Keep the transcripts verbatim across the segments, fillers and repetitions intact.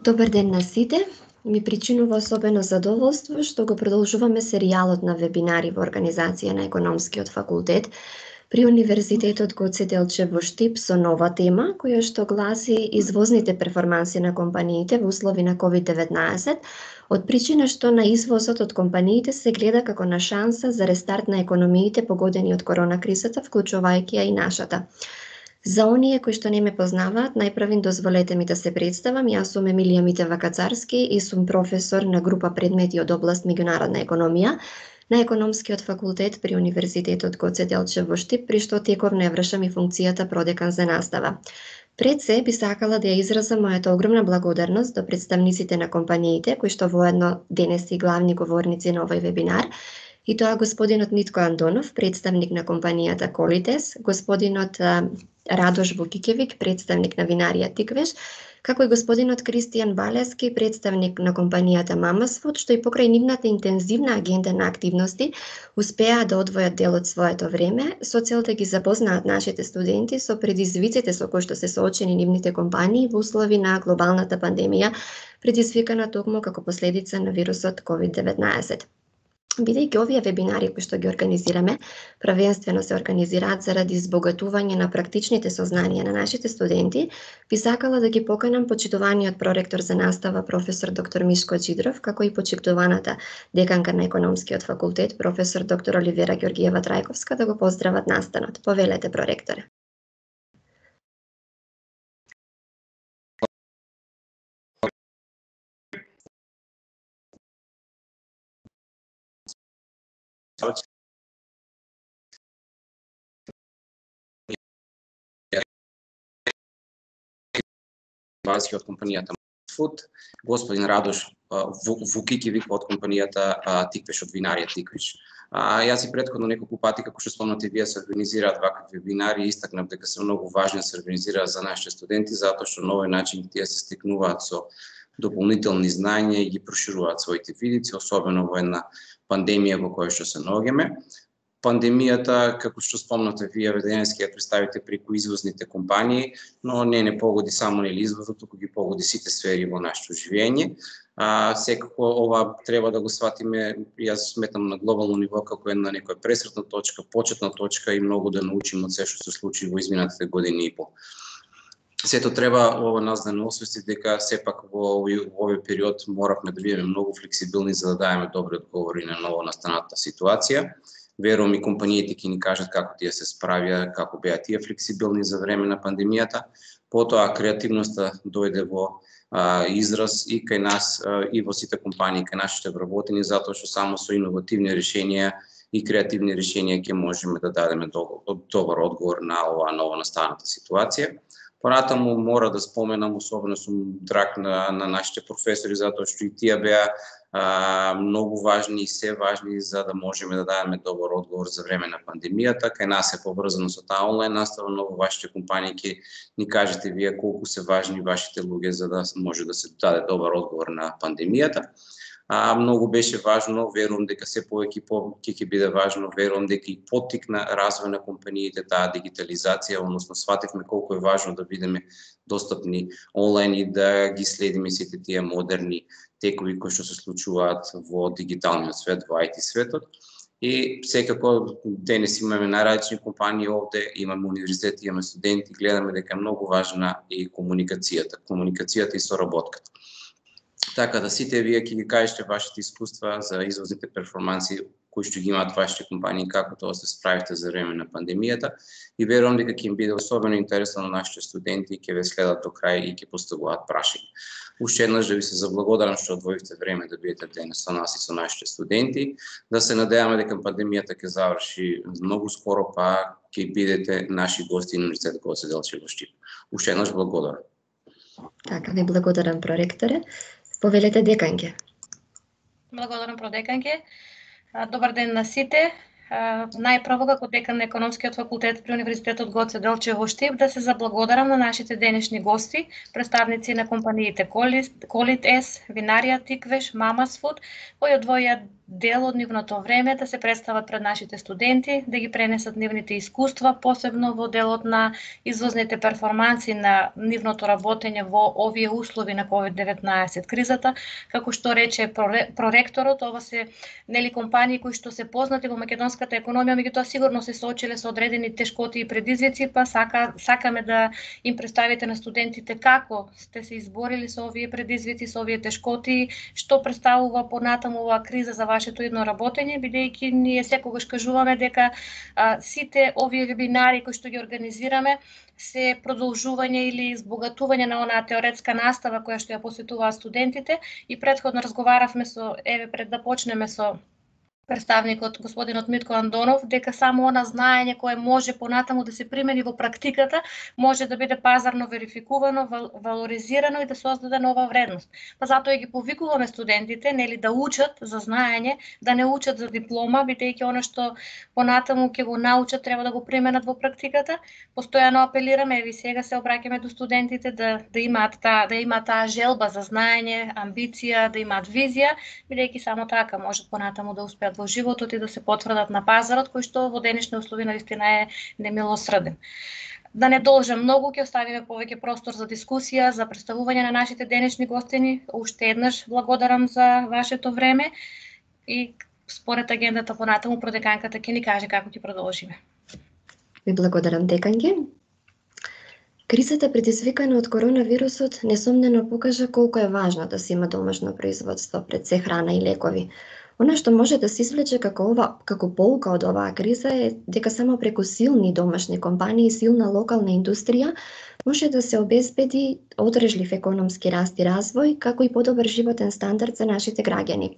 Добар ден на сите. Ми причинува особено задоволство што го продолжуваме серијалот на вебинари во организација на Економскиот факултет при Универзитетот Гоце Делчев во Штип со нова тема, која што гласи извозните перформанси на компаниите во услови на ковид деветнаесет, од причина што на извозот од компаниите се гледа како на шанса за рестарт на економиите погодени од корона кризата, вклучувајќи ја и нашата. За оние кои што не ме познаваат, најпрвин дозволете ми да се представам. Јас сум Емилија Митева Кацарски и сум професор на група предмети од област меѓународна економија на Економскиот факултет при Универзитетот Гоце Делчев во Штип, при што тековно ја вршам и функцијата продекан за настава. Пред се би сакала да ја изразам мојата огромна благодарност до представниците на компаниите, кои што воедно денес и главни говорници на овој вебинар, и тоа господинот Митко Андонов, представник на компанијата Колитес, господинот Радош Вукикевик, представник на винарија Тиквеш, како и господинот Кристијан Балески, представник на компанијата Мамасфуд, што и покрај нивната интензивна агенда на активности успеа да одвојат дел од своето време со цел да ги запознаат нашите студенти со предизвиците со кои што се соочени нивните компании во услови на глобалната пандемија, предизвикана токму како последица на вирусот ковид деветнаесет. Бидејќи овие вебинари кои што ги организираме, правенствено се организираат заради избогатување на практичните сознанија на нашите студенти, би сакала да ги поканам почитуваниот проректор за настава професор доктор Мишко Џидров, како и почитуваната деканка на Економскиот факултет професор доктор Оливера Ѓоргиева Трајковска да го поздрават настанот. Повелете, проректоре. Базиски од компанијата Мамасфуд, господин Радош Вукикевик од компанијата Тиквеш, од винарија Тиквеш. Јас и претходно неколку пати, како што спомнате, вие се организираат вакви вебинари и истакнав дека се многу важни да се организираат за нашите студенти, затоа што на овој начин тие се стекнуваат со дополнителни знања и ги прошируваат своите видици, особено во една пандемија во која што се наоѓаме. Пандемијата, како што спомнате вие, денес ќе ја представите преку извозните компании, но не не погоди само нели извозот, туку ги погоди сите сфери во нашето живење. А, секако ова треба да го сватиме, јас сметам на глобално ниво како една некоја пресретна точка, почетна точка и многу да научиме од се што се случи во изминатите години и пол. Сето треба ова нас да не освести дека сепак во овој период моравме да бидеме многу флексибилни за да даваме добри одговори на ново настаната ситуација. Верувам и компаниите ќе ни кажат како тие се справија, како беа тие флексибилни за време на пандемијата. Потоа креативноста дојде во а, израз и кај нас а, и во сите компании, кај нашите вработени, затоа што само со иновативни решенија и креативни решенија ќе можеме да дадеме добар одговор на оваа ново настаната ситуација. Понатаму мора да споменам, особено сум драг на, на нашите професори, затоа што и тие беа а, многу важни и се важни за да можеме да дадеме добар одговор за време на пандемијата. Кај нас е поврзано со таа онлайн настава, но во вашите компании ќе ни кажете вие колку се важни вашите луѓе за да може да се даде добар одговор на пандемијата. А, многу беше важно, верувам дека се повеќе ќе ќе биде важно, верувам дека и поттикна развој на компаниите таа дигитализација, односно свативме колку е важно да бидеме достапни онлайн и да ги следиме сите тие модерни текови кои што се случуваат во дигиталниот свет, во ай ти светот. И секако денес имаме најразлични компании овде, имаме универзитети, имаме студенти, гледаме дека е многу важна и комуникацијата, комуникацијата и соработката. Така да сите вие ќе ги кажете вашите искуства за извозните перформанси кои што ги имаат вашите компании, како тоа се справите за време на пандемијата, и верувам дека ќе им биде особено интересно на нашите студенти и ќе ве следат до крај и ќе поставуваат прашања. Уште еднаш да ви се заблагодарам што одвоивте време да бидете денес со нас и со нашите студенти, да се надеваме дека пандемијата ќе заврши многу скоро, па ќе бидете наши гости на Универзитетот Гоце Делчев во Штип. Уште еднаш благодарам. Така, ви благодарам, проректоре. Повелете, деканке. Благодарам, продеканке. Добар ден на сите. Најпрво, како декан на Економскиот факултет при Универзитетот Гоце Делчев во Штип, да се заблагодарам на нашите денешни гости, представници на компаниите Колитес, винарија Тиквеш, Мамасфуд, кои одвојат дел од нивното време да се представат пред нашите студенти, да ги пренесат нивните искуства, посебно во делот на извозните перформанси на нивното работење во овие услови на ковид деветнаесет кризата. Како што рече проректорот, ова се нели компании кои што се познати во македонската економија, меѓутоа сигурно се соочиле со одредени тешкоти и предизвици, па сака сакаме да им представите на студентите како сте се изборили со овие предизвици, со овие тешкоти, што представува понатаму оваа криза за вашето идно работење, бидејќи ние секогаш кажуваме дека а, сите овие вебинари кои што ги организираме се продолжување или избогатување на онаа теоретска настава која што ја посетуваат студентите, и претходно разговаравме со, еве пред да почнеме со представникот господинот Митко Андонов, дека само она знаење кое може понатаму да се примени во практиката може да биде пазарно верификувано, вал, валоризирано и да создаде нова вредност. Па затоа ги повикуваме студентите, нели, да учат за знаење, да не учат за диплома, бидејќи она што понатаму ќе го научат треба да го применат во практиката. Постојано апелираме, еви сега се обраќаме до студентите да да имаат таа да имаат таа желба за знаење, амбиција, да имаат визија, бидејќи само така можат понатаму да успеат во животот и да се потврдат на пазарот, кој што во денешни услови наистина е немилосреден. Да не должам многу, ќе оставиме повеќе простор за дискусија, за представување на нашите денешни гостини. Уште еднаш благодарам за вашето време и според агендата понатаму продеканката ќе ни каже како ќе продолжиме. Ви благодарам, деканке. Кризата предизвикана од коронавирусот несомнено покажа колку е важно да се има домашно производство, пред се храна и лекови. Она што може да се извлече како ова како поука од оваа криза е дека само преку силни домашни компании и силна локална индустрија може да се обезбеди одржлив економски раст и развој, како и подобар животен стандард за нашите граѓани.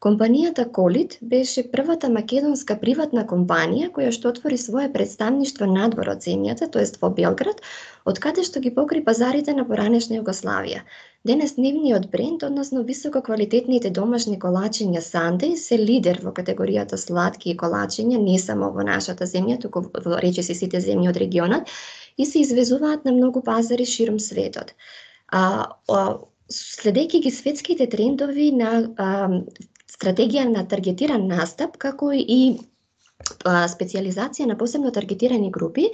Компанијата Колит беше првата македонска приватна компанија која што отвори свое представништво надвор од земјата, тоест во Белград, од каде што ги покри пазарите на поранешна Југославија. Денес нивниот бренд, односно висококвалитетните домашни колачиња Сандеј, се лидер во категоријата сладки колачиња не само во нашата земја, туку во речиси сите земји од регионот, и се извезуваат на многу пазари широм светот. А, а следејќи ги светските трендови на а, стратегија на таргетиран настап, како и а, специјализација на посебно таргетирани групи,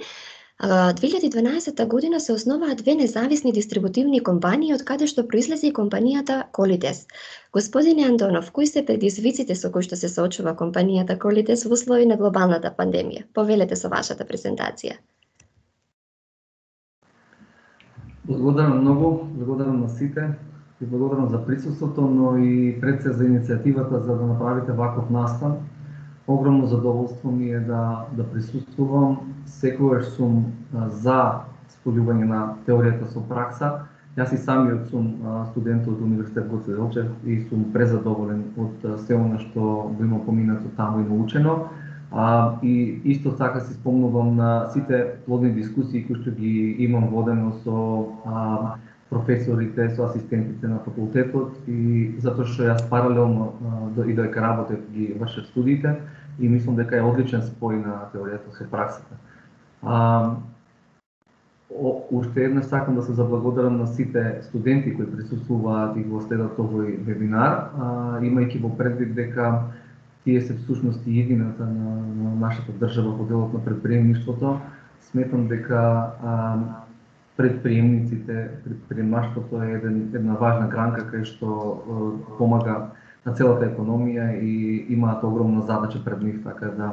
две илјади и дванаесетта година се основаа две независни дистрибутивни компании, од каде што произлезе и компанијата Колитес. Господине Андонов, кои се предизвиците со кои што се соочува компанијата Колитес во услови на глобалната пандемија? Повелете со вашата презентација. Благодарам многу, благодарам на сите и благодарам за присуството, но и пред се за иницијативата за да направите ваков настан. Огромно задоволство ми е да, да присуствувам. Секогаш сум а, за сполјување на теоријата со пракса. Јас и самиот сум а, студент од Универзитет Гоце Делчев и сум презадоволен од се она што го има поминато таму и научено. А, и исто така си спомнувам на сите плодни дискусии кои што ги имам водено со а, професорите, со асистентите на факултетот, и затоа што јас паралелно а, и додека работев ги вршев студиите, и мислам дека е одличен спој на теоријата со праксата. А, о, уште еднаш сакам да се заблагодарам на сите студенти кои присуствуваат и го следат овој вебинар, а, имајќи во предвид дека тие се всушност и едината на, на нашата држава во делот на предприемништвото. Сметам дека а, предприемниците, предприемаштвото е еден, една важна гранка кај што а, помага на целата економија и имаат огромна задача пред нив, така да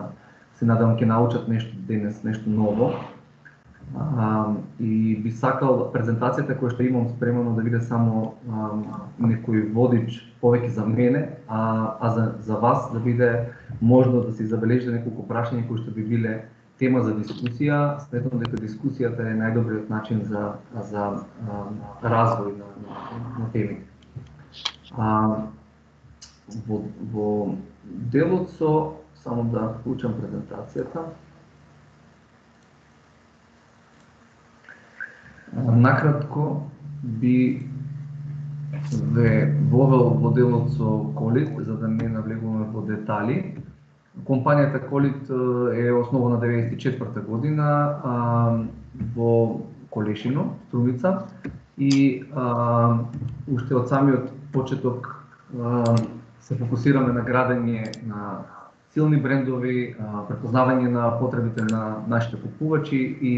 се надам ќе научат нешто денес, нешто ново. А, и би сакал презентацијата која што имам спремено да биде само а, некој водич повеќе за мене, а, а за, за вас да биде можно да се забележите неколку прашања кои што би биле тема за дискусија. Сметам дека дискусијата е најдобриот начин за, за а, развој на, на, на темите. А, во, во делот со, само да вклучам презентацијата. Накратко би ве вовел во делот со Колит, за да не навлегуваме во детали. Компанијата Колит е основана деветдесет и четврта година а, во Колешино, Струмица, и а, уште од самиот почеток а, се фокусираме на градење на силни брендови, препознавање на потребите на нашите купувачи и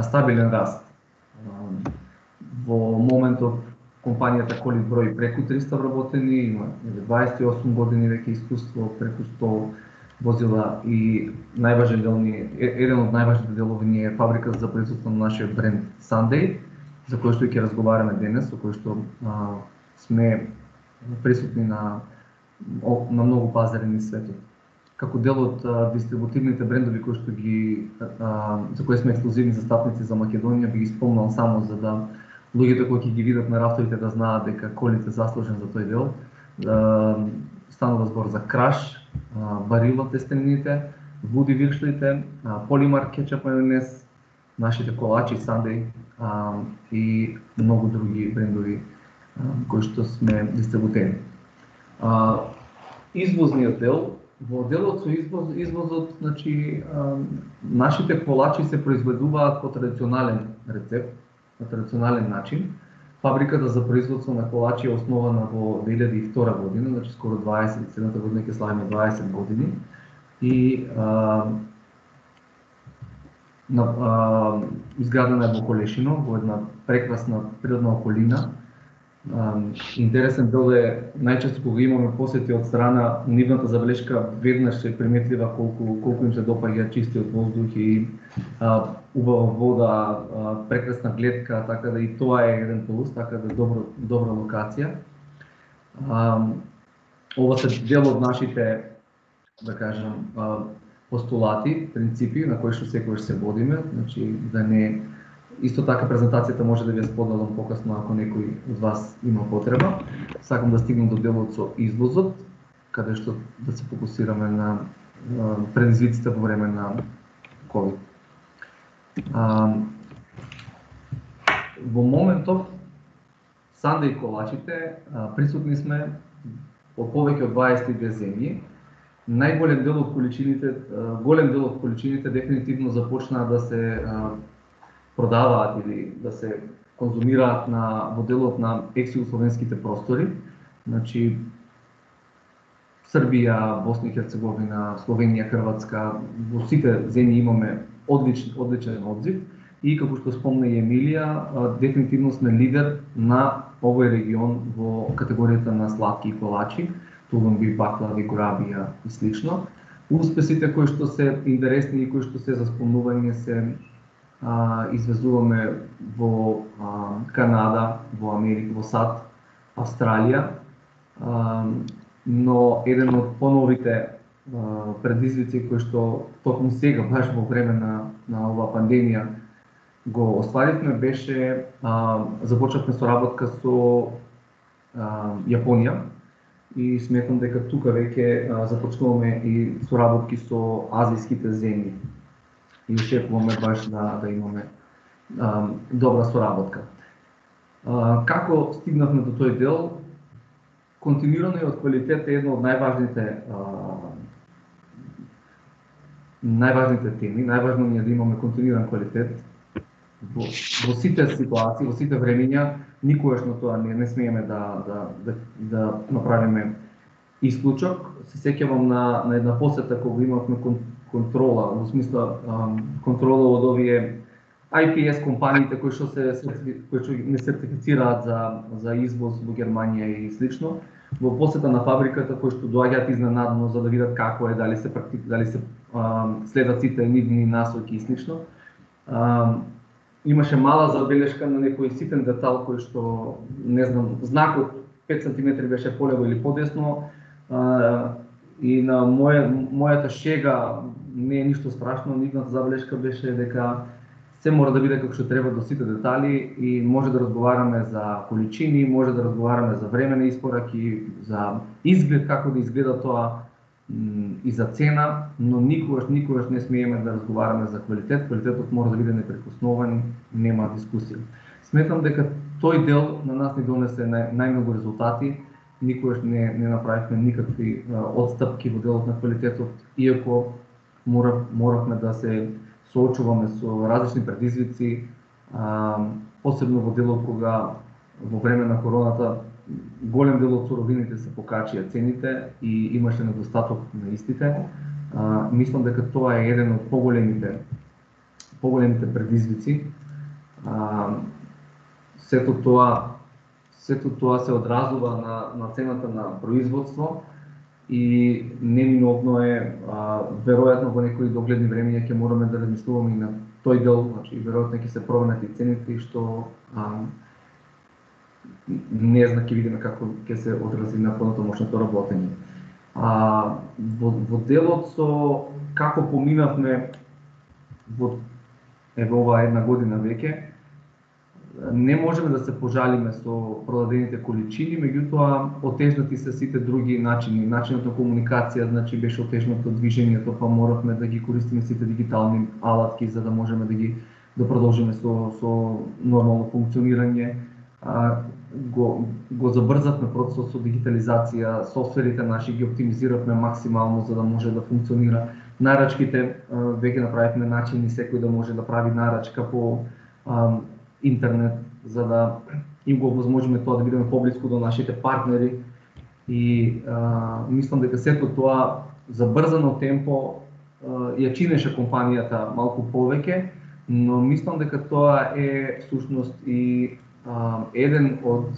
стабилен раст. Во моментов компанијата Колит брои преку триста вработени, има дваесет и осум години веќе искуство, преку сто возила и најважен дел ни, еден од најважните делови ни е фабриката за производство на нашиот бренд Sunday, за кој што ќе разговараме денес, со кој што а, сме присутни на на многу пазари низ светот. Како дел од а, дистрибутивните брендови кои што ги а, за кои сме ексклузивни застапници за Македонија, би ги спомнал само за да луѓето кои ќе ги видат на рафтовите да знаат дека Колит е заслужен за тој дел. А, станува збор за Краш, Барило тестенините, Вуди виршлите, Полимар кетчап мајонез, нашите колачи Sunday и многу други брендови кои што сме дистрибутери. Извозниот дел, во делот со извоз, извозот, значи нашите колачи се произведуваат по традиционален рецепт, на традиционален начин. Фабриката за производство на колачи е основана во две илјади и втора година, значи скоро дваесет, следната година ќе славиме дваесет години. И а, на, а, изградена е во Колешино, во една прекрасна природна околина. А, интересен дел е, најчесто кога имаме посети од страна, нивната забелешка веднаш е приметлива колку, колку им се допаѓа чистиот воздух и а, убава вода, а, прекрасна гледка, така да и тоа е еден плюс, така да добро, добра локација. А, ова се дел од нашите, да кажам, а, постулати, принципи на кои што секогаш се водиме, значи да не исто така презентацијата може да ви ја споделам покасно ако некој од вас има потреба. Сакам да стигнем до делот со извозот, каде што да се фокусираме на предизвиците во време на ковид. А, во моментов Sunday колачите а, присутни сме во повеќе од дваесет и две земји. Најголем дел од количините, а, голем дел од количините дефинитивно започнаа да се а, продаваат или да се конзумираат на во делот на екс-југословенските простори. Значи Србија, Босна и Херцеговина, Словенија, Хрватска, во сите земји имаме одличен одличен одзив и како што спомна и Емилија, дефинитивно сме лидер на овој регион во категоријата на сладки колачи, тулумби, баклави, гурабија и слично. Успесите кои што се интересни и кои што се за спомнување се а, извезуваме во а, Канада, во Америка, во САД, Австралија, а, но еден од поновите предизвици кои што токму сега, баш во време на, на оваа пандемија, го остваривме беше, а, започнавме соработка со а, Јапонија и сметам дека тука веќе а, започнуваме и соработки со азијските земји и очекуваме баш да, да имаме а, добра соработка. А, како стигнавме до тој дел? Континуираниот квалитет е една од најважните најважните теми. Најважно ни е да имаме континуиран квалитет во, во сите ситуации, во сите времења. Никогаш на тоа не, не смееме да, да, да, да направиме исклучок. Се сеќавам на, на една посета кога имавме кон, контрола, во смисла контрола од овие ай пи ес компаниите кои што се кои што не сертифицираат за за извоз во Германија и слично. Во посета на фабриката кои што доаѓаат изненадно за да видат како е, дали се практик, дали се а, следат сите нивни насоки и слично. А, имаше мала забелешка на некој ситен детал кој што не знам, знакот пет сантиметри беше полево или подесно. А, и на моја мојата шега не е ништо страшно, нивната забелешка беше дека се мора да биде како што треба до сите детали и може да разговараме за количини, може да разговараме за време на испораки, за изглед, како да изгледа тоа и за цена, но никогаш, никогаш не смееме да разговараме за квалитет. Квалитетот мора да биде непрекоснован, нема дискусија. Сметам дека тој дел на нас ни донесе нај, најмногу резултати, никогаш не, не направивме никакви отстапки во делот на квалитетот, иако морав, моравме да се соочуваме со различни предизвици, а, посебно во делот кога во време на короната голем дел од суровините се покачија цените и имаше недостаток на истите. А, мислам дека тоа е еден од поголемите поголемите предизвици. А, сето тоа сето тоа се одразува на на цената на производство и неминовно е а, веројатно во некои догледни времиња ќе мораме да размислуваме и на тој дел, значи веројатно ќе се променат и цените што а, не зна, ќе видиме како ќе се одрази на понатамошното работење. А, во, во делот со како поминавме во ево ова една година веќе, не можеме да се пожалиме со продадените количини, меѓутоа отежнати се сите други начини. Начинот на комуникација, значи беше отежнато движењето, па моравме да ги користиме сите дигитални алатки за да можеме да ги да продолжиме со со нормално функционирање. А, го го забрзавме процесот со дигитализација, софтверите наши ги оптимизиравме максимално за да може да функционира. Нарачките веќе направивме начини секој да може да прави нарачка по а, интернет, за да им го овозможиме тоа да бидеме поблиску до нашите партнери и а, мислам дека сето тоа забрзано темпо а, ја чинеше компанијата малку повеќе, но мислам дека тоа е всушност и а, еден од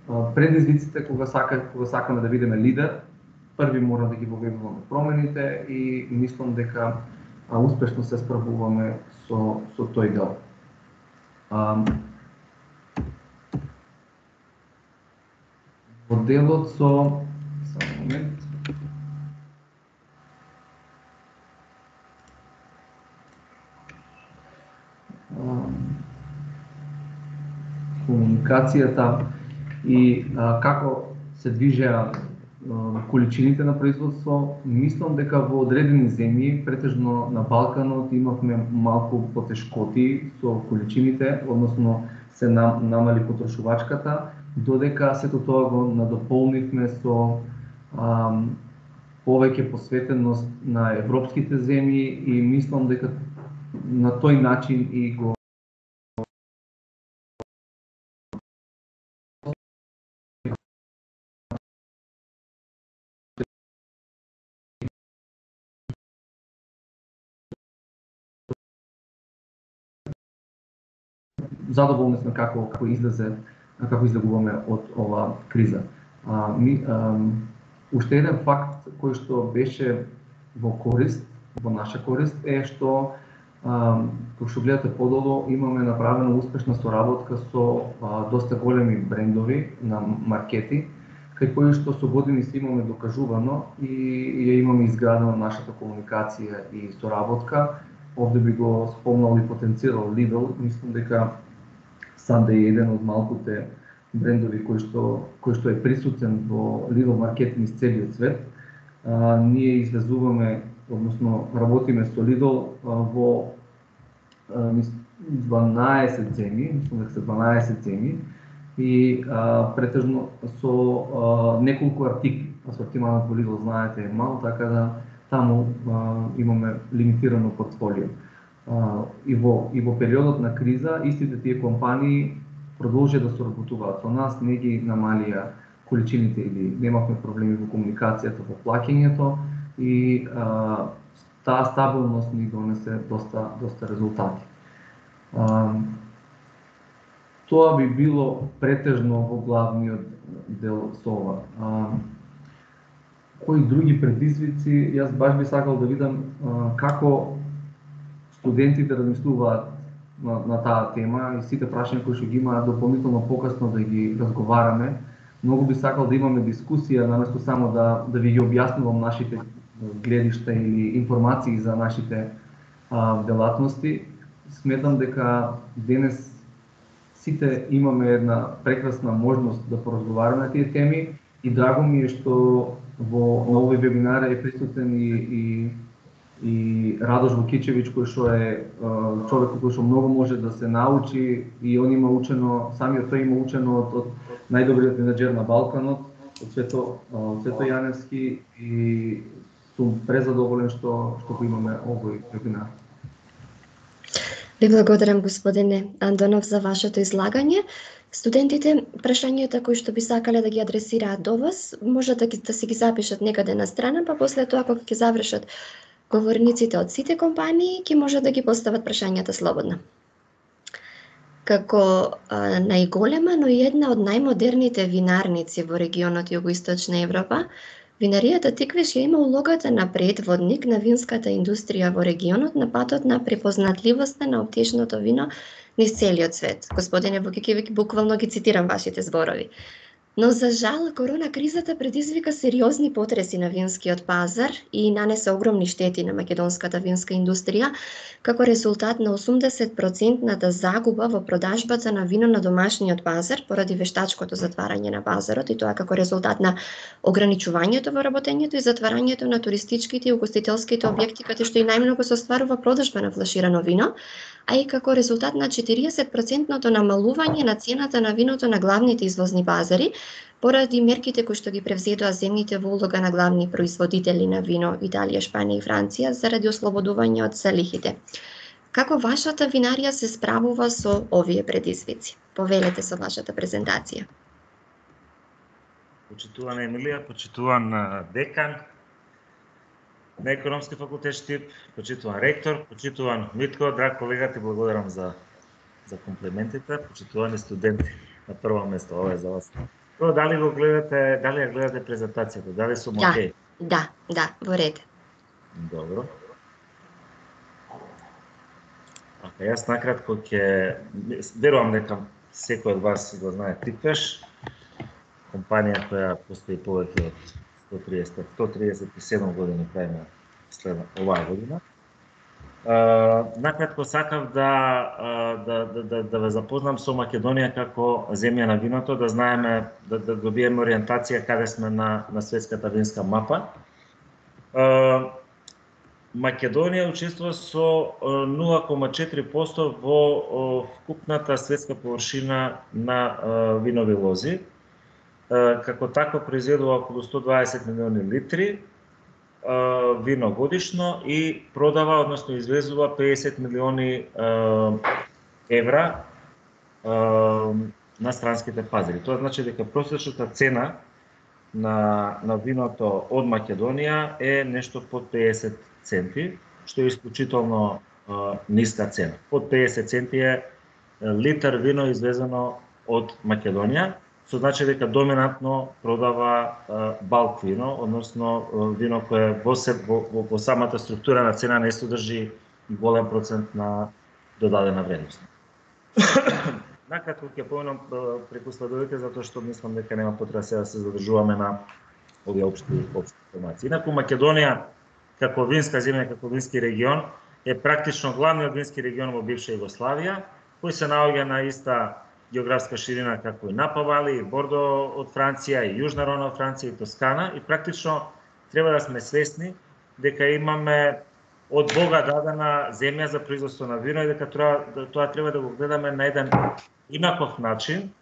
а, предизвиците кога сака кога сакаме да бидеме лидер. Први мора да ги воведуваме промените и мислам дека а, успешно се справуваме со со тој дел. Um, во делот со само момент um, комуникацијата и а, како се движеа количините на производство, мислам дека во одредени земји, претежно на Балканот, имавме малку потешкоти со количините, односно се нам, намали потрошувачката, додека сето тоа го надополнивме со ам, повеќе посветеност на европските земји и мислам дека на тој начин и го задоволни сме како како излезе како излегуваме од ова криза. А, ми, а, уште еден факт кој што беше во корист, во наша корист е што кога што гледате подолу имаме направена успешна соработка со а, доста големи брендови на маркети, кај кои што со години се имаме докажувано и ја имаме изградена нашата комуникација и соработка. Овде би го спомнал и потенцирал Lidl, мислам дека Sunday е еден од малкуте брендови кој што кој што е присутен во Lidl маркет низ целиот свет. А, ние извезуваме, односно работиме со Lidl а, во а, дванаесет земји, мислам дека се дванаесет земји и а, претежно со а, неколку артикли. Асортиманот во Lidl, знаете, е мал, така да таму а, имаме лимитирано портфолио. Uh, и во и во периодот на криза истите тие компании продолжија да соработуваат со нас, не ги намалија количините или немавме проблеми во комуникацијата, во плаќањето и uh, таа стабилност ни донесе доста доста резултати. Uh, тоа би било претежно во главниот дел со ова. Uh, кои други предизвици, јас баш би сакал да видам uh, како студентите размислуваат на, на таа тема и сите прашања кои што ги имаат дополнително покасно да ги разговараме. Многу би сакал да имаме дискусија наместо само да да ви ги објаснувам нашите гледишта или информации за нашите а, делатности. Сметам дека денес сите имаме една прекрасна можност да поразговараме на тие теми и драго ми е што во овој вебинар е присутен и, и и Радош Вукичевиќ, кој што е човек кој што многу може да се научи и он има учено, самиот тој има учено од, од најдобриот менаџер на Балканот, од Цвето, од Цвето Јаневски и сум презадоволен што што го имаме овој вебинар. Ви благодарам, господине Андонов, за вашето излагање. Студентите, прашањата кои што би сакале да ги адресираат до вас, може да, ги, да се ги запишат некаде на страна, па после тоа кога ќе завршат говорниците од сите компании, ќе може да ги постават прашањата слободно. Како а, најголема, но и една од најмодерните винарници во регионот Југоисточна Европа, винаријата Тиквиш ја има улогата на предводник на винската индустрија во регионот на патот на препознатливоста на успешното вино низ целиот свет. Господине Вукикевич, буквално ги цитирам вашите зборови. Но за жал, корона кризата предизвика сериозни потреси на винскиот пазар и нанесе огромни штети на македонската винска индустрија, како резултат на осумдесет процентната загуба во продажбата на вино на домашниот пазар поради вештачкото затварање на пазарот, и тоа како резултат на ограничувањето во работењето и затварањето на туристичките и угостителските објекти, каде што и најмногу се остварува продажба на флаширано вино, а и како резултат на четириесет процентното намалување на цената на виното на главните извозни пазари, поради мерките кои што ги превзедоа земните во улога на главни производители на вино Италија, Шпанија и Франција заради ослободување од залихите. Како вашата винарија се справува со овие предизвици? Повелете со вашата презентација. Почитувана Емилија, почитуван декан на Економски факултет Штип, почитуван ректор, почитуван Митко, драг колега, ти благодарам за за комплиментите, почитувани студенти на прво место, ова е за вас. Тоа дали го гледате, дали ја гледате презентацијата, дали сум Да, окей? да, да, во ред. Добро. Ака, јас накратко ќе верувам дека секој од вас го знае Тиквеш, компанија која постои повеќе од сто триесет и седум години крајна след оваа година. Uh, накратко сакав да, uh, да, да, да, да ве запознам со Македонија како земја на виното, да знаеме, да, да добиеме ориентација каде сме на, на светската винска мапа. Uh, Македонија учествува со нула кома четири проценти во вкупната светска површина на uh, винови лози. Uh, како тако произведува околу сто дваесет милиони литри вино годишно и продава, односно извезува педесет милиони евра на странските пазари. Тоа значи дека просечната цена на, на виното од Македонија е нешто под педесет центи, што е исклучително ниска цена. Под педесет центи е литар вино извезено од Македонија, што значи дека доминантно продава балк вино, односно вино кое во, во, во, во самата структура на цена не содржи голем процент на додадена вредност. Накратко ќе поминам преку следовите, затоа што мислам дека нема потреба сега да се задржуваме на овие општи општи информации. Инаку Македонија како винска земја, како вински регион е практично главниот вински регион во бивша Југославија, кој се наоѓа на иста географска ширина како и Напа Вали, и Бордо од Франција, и Јужна Рона од Франција, и Тоскана, и практично треба да сме свесни дека имаме од Бога дадена земја за производство на вино и дека тоа, тоа треба да го гледаме на еден инаков начин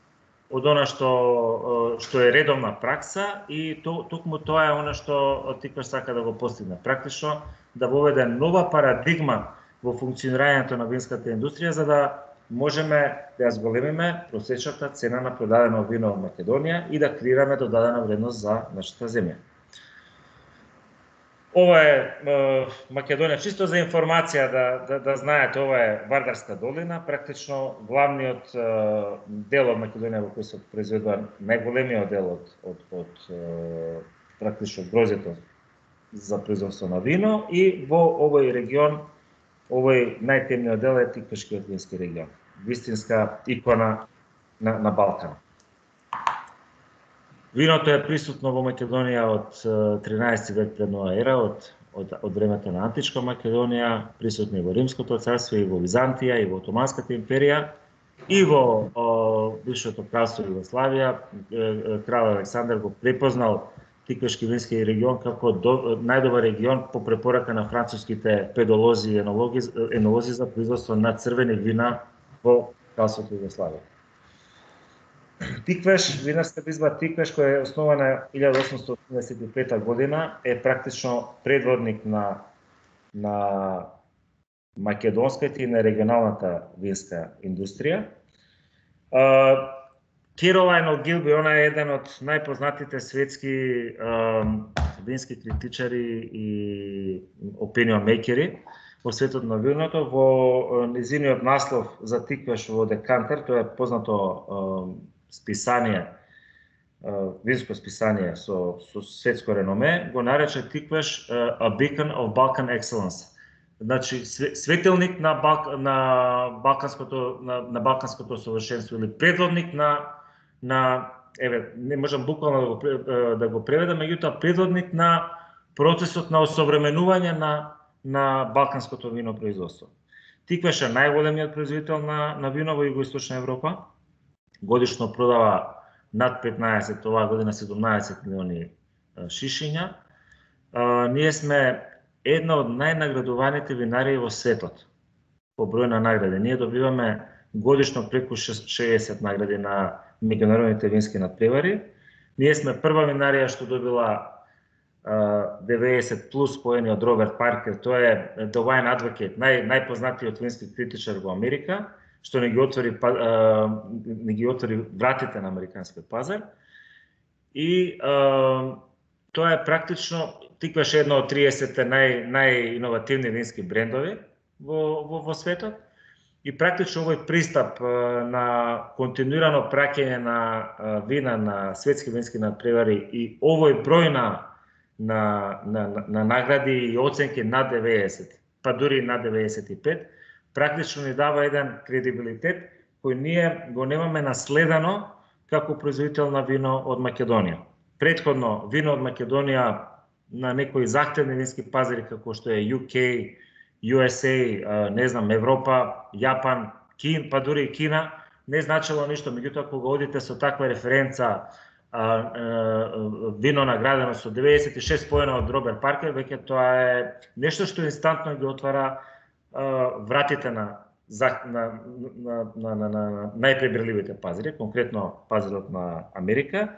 од она што што е редовна пракса, и то, токму тоа е она што Тиквеш сака да го постигне. Практично да воведе нова парадигма во функционирањето на винската индустрија, за да можеме да ја зголемиме просечната цена на продадено вино во Македонија и да креираме додадена вредност за нашата земја. Ова е, е Македонија, чисто за информација да, да, да знаете, ова е Вардарска долина, практично главниот е, дел од Македонија во кој се произведува најголемиот дел од, од, од е, практично грозето за производство на вино, и во овој регион овој најтемниот дел е Тиквешкиот вински регион, вистинска икона на, на Балкан. Виното е присутно во Македонија од тринаесети век пред нова ера, од, од, од времето на античка Македонија, присутно и во Римското царство, и во Византија, и во Отоманската империја, и во о, бившето кралство Југославија. Крал Александар го препознал Тиквешки вински регион како до, најдобар регион по препорака на француските педолози и енолози, енолози за производство на црвени вина во кралството Југославија. Тиквеш, винарска изба Тиквеш, која е основана илјада осумстотини осумдесет и пета година, е практично предводник на на македонската и на регионалната винска индустрија. Керолайн Огилби, она е еден од најпознатите светски вински критичари и opinion makeri во светот на виното. Во низиниот наслов за Тиквеш во Декантер, тоа е познато списание, винско списание со, со светско реноме, го нарече Тиквеш a beacon of Balkan excellence. Значи светилник на Балк, на балканското на, на балканското совршенство или предводник на на еве не можам буквално да го да го преведам, меѓутоа предводник на процесот на осовременување на на балканското винопроизводство. Тиквеш е најголемиот производител на на вино во Југоисточна Европа. Годишно продава над петнаесет, оваа година седумнаесет милиони шишиња. А, ние сме една од најнаградуваните винарии во светот по број на награди. Ние добиваме годишно преку шеесет награди на меѓународните вински надпревари. Ние сме прва винарија што добила деветдесет плюс поени од Роберт Паркер. Тој е The Wine Advocate, нај најпознатиот вински критичар во Америка, што не ги отвори не ги отвори вратите на американскиот пазар. И а, тоа е практично Тиквеш едно од триесет нај најиновативни вински брендови во во, во светот. И практично овој пристап на континуирано праќање на вина на светски вински надпревари и овој број на на на, на, на награди и оценки над деветдесет, па дури над деветдесет и пет, практично ни дава еден кредибилитет кој ние го немаме наследено како производител на вино од Македонија. Претходно вино од Македонија на некои захтевни вински пазари како што е Ю Кеј, Ю Ес Ей, не знам, Европа, Јапан, Кин, па дури и Кина, не значило ништо. Меѓутоа, кога одите со таква референца, а, а, вино наградено со деветдесет и шест поена од Роберт Паркер, веќе тоа е нешто што инстантно ги отвара а, вратите на, на, на, на, на, на најпребирливите пазари, конкретно пазарот на Америка.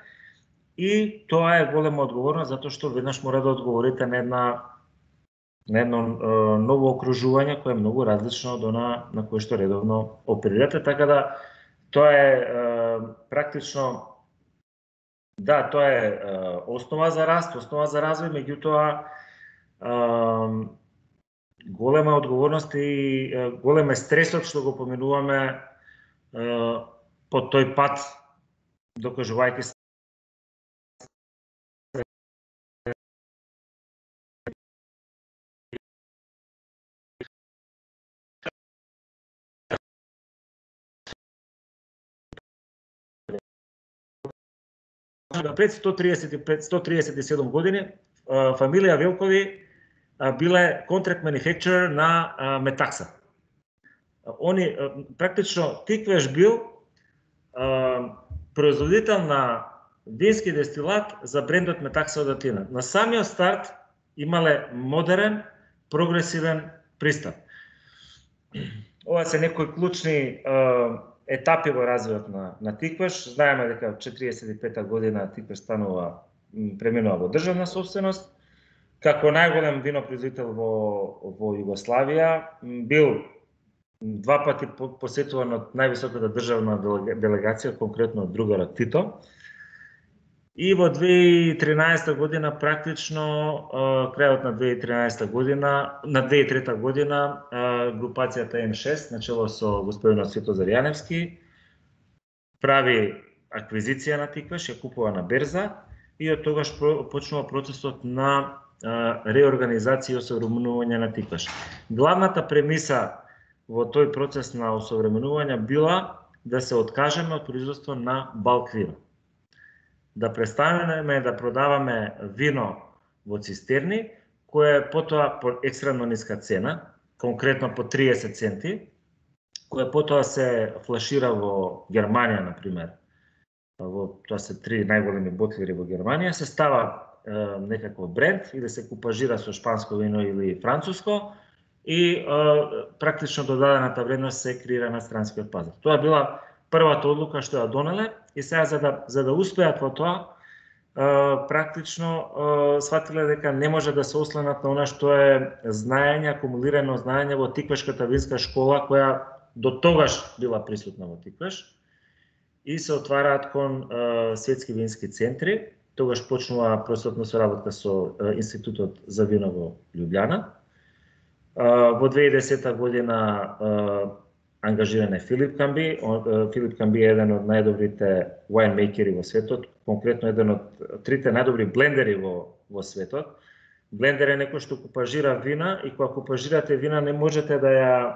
И тоа е голема одговорност, затоа што веднаш мора да одговорите на една на едно е, ново окружување кое е многу различно од она на кое што редовно оперирате, така да тоа е, е практично да, тоа е, е основа за раст, основа за развој, меѓутоа е, голема одговорност и е, голем е стресот што го поминуваме е, по тој пат, докажувајќи пред сто триесет и пет сто триесет и седум години фамилија Велкови биле контракт манифактуrer на Метакса. Они практично Тиквеш бил производител на вински дестилат за брендот Метакса од Атина. На самиот старт имале модерен, прогресивен пристап. Ова се некои клучни етапи во развојот на, на Тиквеш. Знаеме дека четириесет и пета година Тиквеш станува, преминува во државна собственост. Како најголем винопроизводител во, во Југославија, бил два пати посетуван од највисоката државна делегација, конкретно од другарот Тито. И во две илјади и тринаесета година, практично, крајот на две илјади и тринаесета година, на две илјади и трета година, групацијата М шест, начело со господинот Светозар Јаневски, прави аквизиција на Тиквеш, ја купува на берза и од тогаш почнува процесот на реорганизација и осовременување на Тиквеш. Главната премиса во тој процес на осовременување била да се откажеме од производство на балк вино. Да престанеме да продаваме вино во цистерни, кое е потоа по екстремно ниска цена, конкретно по триесет центи, кое потоа се флашира во Германија, например. Во, тоа се три најголеми ботлери во Германија, се става е, некаков бренд или се купажира со шпанско вино или француско и е, практично додадената вредност се креира на странскиот пазар. Тоа била првата одлука што ја донеле и сега за да за да успеат во тоа, практично сватиле дека не може да се осланат на она што е знаење, акумулирано знаење во Тиквешката винска школа, која до тогаш била присутна во Тиквеш, и се отвараат кон светски вински центри. Тогаш почнува просветна соработка со Институтот за вино во Љубљана. Во две илјади и десета година ангажиран е Филип Камби. Филип Камби е еден од најдобрите вајнмейкери во светот, конкретно еден од трите најдобри блендери во, во светот. Блендер е некој што купажира вина и кога купажирате вина не можете да ја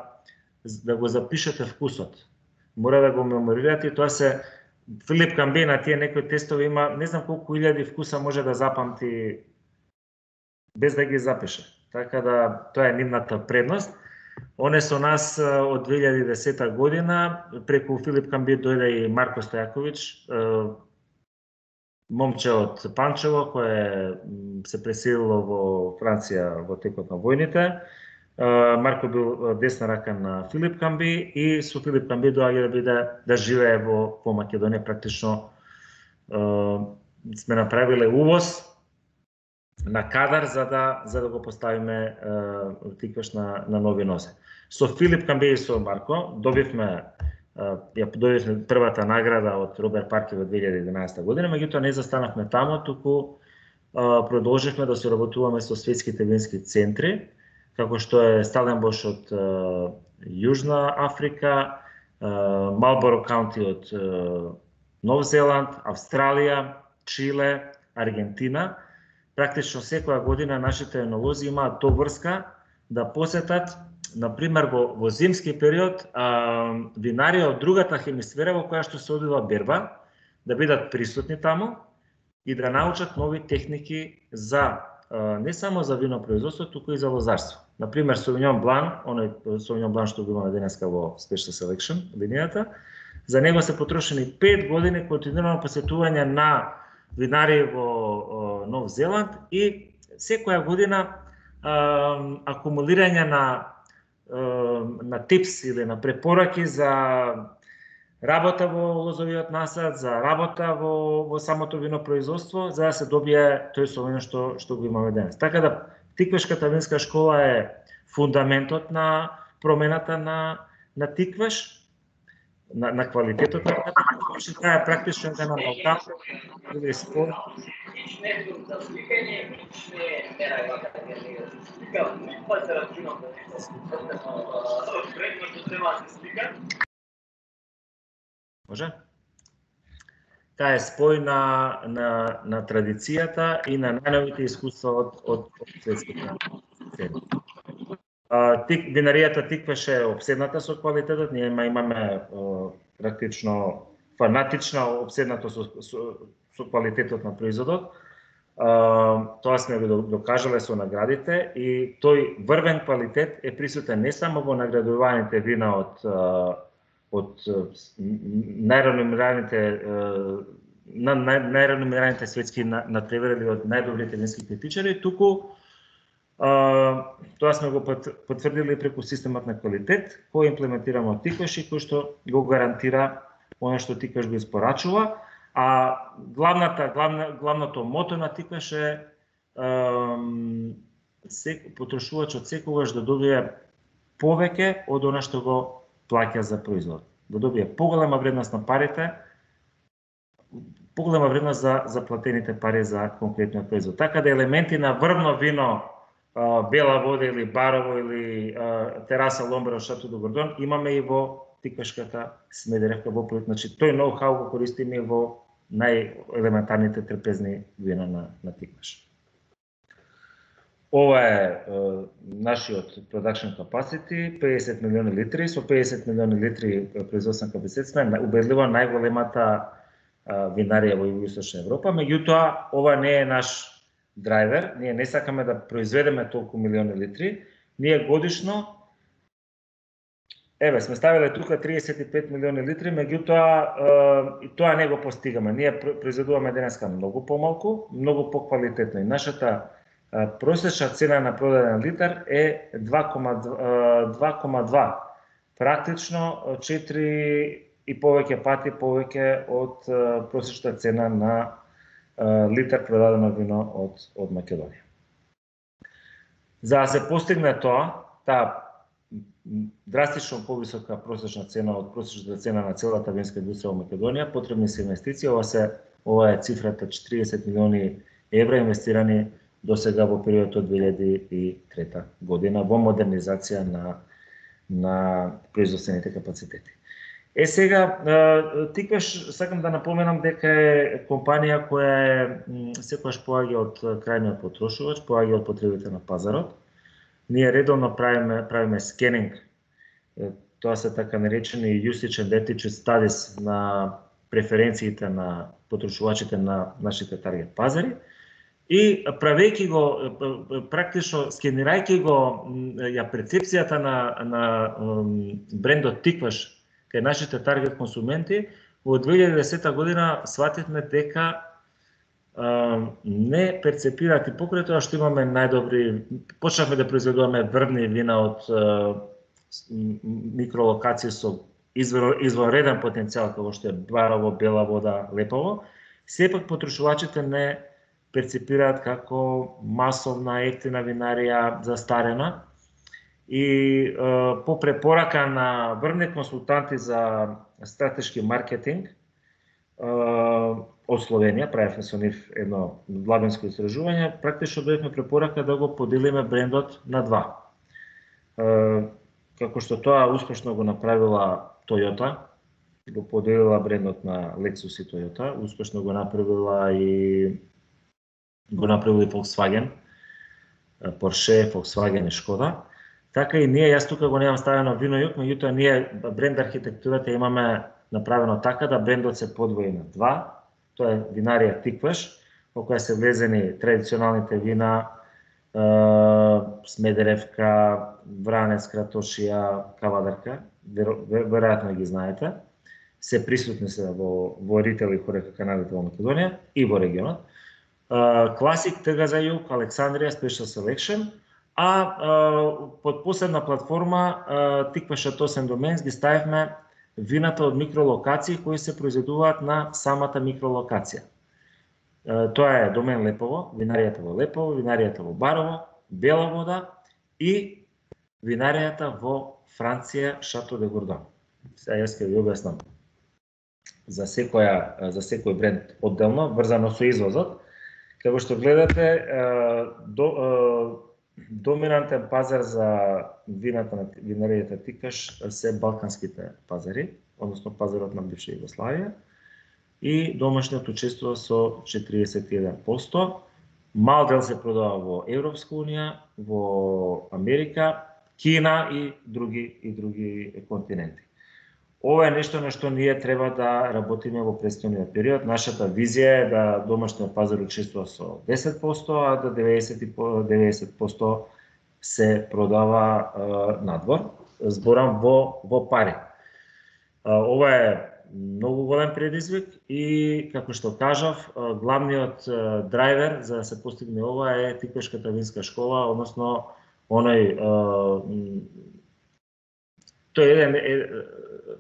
да го запишете вкусот. Мора да го меморирате и тоа се Филип Камби на тие некои тестови има не знам колку илјади вкуса може да запамти без да ги запише. Така да тоа е нивната предност. Оне со нас од две илјади и десета година преку Филип Камби дојде и Марко Стојаковиќ, момче од Панчево кој се преселило во Франција во текот на војните. Марко бил десна рака на Филип Камби и со Филип Камби доаѓа да биде да живее во по Македонија. Практично сме направиле увоз на кадар за да за да го поставиме Тиквеш на на нови нозе. Со Филип Камби и со Марко добивме ја добивме првата награда од Роберт Парки во две илјади и единаесета година, меѓутоа не застанавме таму, туку продолживме да соработуваме со светските вински центри, како што е Сталенбош од Јужна Африка, Малборо Каунти од Нов Зеланд, Австралија, Чиле, Аргентина. Практично секоја година нашите енолози имаат доврска да посетат, например во, во зимски период, винари од другата хемисфера во која што се одвива берба, да бидат присутни таму и да научат нови техники за не само за винопроизводство, туку и за лозарство. Например, Sauvignon Blanc, оној Sauvignon Blanc што го имаме денеска во Special Selection линијата, за него се потрошени пет години континуирано посетување на винари во Нов Зеланд и секоја година а, акумулирање на на типс или на препораки за работа во лозовиот насад, за работа во, во самото винопроизводство, за да се добие тој совино што што го имаме денес. Така да Тиквешката винска школа е фундаментот на промената на на Тиквеш, на, на квалитетот на Тиквеш. Таа е практично една наука или спорт. Може? Таа е спој на, на, на традицијата и на најновите искуства од, од, од светските цели. Тик, винаријата Тиквеш е обседната со квалитетот, ние имаме о, практично фанатична обседната со, со, со квалитетот на производот. Тоа сме го докажале со наградите и тој врвен квалитет е присутен не само во наградуваните вина од од најреномираните на најреномираните светски натпреварили од најдобрите вински критичари, туку тоа сме го потврдили преку системот на квалитет кој имплементираме од Тиквеш и кој што го гарантира оно што Тиквеш го испорачува, а главната главна главното мото на Тиквеш е сек, потрошувачот секогаш да добие повеќе од она што го плаќа за производ, да добие поголема вредност на парите, поголема вредност за заплатените пари за конкретниот производ. Така да елементи на врвно вино, бела вода или барово или тераса Ломбаро Шато до Гордон имаме и во Тиквешката Смедеревка во проект. Значи тој ноу-хау го користиме и во најелементарните трпезни вина на, на Тиквеш. Ова е, е нашиот production capacity, педесет милиони литри, со педесет милиони литри производствен капацитет сме убедливо најголемата винарија во Југоисточна Европа, меѓутоа ова не е наш драйвер, ние не сакаме да произведеме толку милиони литри, ние годишно еве сме ставиле тука триесет и пет милиони литри, меѓутоа и тоа не го постигаме. Ние произведуваме денеска многу помалку, многу поквалитетно и нашата просечна цена на продаден литар е два кома два. Практично четири и повеќе пати повеќе од просечната цена на литар продадено вино од од Македонија. За да се постигне тоа, таа драстично повисока просечна цена од просечната цена на целата винска индустрија во Македонија, потребни се инвестиции. Ова се ова е цифрата четириесет милиони евра инвестирани до сега во периодот од две илјади и трета година во модернизација на на производствените капацитети. Е сега, Тиквеш, сакам да напоменам дека е компанија која е секогаш поаѓа од крајниот потрошувач, поаѓа од потребите на пазарот. Ние редовно правиме правиме скенинг. Тоа се така наречени usage and attitude studies на преференциите на потрошувачите на нашите таргет пазари. И правејќи го, практично скенирајќи го ја перцепцијата на, на брендот Тиквеш кај нашите таргет консументи, во две илјади и десета година свативме дека а, не перцепираат и покрај тоа што имаме најдобри, почнавме да произведуваме врвни вина од а, микролокации со извонреден потенцијал, како што е Барово, Бела Вода, Лепово, сепак потрошувачите не перцепираат како масовна ефтина винарија застарена. И е, по препорака на врвни консултанти за стратешки маркетинг е, од Словенија, правевме со нив едно длабинско истражување, практично дојдовме препорака да го поделиме брендот на два. Е, како што тоа успешно го направила Toyota, го поделила брендот на Lexus и Toyota, успешно го направила и го направила и Volkswagen, Porsche, Volkswagen и Škoda. Така и ние, јас тука го немам ставено вино јук, меѓутоа ние бренд архитектурата имаме направено така да брендот се подвои на два. Тоа е винарија Тиквеш, во која се влезени традиционалните вина е, Смедеревка, Вранец, Кратошија, Кавадарка, веројатно ги знаете. Се присутни се во, во ритейл и хорека каналите во Македонија и во регионот. Класик, Тга за југ, Александрија, Special Selection, а, а под посебна платформа Тиквеш Шато Сен-Доменс ги ставивме вината од микролокации кои се произведуваат на самата микролокација. Тоа е домен Лепово, винаријата во Лепово, винаријата во Барово, Бела Вода и винаријата во Франција Шато де Гордон. Сега јас ќе ви објаснам за секоја за секој бренд одделно, врзано со извозот. Како што гледате, до, доминантен пазар за вината на винаријата Тиквеш се балканските пазари, односно пазарот на бивша Југославија, и домашниот учествува со четириесет и еден проценти. Мал дел се продава во Европска унија, во Америка, Кина и други и други континенти. Ова е нешто на што ние треба да работиме во претстојниот период. Нашата визија е да домашниот пазар учествува со десет проценти, а да деветдесет проценти се продава е, надвор, зборам во во пари. Ова е многу голем предизвик и, како што кажав, главниот драйвер за да се постигне ова е Тиквешката винска школа, односно оној тој е еден е,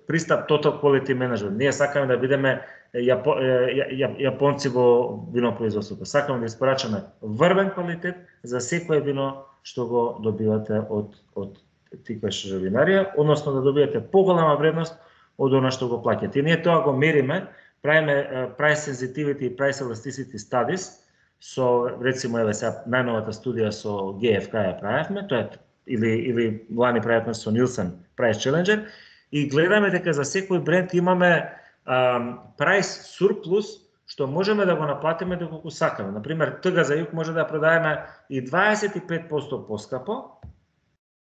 пристап total quality management. Ние сакаме да бидеме јапо, ја, јапонци во винопроизводството. Сакаме да испорачаме врвен квалитет за секое вино што го добивате од од Тиквеш винарија, односно да добиете поголема вредност од она што го плаќате. И ние тоа го мериме, правиме price sensitivity и price elasticity studies со, рецимо, еве сега најновата студија со Г Ф К ја правевме, тоа е или или лани правевме со Нилсен Price Challenger, и гледаме дека за секој бренд имаме а, price surplus што можеме да го наплатиме доколку сакаме. Например, Тга за југ може да продадеме и дваесет и пет проценти поскапо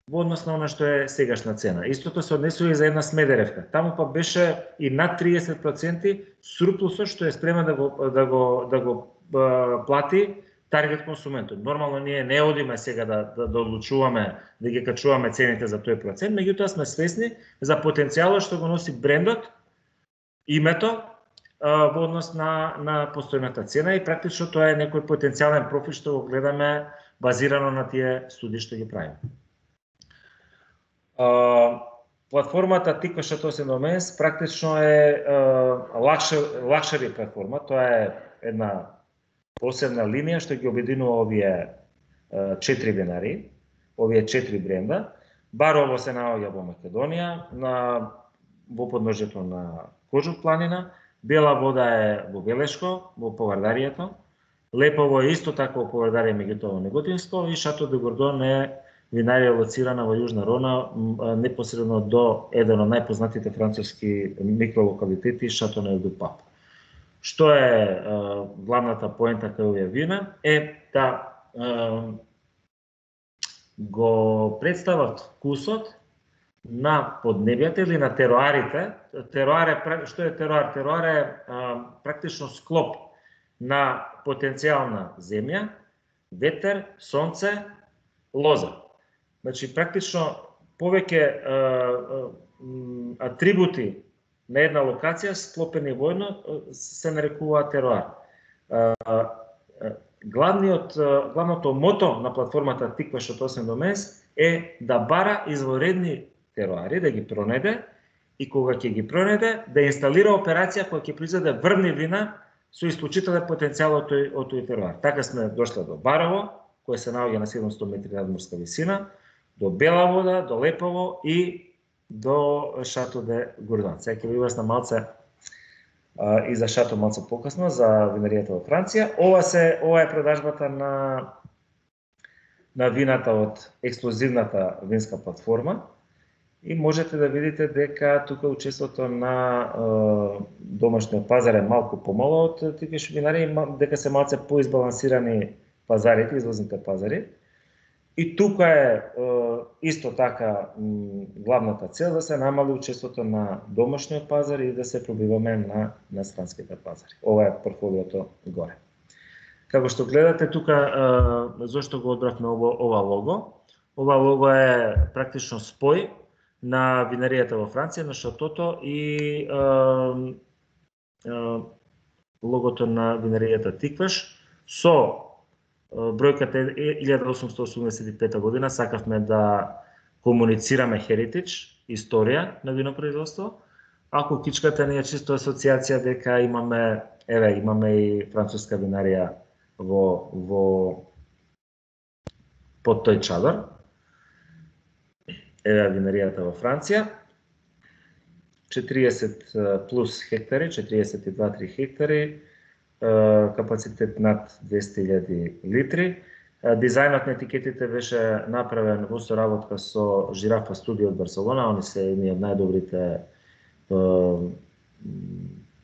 во однос на она што е сегашна цена. Истото се однесува и за една Смедеревка. Таму па беше и над триесет проценти сурплусот што е спремен да го да го да го а, плати таргет консументот. Нормално ние не одиме сега да да, да одлучуваме да ги качуваме цените за тој процент, меѓутоа сме свесни за потенцијалот што го носи брендот, името а, во однос на на постојната цена, и практично тоа е некој потенцијален профит што го гледаме базирано на тие студии што ги правиме. Uh, платформата Тиквеш Шато Сен-Доменс практично е лакшери платформа. Тоа е една посебна линија што ги обединува овие четири винари, овие четири бренда. Барово се наоѓа во Македонија, на во подножјето на Кожух планина, Бела вода е во Велешко, во Повардарието, Лепово е исто така во Повардарие, меѓутоа во Неготинско, и Шато де Гордон е винарија лоцирана во Јужна Рона, непосредно до еден од најпознатите француски микролокалитети, Шато де Пап. Што е, е главната поента кај овие вина е да е, го представат вкусот на поднебјата или на теруарите. Теруар е, што е теруар? Теруар е а, практично склоп на потенцијална земја, ветер, сонце, лоза. Значи, практично повеќе а, а, атрибути на една локација склопени воедно се нарекува теруар. А, а, главниот, главното мото на платформата Тикваш од осем до месец е да бара изворедни теруари, да ги пронајде и кога ќе ги пронајде, да инсталира операција која ќе произведе врвни вина со исклучителен потенцијал од тој, од тој теруар. Така сме дошли до Барово, кој се наоѓа на седумстотини метри надморска висина, до Бела вода, до Лепово и до Шато де Гордон. Сега ќе ви објаснам малце а, и за Шато малце покасно, за винаријата во Франција. Ова се ова е продажбата на на вината од ексклузивната винска платформа. И можете да видите дека тука учеството на е, домашниот пазар е малку помало од типиш винари, дека се малце поизбалансирани пазарите, извозните пазари. И тука е, е исто така м, главната цел да се намали учеството на домашниот пазар и да се пробиваме на, на странските пазари. Ова е портфолиото горе. Како што гледате тука, е, зошто го одбравме ова, ова лого? Ова лого е практично спој на винаријата во Франција, на Шатото и е, е, логото на винаријата Тикваш со е, бројката илјада осумстотини осумдесет и пета година. Сакавме да комуницираме херитидж, историја на винопроизводство. Ако кичката не е чисто асоциација дека имаме, еве, имаме и француска винарија во во под тој чадор. Еве винаријата во Франција, четириесет плюс хектари, четириесет и два до три хектари, капацитет над двесте илјади литри. Дизајнот на етикетите беше направен во соработка со Жирафа студио од Барселона, они се едни од најдобрите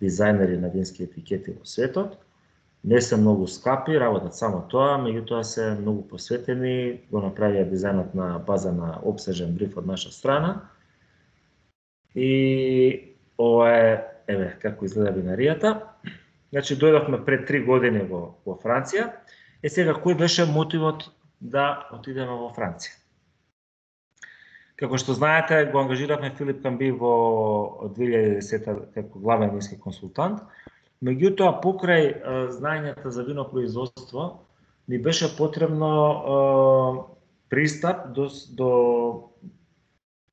дизајнери на вински етикети во светот. Не се многу скапи, работат само тоа, меѓутоа се многу посветени, го направија дизајнот на база на обсежен бриф од наша страна. И ова е, еве, како изгледа винаријата. Значи, дојдовме пред три години во, во Франција. Е сега, кој беше мотивот да отидеме во Франција? Како што знаете, го ангажиравме Филип Камби во две илјади и десета како главен вински консултант. Меѓутоа, покрај е, знаењата за винопроизводство, ни беше потребно е, пристап до, до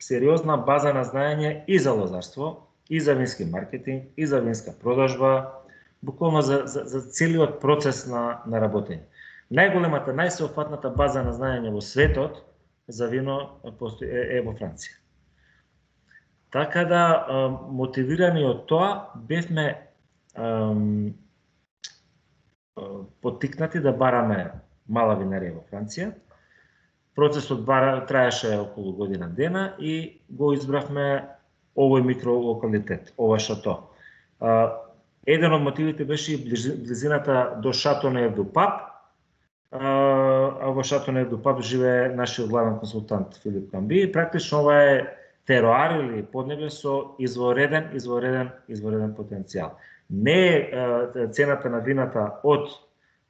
сериозна база на знаење и за лозарство, и за вински маркетинг, и за винска продажба, буквално за, за, за целиот процес на, на работење. Најголемата, најсеопфатната база на знаење во светот за вино е, е во Франција. Така да, е, мотивирани од тоа, бевме поттикнати да бараме мала винарија во Франција. Процесот бара, траеше околу година дена и го избравме овој микролокалитет, ова Шато. Еден од мотивите беше и близината до Шато де Пап, а во Шато де Пап живее нашиот главен консултант Филип Камби. Практично ова е теруар или поднебје со извореден, извореден, извореден потенцијал. Не е цената на вината од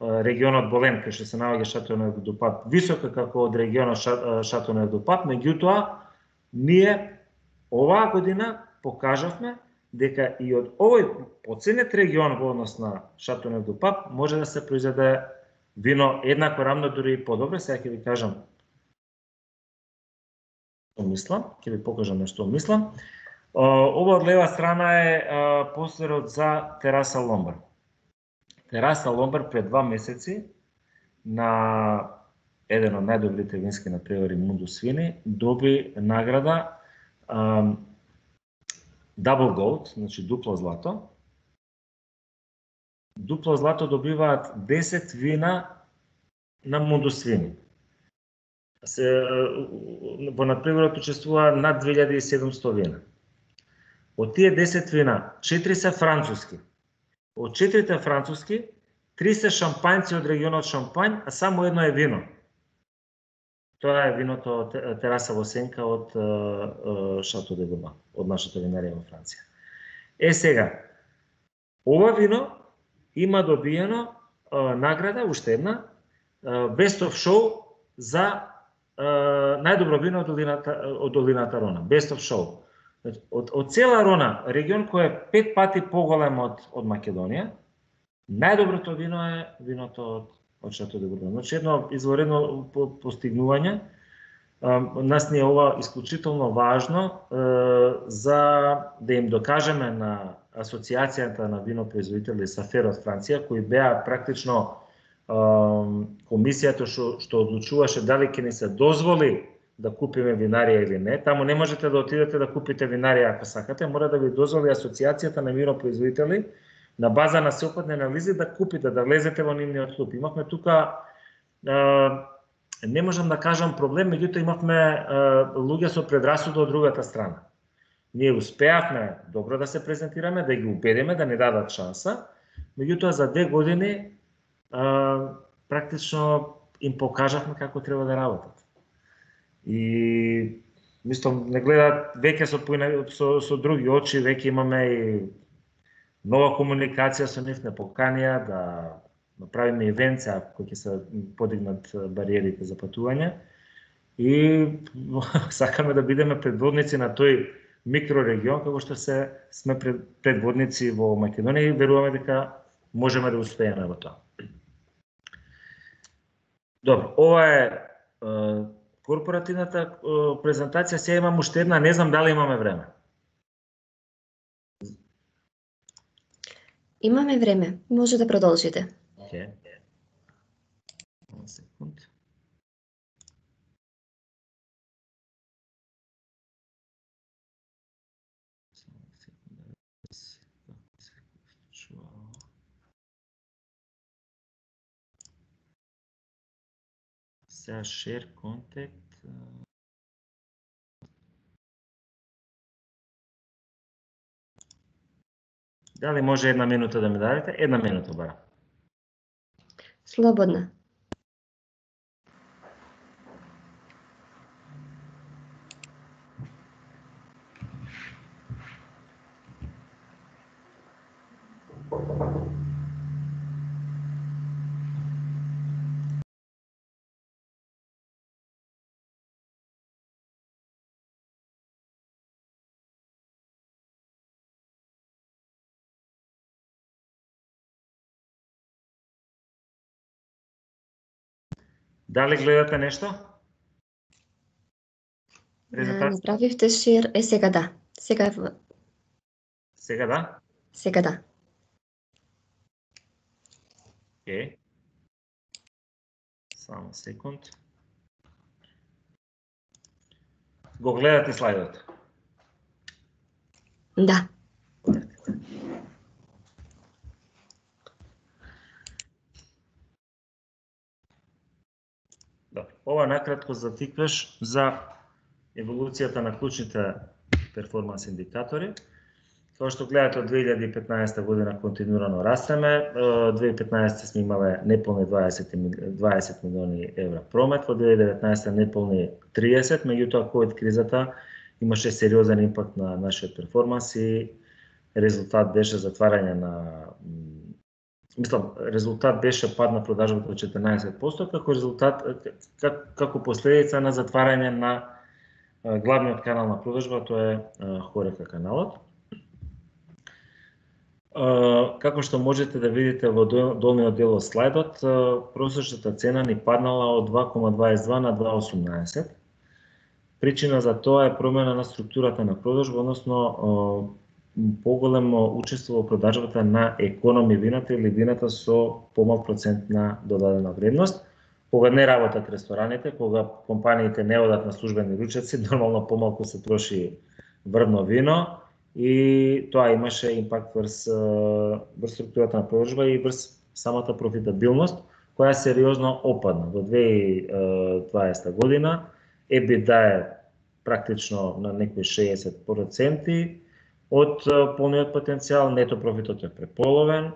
регионот Болен, кај што се наоѓа Шато де Пап, висока како од регионот Шато де Пап, меѓутоа ние оваа година покажавме дека и од овој поценет регион во однос на Шато де Пап може да се произведе вино еднакво рамно, дури и подобро. Сега ќе ви кажам што мислам, ќе ви покажам нешто мислам. Ова од лева страна е постерот за тераса Ломбар. Тераса Ломбард пред два месеци на еден од најдобрите вински надпревари Mundus Vini доби награда um, Double Gold, значи дупло злато. Дупло злато добиваат десет вина на Mundus Vini. Се, во надпреварот учествува над две илјади и седумсто вина. Од тие десет вина, четири се француски. Од четирите француски, три се шампањци од регионот Шампањ, а само едно е вино. Тоа е виното Тераса во сенка од Шато де Гоба, од нашата винарија во Франција. Е сега, ова вино има добиено награда, уште една, Best of Show за најдобро вино од долината, од долината Рона. Best of Show. Од, од цела Рона, регион кој е пет пати поголем од, од Македонија, најдоброто вино е виното од, од Шато де Бургон. Значи едно изворедно постигнување. Нас ни е ова исклучително важно за да им докажеме на Асоциацијата на винопроизводители Сафер од Франција, кои беа практично комисијата што, што одлучуваше дали ќе ни се дозволи да купиме винарија или не. Таму не можете да отидете да купите винарија ако сакате, мора да ви дозволи Асоциацијата на винопроизводители на база на сеопфатни анализи да купите, да влезете во нивниот клуб. Имавме тука, не можам да кажам проблем, меѓутоа имавме луѓе со предрасуда од другата страна. Ние успеавме добро да се презентираме, да ги убедиме да ни дадат шанса, меѓутоа за две години практично им покажавме како треба да работат. И мислам, не гледаат веќе со, со, со други очи, веќе имаме и нова комуникација со нив, не поканија да направиме ивенца кои ќе се подигнат бариерите за патување и сакаме да бидеме предводници на тој микрорегион како што се сме предводници во Македонија и веруваме дека можеме да успееме во тоа. Добро, ова е корпоративната презентација. Сега имам уште една, не знам дали имаме време. Имаме време, може да продолжите. Океј. Една секунд. Сега share contact. Дали може една минута да ми дадете? Една минута бара. Слободна. Дали гледате нешто? Направивте шир, е сега да. Сега Сега да? Сега да. Океј. Само секунд. Го гледате слайдот? Да. Ова е накратко затикваш за еволуцијата на клучните перформанс индикатори. Тоа што гледате од две илјади и петнаесета година континуирано растеме. две илјади и петнаесета сме имале неполни дваесет милиони евра промет, во две илјади и деветнаесета неполни триесет, меѓутоа ковид кризата имаше сериозен импакт на нашиот перформанс и резултат беше затварање на Мислам, резултат беше пад на продажбата од четрнаесет проценти, како резултат, как, како последица на затварање на главниот канал на продажба, тоа е Хорека каналот. Како што можете да видите во долниот дел од слайдот, просечната цена ни паднала од два кома дваесет и два на два осумнаесет. Причина за тоа е промена на структурата на продажба, односно поголемо учество во продажбата на економи вината или вината со помал процент на додадена вредност. Кога не работат рестораните, кога компаниите не одат на службени ручеци, нормално помалку се троши врвно вино и тоа имаше импакт врз, врз структурата на продажба и врз самата профитабилност, која сериозно опадна. Во две илјади и дваесета година ебида е практично на некои шеесет проценти од полниот потенцијал, нето профитот е преполовен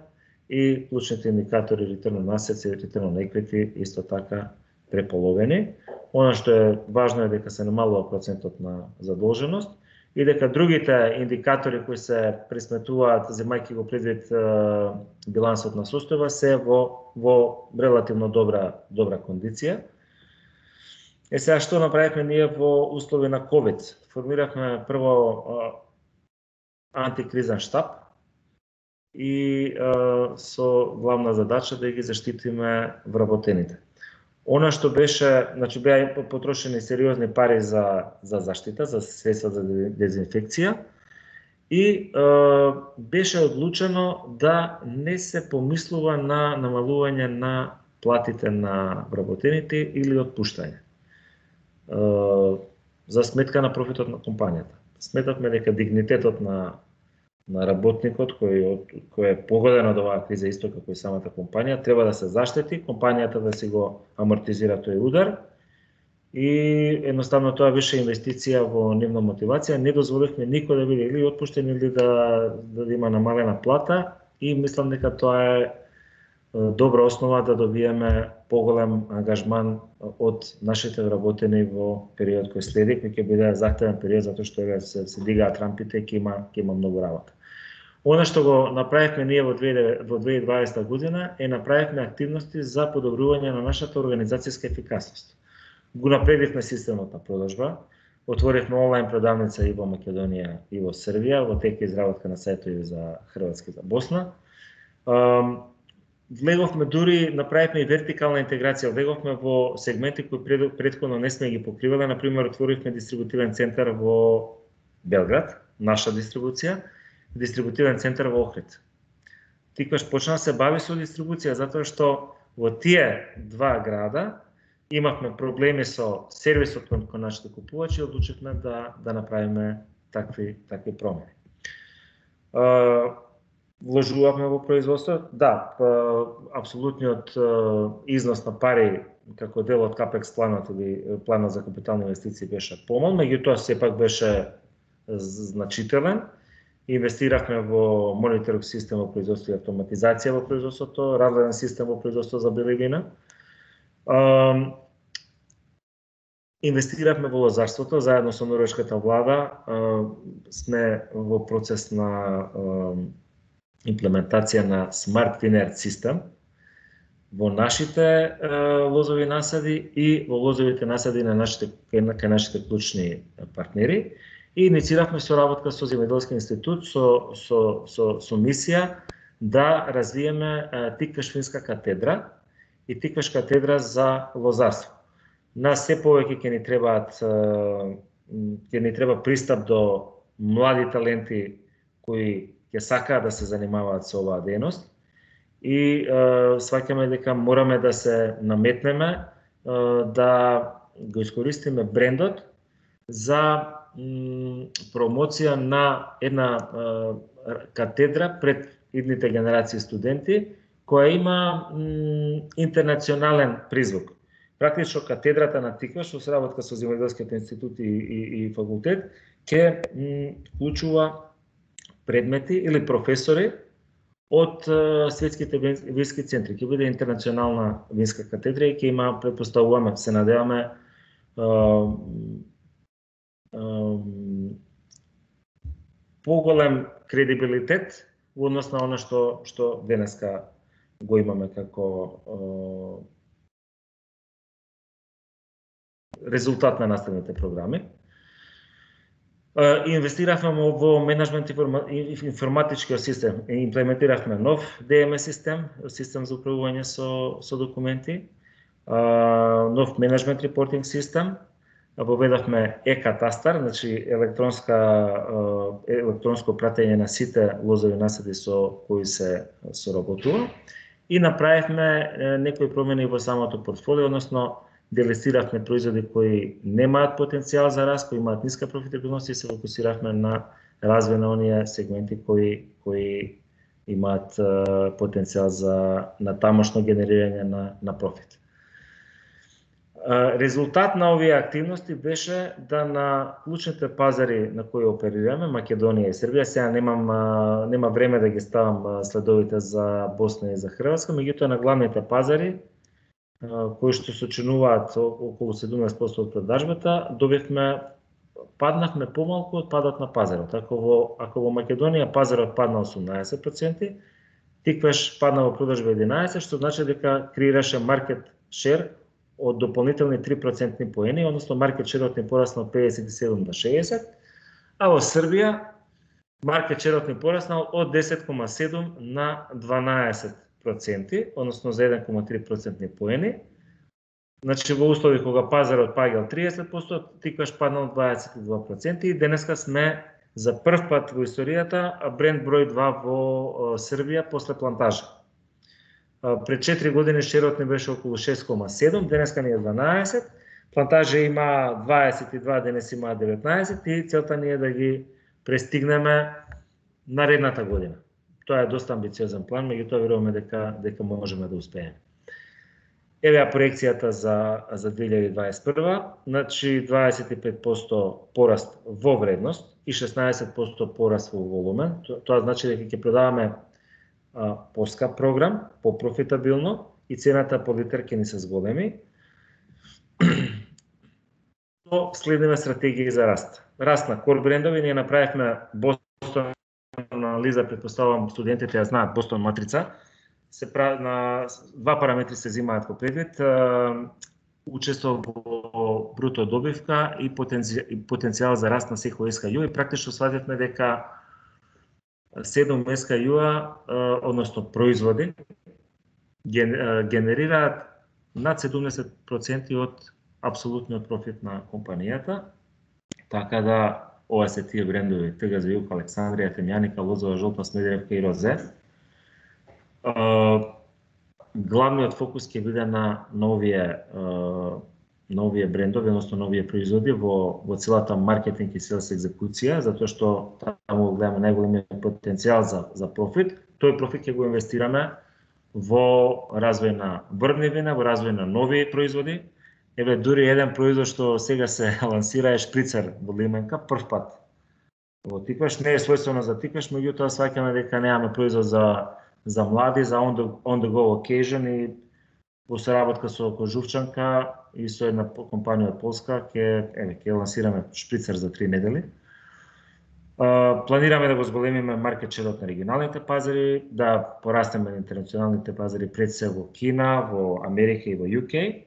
и клучните индикатори return on assets и return on equity исто така преполовени. Она што е важно е дека се намалува процентот на задолженост и дека другите индикатори кои се присметуваат, земајќи го предвид билансот на состојба, се во, во релативно добра, добра кондиција. Е сега што направивме ние во услови на ковид? Формиравме прво антикризен штаб и а, со главна задача да ги заштитиме вработените. Она што беше, значи беа потрошени сериозни пари за за заштита, за средства за дезинфекција и а, беше одлучено да не се помислува на намалување на платите на вработените или отпуштање а, за сметка на профитот на компанијата. Сметавме дека дигнитетот на на работникот кој кој е погоден од оваа криза исто како и самата компанија треба да се заштити, компанијата да си го амортизира тој удар и едноставно тоа беше инвестиција во нивна мотивација. Не дозволивме никој да биде или отпуштен или да да има намалена плата и мислам дека тоа е добра основа да добиеме поголем ангажман од нашите вработени во период кој следи, кој ќе биде захтевен период затоа што се, се дигаат рампите и ќе има ќе има многу работа. Она што го направивме ние во две илјади и дваесета година е направивме активности за подобрување на нашата организацијска ефикасност. Го напредивме системот на продажба, отворивме онлайн продавница и во Македонија и во Србија, во тек изработка на сајтови за Хрватска и за Босна. Влеговме дури, направивме и вертикална интеграција, влеговме во сегменти кои пред, предходно не сме ги покривале, например отворивме дистрибутивен центар во Белград, наша дистрибуција, дистрибутивен центар во Охрид. Тикваш почна да се бави со дистрибуција затоа што во тие два града имавме проблеми со сервисот кон нашите купувачи и одлучивме да да направиме такви такви промени. Вложувавме во производство, да, апсолутниот износ на пари како дел од капекс планот или планот за капитални инвестиции беше помал, меѓутоа сепак беше значителен. Инвестиравме во мониторинг систем во производство и автоматизација во производството, разгледен систем во производство за бели вина. Инвестиравме во лозарството, заедно со норвешката влада сме во процес на имплементација на Smart Vineyard систем во нашите лозови насади и во лозовите насади на нашите кај нашите клучни партнери. И иницииравме соработка со Земјоделски институт со со со со мисија да развиеме тиквеш винска катедра и тиквеш катедра за лозарство. Нас се повеќе ќе ни требаат ќе ни треба пристап до млади таленти кои ќе сакаат да се занимаваат со оваа дејност и сваќаме дека мораме да се наметнеме да го искористиме брендот за промоција на една катедра пред идните генерации студенти која има интернационален призвук. Практично катедрата на Тикваш во соработка со Земјоделскиот институт и, и, и факултет ќе вклучува предмети или професори од светските вински центри. Ќе биде интернационална винска катедра и ќе има, претпоставуваме, се надеваме, поголем кредибилитет во однос на она што што денеска го имаме како резултат на наставните програми. Инвестиравме во менеджмент информатичкиот систем, имплементиравме нов Д М С систем, систем за управување со со документи, нов менеджмент репортинг систем, воведовме е-катастар, значи електронска електронско пратење на сите лозови насади со кои се соработува и направивме некои промени во самото портфолио, односно делестиравме производи кои немаат потенцијал за раст, кои имаат ниска профитабилност и се фокусиравме на развој на оние сегменти кои кои имаат потенцијал за на тамошно генерирање на на профит. Резултат на овие активности беше да на клучните пазари на кои оперираме, Македонија и Србија, сега немам нема време да ги ставам следовите за Босна и за Хрватска, меѓутоа на главните пазари кои што сочинуваат околу седумнаесет проценти од продажбата, добивме паднавме помалку од падот на пазарот. Ако во ако во Македонија пазарот падна осумнаесет проценти, Тиквеш падна во продажба единаесет проценти, што значи дека креираше маркет шер од дополнителни три процентни поени, односно маркет шерот ни пораснал од педесет и седум до шеесет, а во Србија маркет шерот ни пораснал од десет кома седум на дванаесет проценти, односно за еден кома три процентни поени. Значи во услови кога пазарот паѓал триесет проценти, Тиквеш паднал дваесет и два проценти и денеска сме за прв пат во историјата бренд број два во Србија после Плантажа. Пред четири години шерот ни беше околу шест кома седум, денеска ни е дванаесет, Плантажа има дваесет и два, денес има деветнаесет и целта ни е да ги престигнеме наредната година. Тоа е доста амбициозен план, меѓутоа веруваме дека дека можеме да успееме. Еве ја проекцијата за за две илјади дваесет и прва, значи дваесет и пет проценти пораст во вредност и шеснаесет проценти пораст во волумен. Тоа значи дека ќе продаваме поскап програм, попрофитабилно и цената по литар ќе ни се зголеми. То следиме стратегија за раст. Раст на кор брендови, ние направивме Бостон анализа, предпоставувам студентите ја знаат, Бостон матрица. Се прави на два параметри се взимаат во предвид, учество во бруто добивка и потенцијал за раст на секој ес кей ю и практично свативме дека седум ес кей ю-а, односно производи, генерираат над седумдесет проценти од апсолутниот профит на компанијата, така да ова се тие брендови ТГ за Југ, Александрија, Темјаника, Лозова, Жолта, Смедеревка и Розе. Главниот фокус ќе биде на новие новие брендови, односно новие производи во во целата маркетинг и селс екзекуција, затоа што таму гледаме најголемиот потенцијал за за профит. Тој профит ќе го инвестираме во развој на врвни вина, во развој на нови производи. Еве дури еден производ што сега се лансира е шприцер во лименка, прв пат во Тиквеш, не е својствено за Тиквеш, меѓутоа сваќаме дека немаме производ за за млади, за on the, on the go occasion и во соработка со Кожувчанка и со една компанија од Полска ќе еве ќе лансираме шприцер за три недели. Uh, планираме да го зголемиме маркет шерот на регионалните пазари, да порастеме на интернационалните пазари пред се во Кина, во Америка и во ю кей.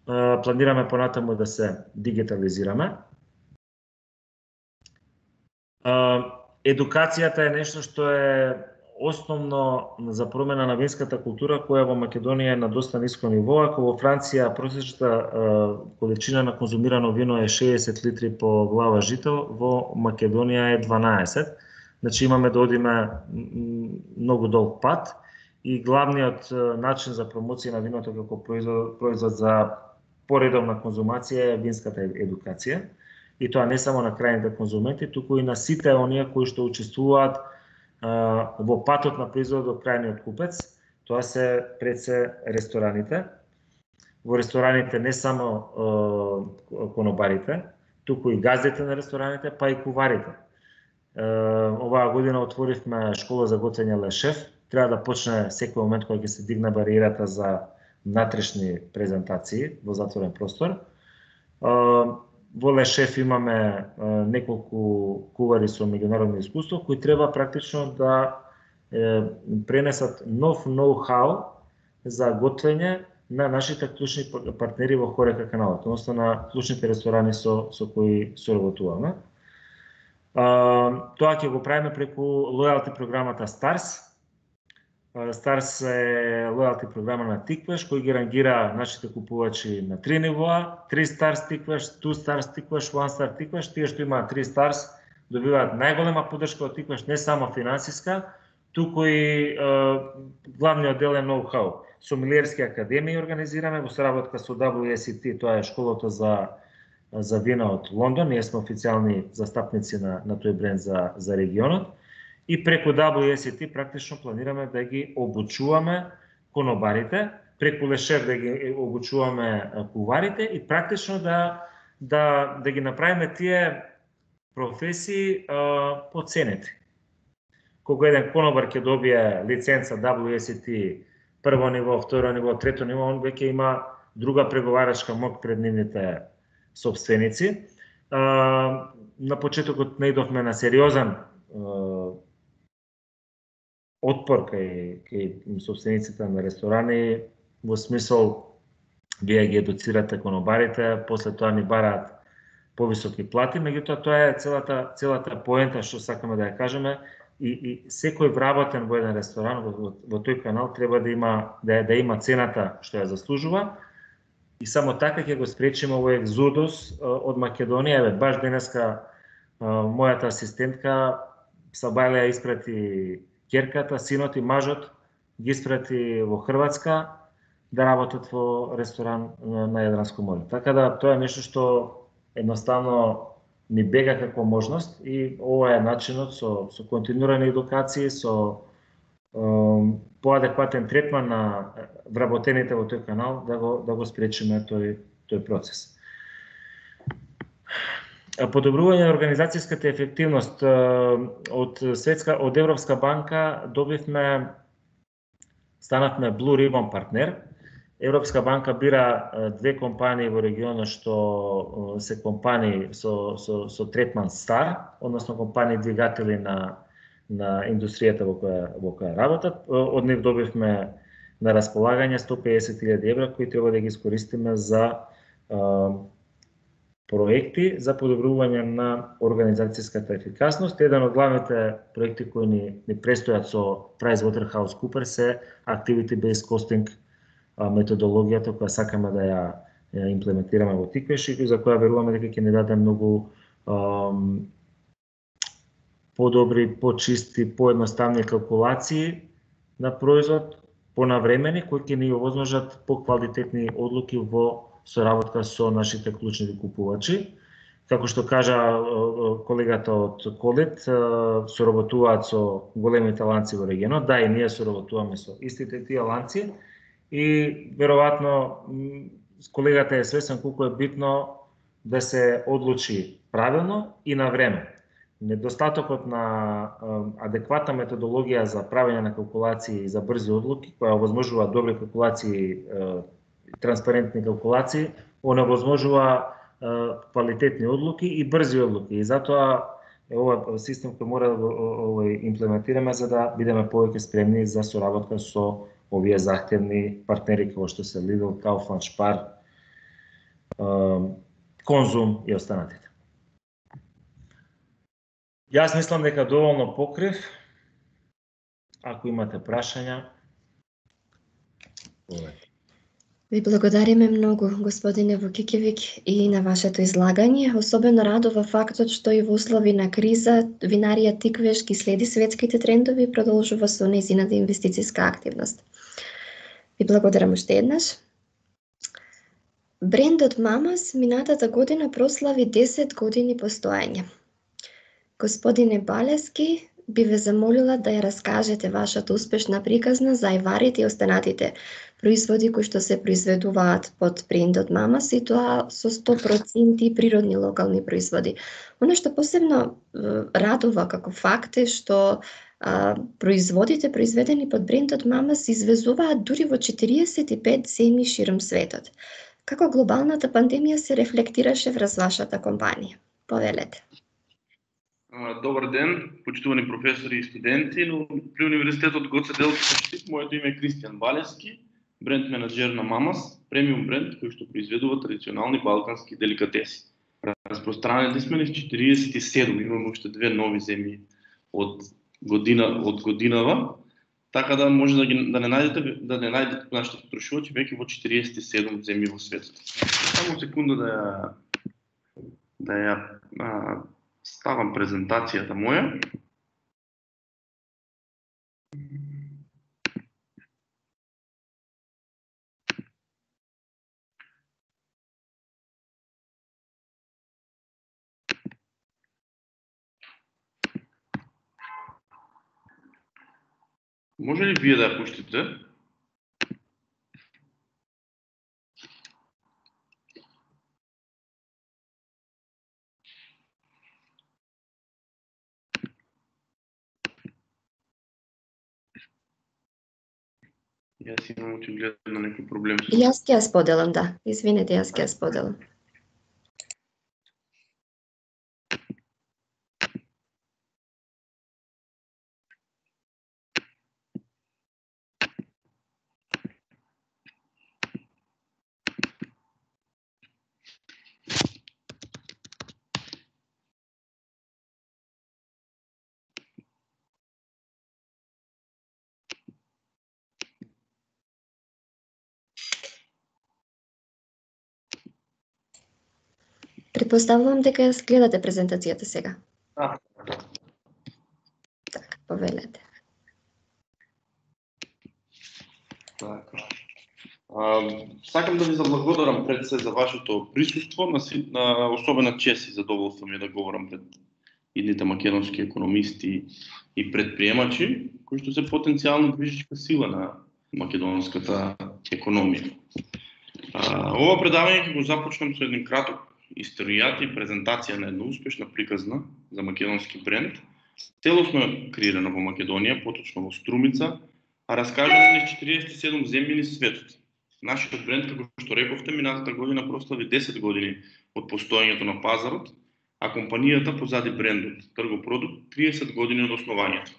Uh, планираме понатаму да се дигитализираме. Uh, едукацијата е нешто што е основно за промена на винската култура, која во Македонија е на доста ниско ниво. Ако во Франција просечната количина на конзумирано вино е шеесет литри по глава жител, во Македонија е дванаесет. Значи имаме да одиме многу долг пат и главниот начин за промоција на виното како производ, производ за поредовна конзумација е винската едукација. И тоа не само на крајните конзументи, туку и на сите оние кои што учествуваат во патот на производот до крајниот купец. Тоа се пред се рестораните. Во рестораните не само конобарите, туку и газдите на рестораните, па и куварите. Оваа година отворивме школа за готвење ле шеф. Треба да почне секој момент кога ќе се дигне бариерата за внатрешни презентации во затворен простор. Во ле шеф имаме неколку кувари со меѓународно искуство кои треба практично да е, пренесат нов ноу-хау за готвење на нашите клучни партнери во Хорека каналот, односно на клучните ресторани со со кои соработуваме. Тоа ќе го правиме преку лојалти програмата Старс. Старс е лојалти програма на Тиквеш, кој ги рангира нашите купувачи на три нивоа, три Stars Тиквеш, two Stars Тиквеш, one Star Тиквеш. Тие што имаат три Stars добиваат најголема поддршка од Тиквеш, не само финансиска, туку и е, главниот дел е ноу-хау. Сомелиерски академии организираме во соработка со дабл ю ес и ти, тоа е школата за за вина од Лондон. Ние сме официјални застапници на на тој бренд за за регионот. И преку дабл ю ес и ти практично планираме да ги обучуваме конобарите, преку Лешев да ги обучуваме куварите и практично да да да ги направиме тие професии а, поценети. Кога еден конобар ќе добие лиценца дабл ю ес и ти прво ниво, второ ниво, трето ниво, он веќе има друга преговарачка моќ пред нивните собственици. А, на почетокот наидовме на сериозен а, отпор кај, кај собствениците на ресторани, во смисол вие ги едуцирате конобарите, после тоа ни бараат повисоки плати, меѓутоа тоа е целата целата поента што сакаме да ја кажеме, и, и секој вработен во еден ресторан во, во, во тој канал треба да има да, да има цената што ја заслужува, и само така ќе го спречиме овој екзодус од Македонија. Еве баш денеска мојата асистентка Сабајле ја испрати ќерката, синот и мажот ги испрати во Хрватска да работат во ресторан на Јадранско море. Така да тоа е нешто што едноставно ни бега како можност, и ова е начинот со со континуирани едукации, со е, поадекватен третман на вработените во тој канал да го да го спречиме тој тој процес. Подобрување на организацијската ефективност од светска од Европска банка добивме станавме Blue Ribbon партнер. Европска банка бира две компании во регионот што се компании со со со третман Star, односно компании двигатели на на индустријата во која во која работат. Од нив добивме на располагање сто педесет илјади евра кои треба да ги искористиме за проекти за подобрување на организацијската ефикасност. Еден од главните проекти кои ни, ни престојат со PricewaterhouseCoopers е Activity Based Costing, методологијата која сакаме да ја, ја имплементираме во Тиквеш и за која веруваме дека ќе ни даде многу ам, подобри, почисти, поедноставни калкулации на производ, понавремени, кои ќе ни овозможат поквалитетни одлуки во соработка со нашите клучни купувачи. Како што кажа колегата од Колет, соработуваат со големите ланци во регионот. Да, и ние соработуваме со истите тие ланци и веројатно колегата е свесен колку е битно да се одлучи правилно и на време. Недостатокот на адекватна методологија за правење на калкулации и за брзи одлуки, која овозможува добри калкулации, транспарентни калкулации, оневозможува квалитетни одлуки и брзи одлуки. И затоа ова систем кој мора да го имплементираме за да бидеме повеќе спремни за соработка со овие захтевни партнери како што се Lidl, Kaufland, Spar, Konzum и останатите. Јас мислам дека доволно покрив. Ако имате прашања, ви благодариме многу, господине Вукикевик, и на вашето излагање. Особено радува фактот што и во услови на криза винарија Тиквеш ги следи светските трендови и продолжува со нејзината инвестицијска активност. Ви благодарам уште еднаш. Брендот Мамас минатата година прослави десет години постоење. Господине Балески, би ве замолила да ја раскажете вашата успешна приказна за ајварите и останатите производи кои што се произведуваат под брендот Мамас, и тоа со сто проценти природни локални производи. Оно што посебно радува како факт е што а, производите произведени под брендот Мамас извезуваат дури во четириесет и пет земји широм светот. Како глобалната пандемија се рефлектираше врз вашата компанија? Повелете. Добар ден, почитувани професори и студенти, но при Универзитетот Гоце Делчев, моето име е Кристијан Балески, бренд менеджер на Мамас, премиум бренд кој што произведува традиционални балкански деликатеси. Распространети сме низ четириесет и седум, имаме уште две нови земји од година од годинава, така да може да ги да не најдете да не најдете нашите потрошувачи веќе во четириесет и седум земји во светот. Само секунда да ја да ја а, ставам презентацијата моја. Може ли вие да ја пуштите? Јас имам очигледно некој проблем со... Јас ќе ја споделам, да. Извинете, јас ќе ја споделам. Предпоставувам дека ја гледате презентацијата сега. Да. Така, повелете. Така. А, сакам да ви заблагодарам пред се за вашето присуство, на, на особена чест и задоволство ми е да говорам пред идните македонски економисти и предприемачи, кои што се потенцијално движечка сила на македонската економија. А, ова предавање ќе го започнам со еден краток историјат и презентација на една успешна приказна за македонски бренд, целосно креирана во Македонија, поточно во Струмица, а раскажана низ четириесет и седум земји низ светот. Нашиот бренд, како што рековте, минатата година прослави десет години од постоењето на пазарот, а компанијата позади брендот Тргопродукт триесет години од основањето.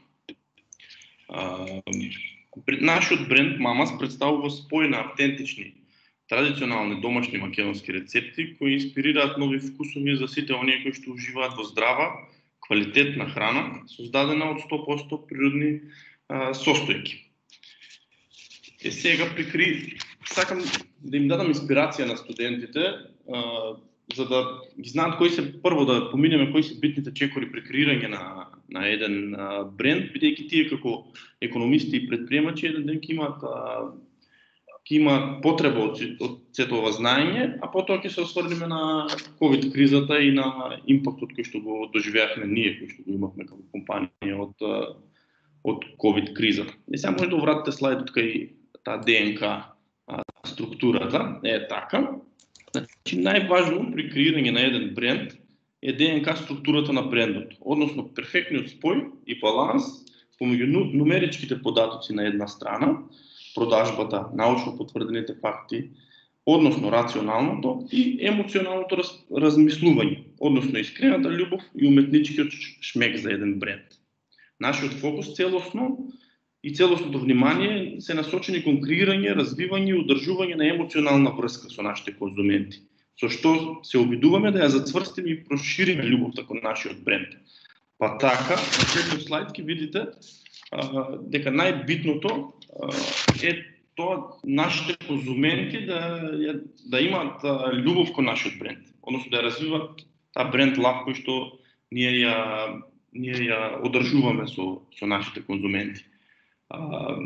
Нашиот бренд Мамас представува спој на автентични, традиционални домашни македонски рецепти кои инспирираат нови вкусови за сите оние кои што уживаат во здрава, квалитетна храна, создадена од сто проценти природни а, состојки. Е сега прикри сакам да им дадам инспирација на студентите, а, за да ги знаат кои се прво да поминеме кои се битните чекори при креирање на на еден а, бренд, бидејќи тие како економисти и предприемачи еден ден ќе имаат а, ќе има потреба од, од сето ова знаење, а потоа ќе се осврнеме на ковид кризата и на импактот кој што го доживеавме ние, кој што го имавме како компанија од од ковид кризата. И сега може да вратите слайдот кај таа ДНК структурата, е така. Значи најважно при креирање на еден бренд е ДНК структурата на брендот, односно перфектниот спој и баланс помеѓу нумеричките податоци на една страна, продажбата, научно потврдените факти, односно рационалното и емоционалното раз, размислување, односно искрената љубов и уметничкиот шмек за еден бренд. Нашиот фокус целосно и целосното внимание се насочени кон креирање, развивање и одржување на емоционална врска со нашите конзументи, со што се обидуваме да ја зацврстиме и прошириме љубовта кон нашиот бренд. Па така, на следниот слайд ќе видите а, дека најбитното а, е тоа нашите конзументи да, да имаат а, љубов кон нашиот бренд, односно да ја развиваат таа бренд лав кој што ние ја ние ја одржуваме со со нашите конзументи. А,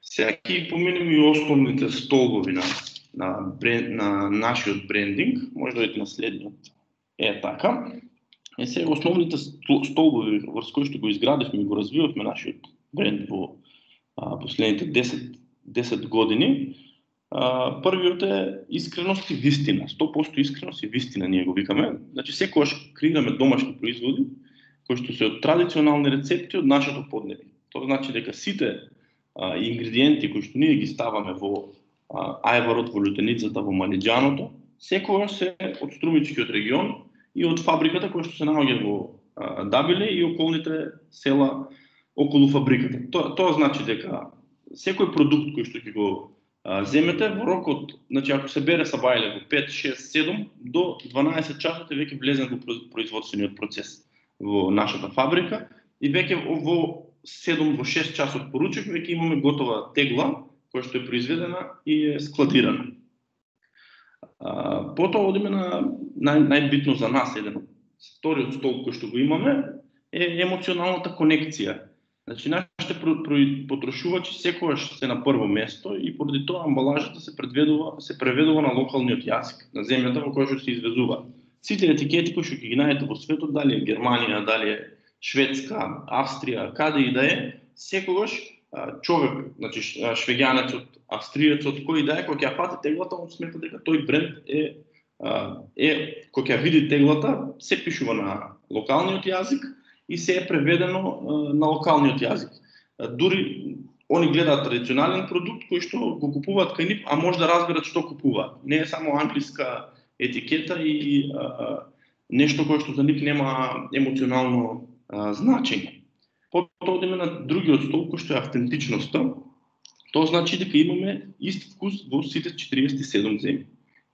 сега ќе поминеме и основните столбови на на бренд, на нашиот брендинг, може да видите на следниот. Е така. Е сега основните столбови врз кои што го изградивме и го развивавме нашиот бренд во а, последните десет години. А, првиот е искреност и вистина. сто проценти искреност и вистина ние го викаме. Значи секогаш креираме домашни производи кои што се од традиционални рецепти од нашето поднебје. Тоа значи дека сите а, ингредиенти кои што ние ги ставаме во а, ајварот, во лютеницата, во малиџаното, секогаш се од Струмичкиот регион и од фабриката која што се наоѓа во а, Дабиле и околните села околу фабриката. Тоа, тоа значи дека секој продукт кој што ќе го а, земете во рокот, значи ако се бере сабајле во пет, шест, седум до дванаесет часот е веќе влезен во производствениот процес во нашата фабрика и веќе во седум во шест часот поручек веќе имаме готова тегла која што е произведена и е складирана. А, потоа одиме на нај, најбитно за нас, еден вториот столб кој што го имаме е емоционалната конекција. Значи, нашите потрошувачи секогаш се на прво место и поради тоа амбалажата се преведува, се преведува на локалниот јазик, на земјата во која што се извезува. Сите етикети кои што ги најдете во светот, дали е Германија, дали е Шведска, Австрија, каде и да е, секогаш човек, значи швеѓанецот, австриецот, кој да е, кога ќе ја фати теглата, он смета дека тој бренд е е кога ќе види теглата, се пишува на локалниот јазик и се е преведено на локалниот јазик. Дури они гледаат традиционален продукт кој што го купуваат кај нив, а може да разберат што купуваат. Не е само англиска етикета и а, нешто кое што за нив нема емоционално а, значење. Потоа одиме на другиот столб кој што е автентичноста. Тоа значи дека имаме ист вкус во сите четириесет и седум земји.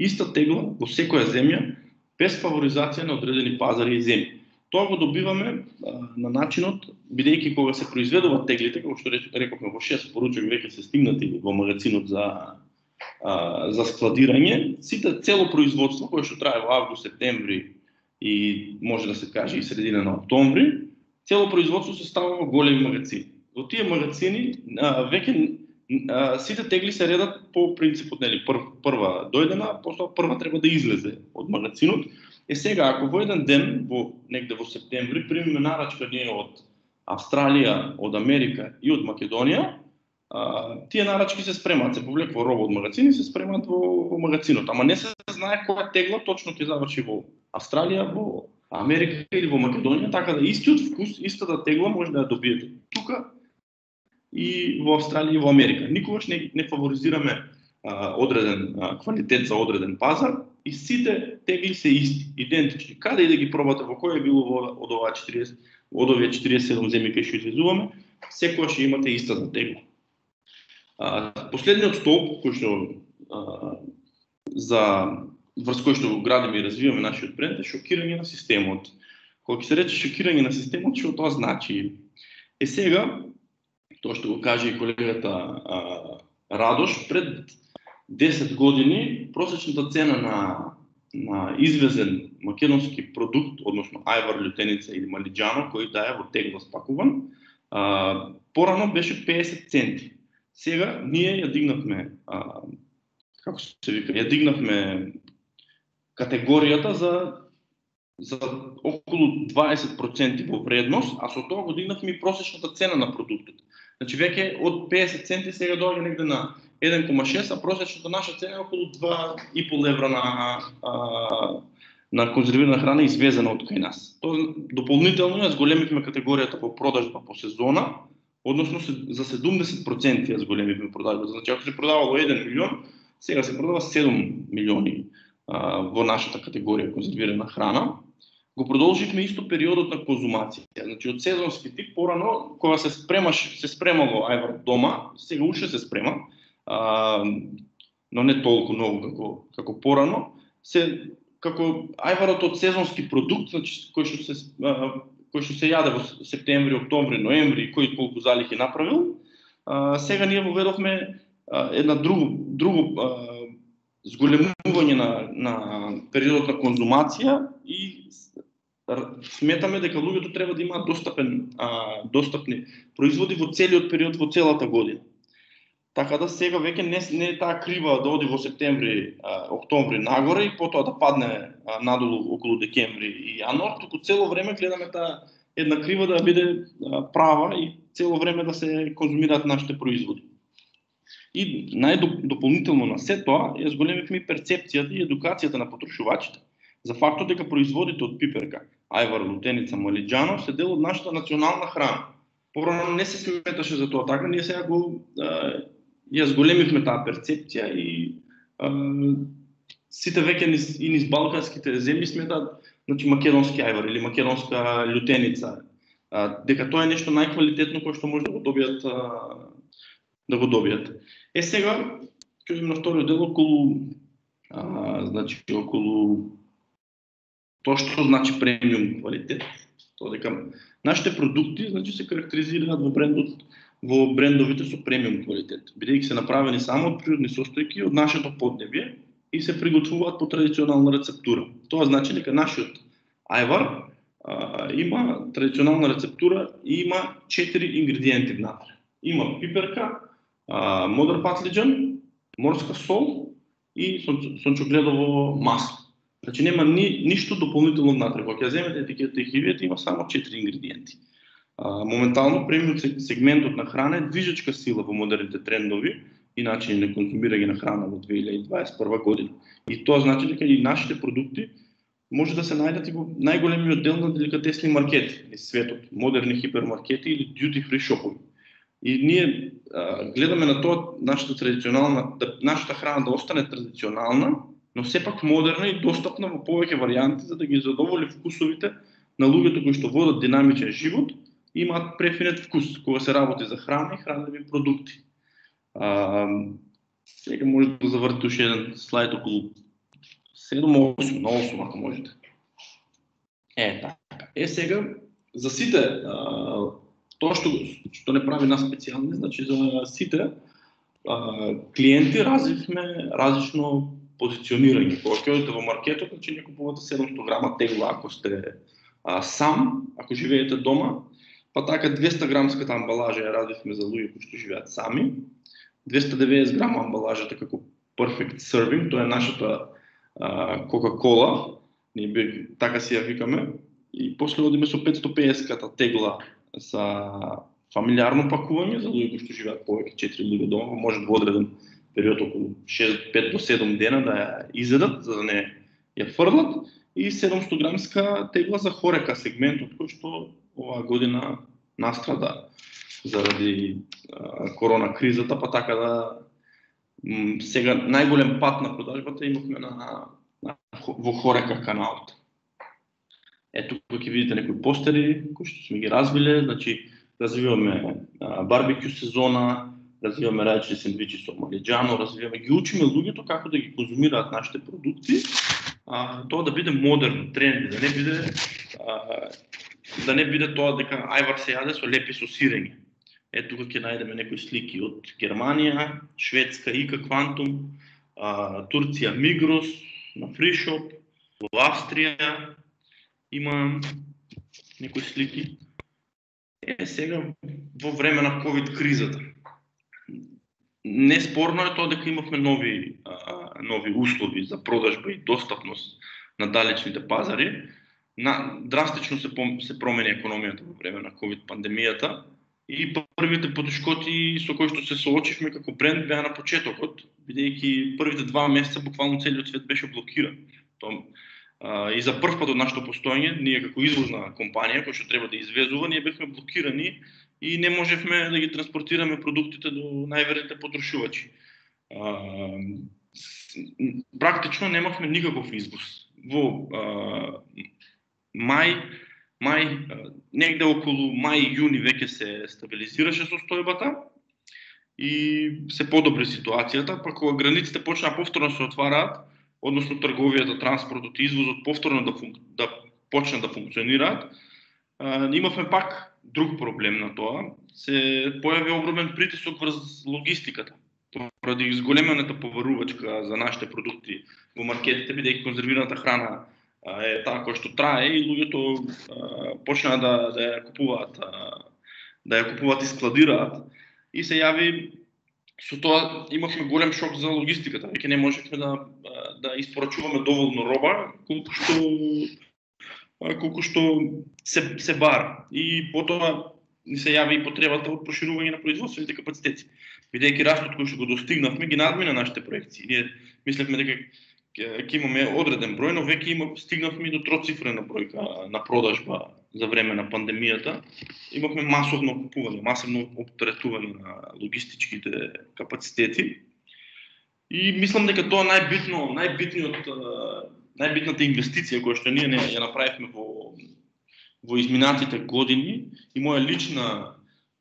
Иста тегла во секоја земја без фаворизација на одредени пазари и земји. Тоа го добиваме а, на начинот, бидејќи кога се произведуваат теглите, како што рековме во шест поручек веќе се стигнати во магазинот за а, за складирање, сите цело производство кое што трае во август, септември и може да се каже и средина на октомври, цело производство се става во големи магазини. Во тие магазини а, веќе а, сите тегли се редат по принципот, нели, пр, прва дојдена, после прва треба да излезе од магазинот. Е сега, ако во еден ден, во негде во септември, примиме нарачка ние од Австралија, од Америка и од Македонија, а, тие нарачки се спремаат, се повлекува роба од магазини, се спремаат во, во магазинот. Ама не се знае која тегла точно ќе заврши во Австралија, во Америка или во Македонија, така да истиот вкус, истата тегла може да ја добиете тука и во Австралија и во Америка. Никогаш не, не фаворизираме а, одреден а, квалитет за одреден пазар и сите тегли се исти, идентични. Каде и да ги пробате, во кој е било во, од оваа четириесет, од овие четириесет и седум земји кај што извезуваме, секогаш имате истата тегла. А, последниот столб кој што а, за врз кој што го градиме и развиваме нашиот бренд е шокирање на системот. Кога ќе се рече шокирање на системот, што тоа значи? Е сега, тоа што го каже и колегата а, Радош, пред десет години просечната цена на на извезен македонски продукт, односно ајвар, лютеница или малиџано, кој да е во тегла спакуван, а, порано беше педесет центи. Сега ние ја дигнавме, а, како се вика, ја дигнавме категоријата за за околу дваесет проценти во вредност, а со тоа го дигнавме и просечната цена на продуктот. Значи веќе од педесет центи сега доаѓа негде на еден кома шест, а просечната наша цена е околу два и пол евра на а, на конзервирана храна извезена од кај нас. Тоа дополнително ја зголемивме категоријата по продажба по сезона, односно за седумдесет проценти ја зголемивме продажбата. Значи ако се продавало еден милион, сега се продава седум милиони а, во нашата категорија конзервирана храна. Го продолживме исто периодот на конзумација. Значи од сезонски тип порано кога се спремаш, се спремало ајвар дома, сега уште се спрема, а, но не толку многу како како порано, се како ајварот од сезонски продукт, значи кој што се а, кој што се јаде во септември, октомври, ноември, кој колку залих е направил, а, сега ние воведовме а, една друго друго а, зголемување на на периодот на конзумација и сметаме дека луѓето треба да имаат достапен а, достапни производи во целиот период, во целата година. Така да сега веќе не, не е таа крива да оди во септември, а, октомври нагоре и потоа да падне а, надолу околу декември и јануар, туку цело време гледаме таа една крива да биде а, права и цело време да се конзумираат нашите производи. И најдополнително на се тоа ја зголемивме перцепцијата и едукацијата на потрошувачите за фактот дека производите од пиперка, ајвар, лутеница, малиџано се дел од нашата национална храна. Порано не се сметаше за тоа така, ние сега го а, ја зголемивме таа перцепција и а, сите веќе низ, и низ балканските земји сметаат, значи македонски ајвар или македонска лютеница, а, дека тоа е нешто најквалитетно кое што може да го добијат а, да го добијат. Е сега ќе идем на вториот дел околу а, значи околу тоа што значи премиум квалитет. Тоа дека нашите продукти, значи, се карактеризираат во брендот, во брендовите со премиум квалитет, бидејќи се направени само од природни состојки од нашето поднебје и се приготвуваат по традиционална рецептура. Тоа значи дека нашиот ајвар а, има традиционална рецептура и има четири ингредиенти внатре. Има пиперка, а, модр патлиџан, морска сол и сончогледово масло. Значи нема ни, ништо дополнително внатре. Кога ќе земете етикетата и ќе видите, има само четири ингредиенти. А, моментално премиум сегментот на храна е движечка сила во модерните трендови и начини на конзумирање на храна во две илјади дваесет и прва година. И тоа значи дека и нашите продукти може да се најдат и во најголемиот дел на деликатесни маркети низ светот, модерни хипермаркети или duty free шопови. И ние а, гледаме на тоа нашата традиционална, да, нашата храна да остане традиционална, но сепак модерна и достапна во повеќе варијанти за да ги задоволи вкусовите на луѓето кои што водат динамичен живот и имаат префинет вкус кога се работи за храна и хранливи продукти. А, сега може да завртите уште еден слайд околу седум-осум, на осум ако можете. Е, така. Е, сега, за сите, а, тоа што, што не прави нас специјални, значи за сите а, клиенти развивме различно позиционирање. Кога ќе одите во маркетот, значи не купувате седумстотини грама тегла ако сте а, сам, ако живеете дома, па така двеста грамската амбалажа ја развивме за луѓе кои што живеат сами, двеста и деветдесет грама амбалажата како Perfect Serving, тоа е нашата Кока-кола, ние би, така си ја викаме, и после одиме со петстотини и педесет тегла за фамилиарно пакување, за луѓе кои што живеат повеќе четири луѓе дома, може во одреден период околу пет до седум дена да ја изедат, за да не ја фрлат, и седумстотини грамска тегла за хорека сегментот кој што оваа година настрада заради а, корона кризата, па така да м, сега најголем пат на продажбата имавме на, на, во хорека каналот. Ето тука ќе видите некои постери кои што сме ги развиле, значи развиваме а, барбекю сезона, развиваме различни сендвичи со малиџано, развиваме, ги учиме луѓето како да ги конзумираат нашите продукти, а, тоа да биде модерно, тренди, да не биде а, да не биде тоа дека ајвар се јаде со лепи со сирење. Ето тука ќе најдеме некои слики од Германија, Шведска Ика Квантум, а, Турција Мигрос, на Фришоп, во Австрија има некои слики. Е, сега во време на ковид кризата. Неспорно е тоа дека имавме нови, а, нови услови за продажба и достапност на далечните пазари. На, драстично се, се промени економијата во време на ковид пандемијата и првите потешкоти со кои што се соочивме како бренд беа на почетокот, бидејќи првите два месеца буквално целиот свет беше блокиран. Тоа, а, и за прв пат од нашето постоење, ние како извозна компанија која што треба да извезува, ние бевме блокирани и не можевме да ги транспортираме продуктите до најверните потрошувачи. А, практично немавме никаков извоз. Во а, мај, мај, негде околу мај-јуни веќе се стабилизираше состојбата и се подобри ситуацијата, па кога границите почнаа повторно се отвараат, односно трговијата, транспортот и извозот повторно да, функ... да почнат да функционираат, а, имавме пак друг проблем на тоа. Се појави огромен притисок врз логистиката, поради изголемената поварувачка за нашите продукти во маркетите, бидејќи конзервираната храна е таа која што трае и луѓето почнаа да, да ја купуваат, да ја купуваат и складираат. И се јави, со тоа имавме голем шок за логистиката, веќе не можевме да, да испорачуваме доволно роба, колку што, колку што се, се бара. И потоа ни се јави и потребата од проширување на производствените капацитети. Бидејќи растот кој што го достигнавме ги надмина нашите проекции. Ние мислевме дека ќе имаме одреден број, но веќе има, стигнавме до троцифрена бројка на продажба за време на пандемијата. Имавме масовно купување, масовно оптеретување на логистичките капацитети. И мислам дека тоа најбитно, најбитниот, најбитната инвестиција која што ние ја направивме во во изминатите години и моја лична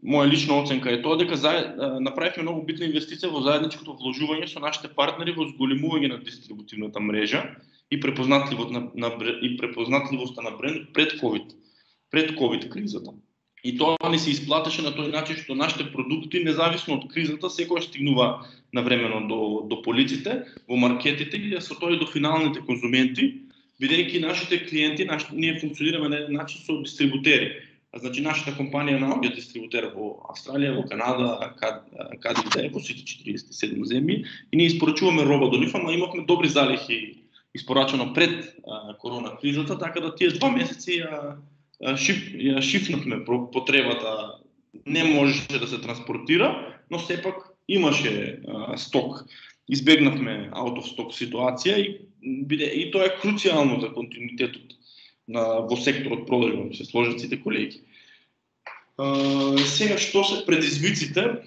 Моја лична оценка е тоа дека заед, направивме многу битна инвестиција во заедничкото вложување со нашите партнери во зголемување на дистрибутивната мрежа и препознатливост на, на и препознатливоста на бренд пред ковид пред ковид кризата. И тоа не се исплатеше на тој начин што нашите продукти, независно од кризата, секогаш стигнува навремено до, до полиците, во маркетите и со тоа и до финалните конзументи, бидејќи нашите клиенти, наш, ние функционираме на еден начин со дистрибутери. А, значи, нашата компанија наоѓа дистрибутер во Австралија, во Канада, каде и да е, во сите четириесет и седум земји, и ние испорачуваме роба до нив, ама имавме добри залихи испорачано пред а, корона кризата, така да тие два месеци ја Шиф, ја шифнахме потребата, не можеше да се транспортира, но сепак имаше а, сток. Избегнахме out of stock ситуација и, биде, и тоа е круцијално за континуитетот на, во секторот продажба, се сложат сите колеги. А, сега, што се предизвиците?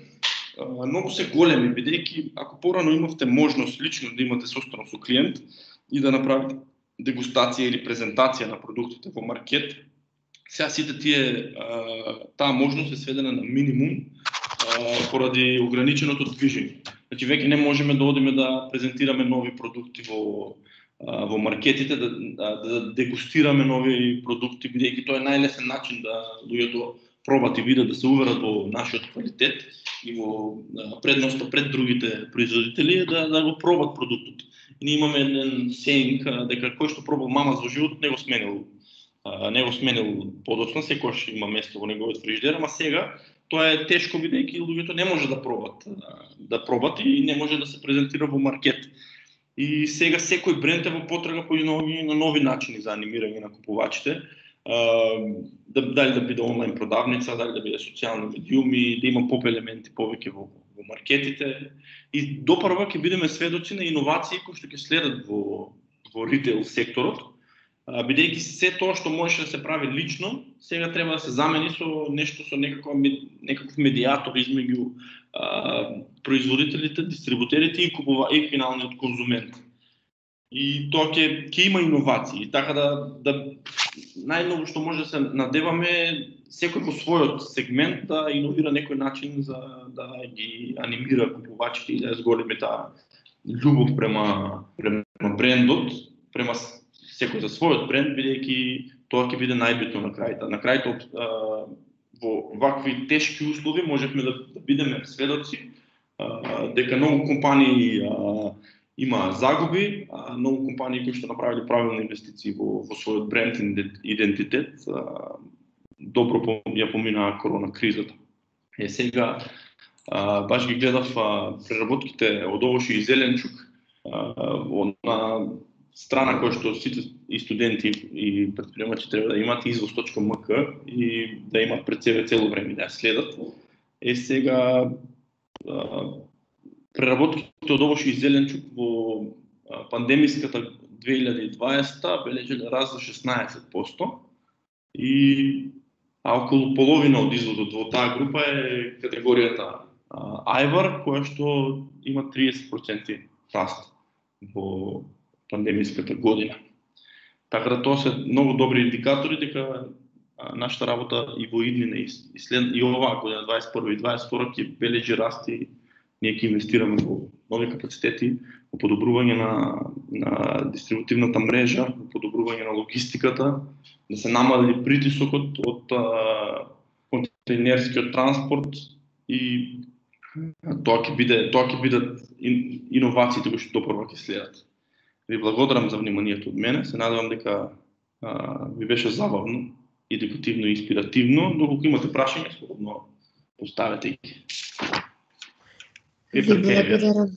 А, многу се големи, бидејќи ако порано имавте можност лично да имате состано со клиент и да направите дегустација или презентација на продуктите во маркет, сега сите тие, таа можност е сведена на минимум поради ограниченото движење. Значи, веќе не можеме да одиме да презентираме нови продукти во, во маркетите, да, да, да дегустираме нови продукти, бидејќи тоа е најлесен начин да луѓето пробат и видат, да се уверат во нашиот квалитет и во предноста пред другите производители е да, да го пробат продуктот. И ние имаме еден сеинг дека кој што пробал мамас во животот не го сменил не го сменил подоцна, секојаш има место во неговиот фрижидер, ама сега тоа е тешко бидејќи луѓето не може да пробат, да пробат и не може да се презентира во маркет. И сега секој бренд е во потрага по нови, на нови начини за анимирање на купувачите, да, дали да биде онлайн продавница, дали да биде социјални медиуми, да има поп елементи повеќе во, во маркетите. И допрва ќе бидеме сведоци на иновации кои што ќе следат во, во ритейл секторот, бидејќи се тоа што можеше да се прави лично, сега треба да се замени со нешто, со некаков, некаков медиатор измеѓу а, производителите, дистрибутерите и купува и финалниот конзумент. И тоа ќе ќе има иновации, така да да најмногу што може да се надеваме секој во својот сегмент да иновира некој начин за да ги анимира купувачите и да ја зголеми таа љубов према према брендот, према секој за својот бренд, бидејќи тоа ќе биде најбитно на крајта. На крајта во вакви тешки услови можевме да, да бидеме сведоци а, дека многу компании а, има загуби, а многу компании кои што направиле правилни инвестиции во, во својот бренд идентитет, а, добро ја поминаа корона кризата. Е сега а, баш ги гледав а, преработките од овошје и зеленчук а, на страна која што сите и студенти и претприемачи треба да имат извоз точка ем ка и да имат пред себе цело време да ја следат. Е сега а, преработките од овошје и зеленчук во а, пандемиската две илјади и дваесета бележеле раст за шеснаесет проценти и а околу половина од извозот во таа група е категоријата а, Ајвар, која што има триесет проценти раст во пандемиската година. Така да тоа се многу добри индикатори дека нашата работа и во иднина и след и оваа година дваесет и прва и дваесет и втора ќе бележи раст и ние ќе инвестираме во нови капацитети, во подобрување на на дистрибутивната мрежа, во подобрување на логистиката, да се намали притисокот од контейнерскиот транспорт и тоа ќе биде тоа ќе бидат иновациите кои што допрва ќе следат. Ви благодарам за вниманието од мене. Се надевам дека а, ви беше забавно, едукативно и инспиративно. Доколку имате прашања, слободно поставете ги. Ви благодарам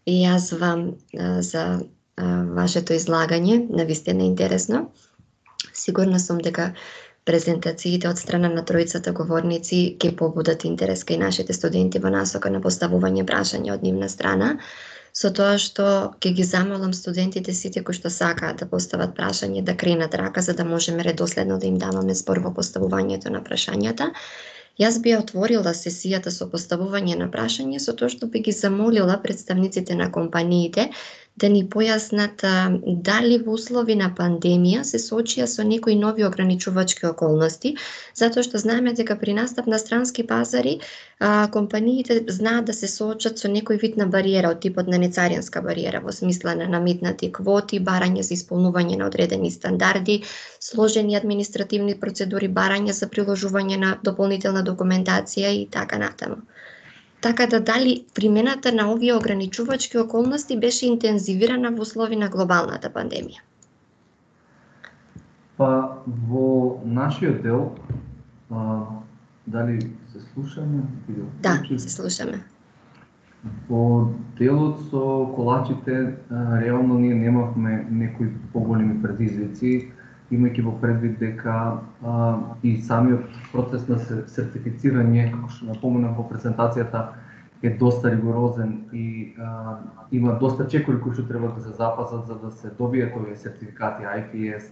и јас вам а, за а, вашето излагање, навистина интересно. Сигурна сум дека презентациите од страна на тројцата говорници ќе побудат интерес кај нашите студенти во насока на поставување прашања од нивна страна. Со тоа што ќе ги замолам студентите сите кои што сакаат да постават прашање да кренат рака за да можеме редоследно да им даваме збор во поставувањето на прашањата. Јас би отворила сесијата со поставување на прашање со тоа што би ги замолила представниците на компаниите да ни појаснат дали во услови на пандемија се соочија со некои нови ограничувачки околности, затоа што знаеме дека при настап на странски пазари компаниите знаат да се соочат со некој вид на бариера од типот на нецаринска бариера во смисла на наметнати квоти, барање за исполнување на одредени стандарди, сложени административни процедури, барање за приложување на дополнителна документација и така натаму. Така да дали примената на овие ограничувачки околности беше интензивирана во услови на глобалната пандемија? Па во нашиот дел, а, дали се слушаме? Да, се слушаме. Во делот со колачите, а, реално ние немавме некои поголеми предизвици, имајќи во предвид дека а, и самиот процес на сертифицирање, како што напоменав во презентацијата, е доста ригорозен и а, има доста чекори кои што треба да се запазат за да се добијат овие сертификати Ай Пи Ес,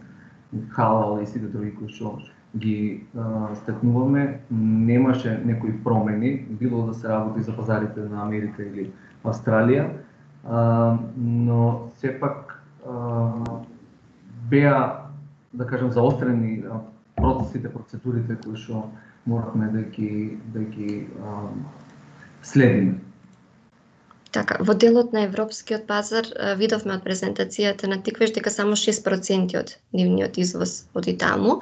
халал и сите други кои што ги а, стекнуваме. Немаше некои промени, било да се работи за пазарите на Америка или Австралија, а, но сепак а, беа, да кажем, заострени процесите, процедурите кои што моравме да ги да ги а, следиме. Така, во делот на европскиот пазар видовме од презентацијата на Тиквеш дека само шест проценти од нивниот извоз оди таму.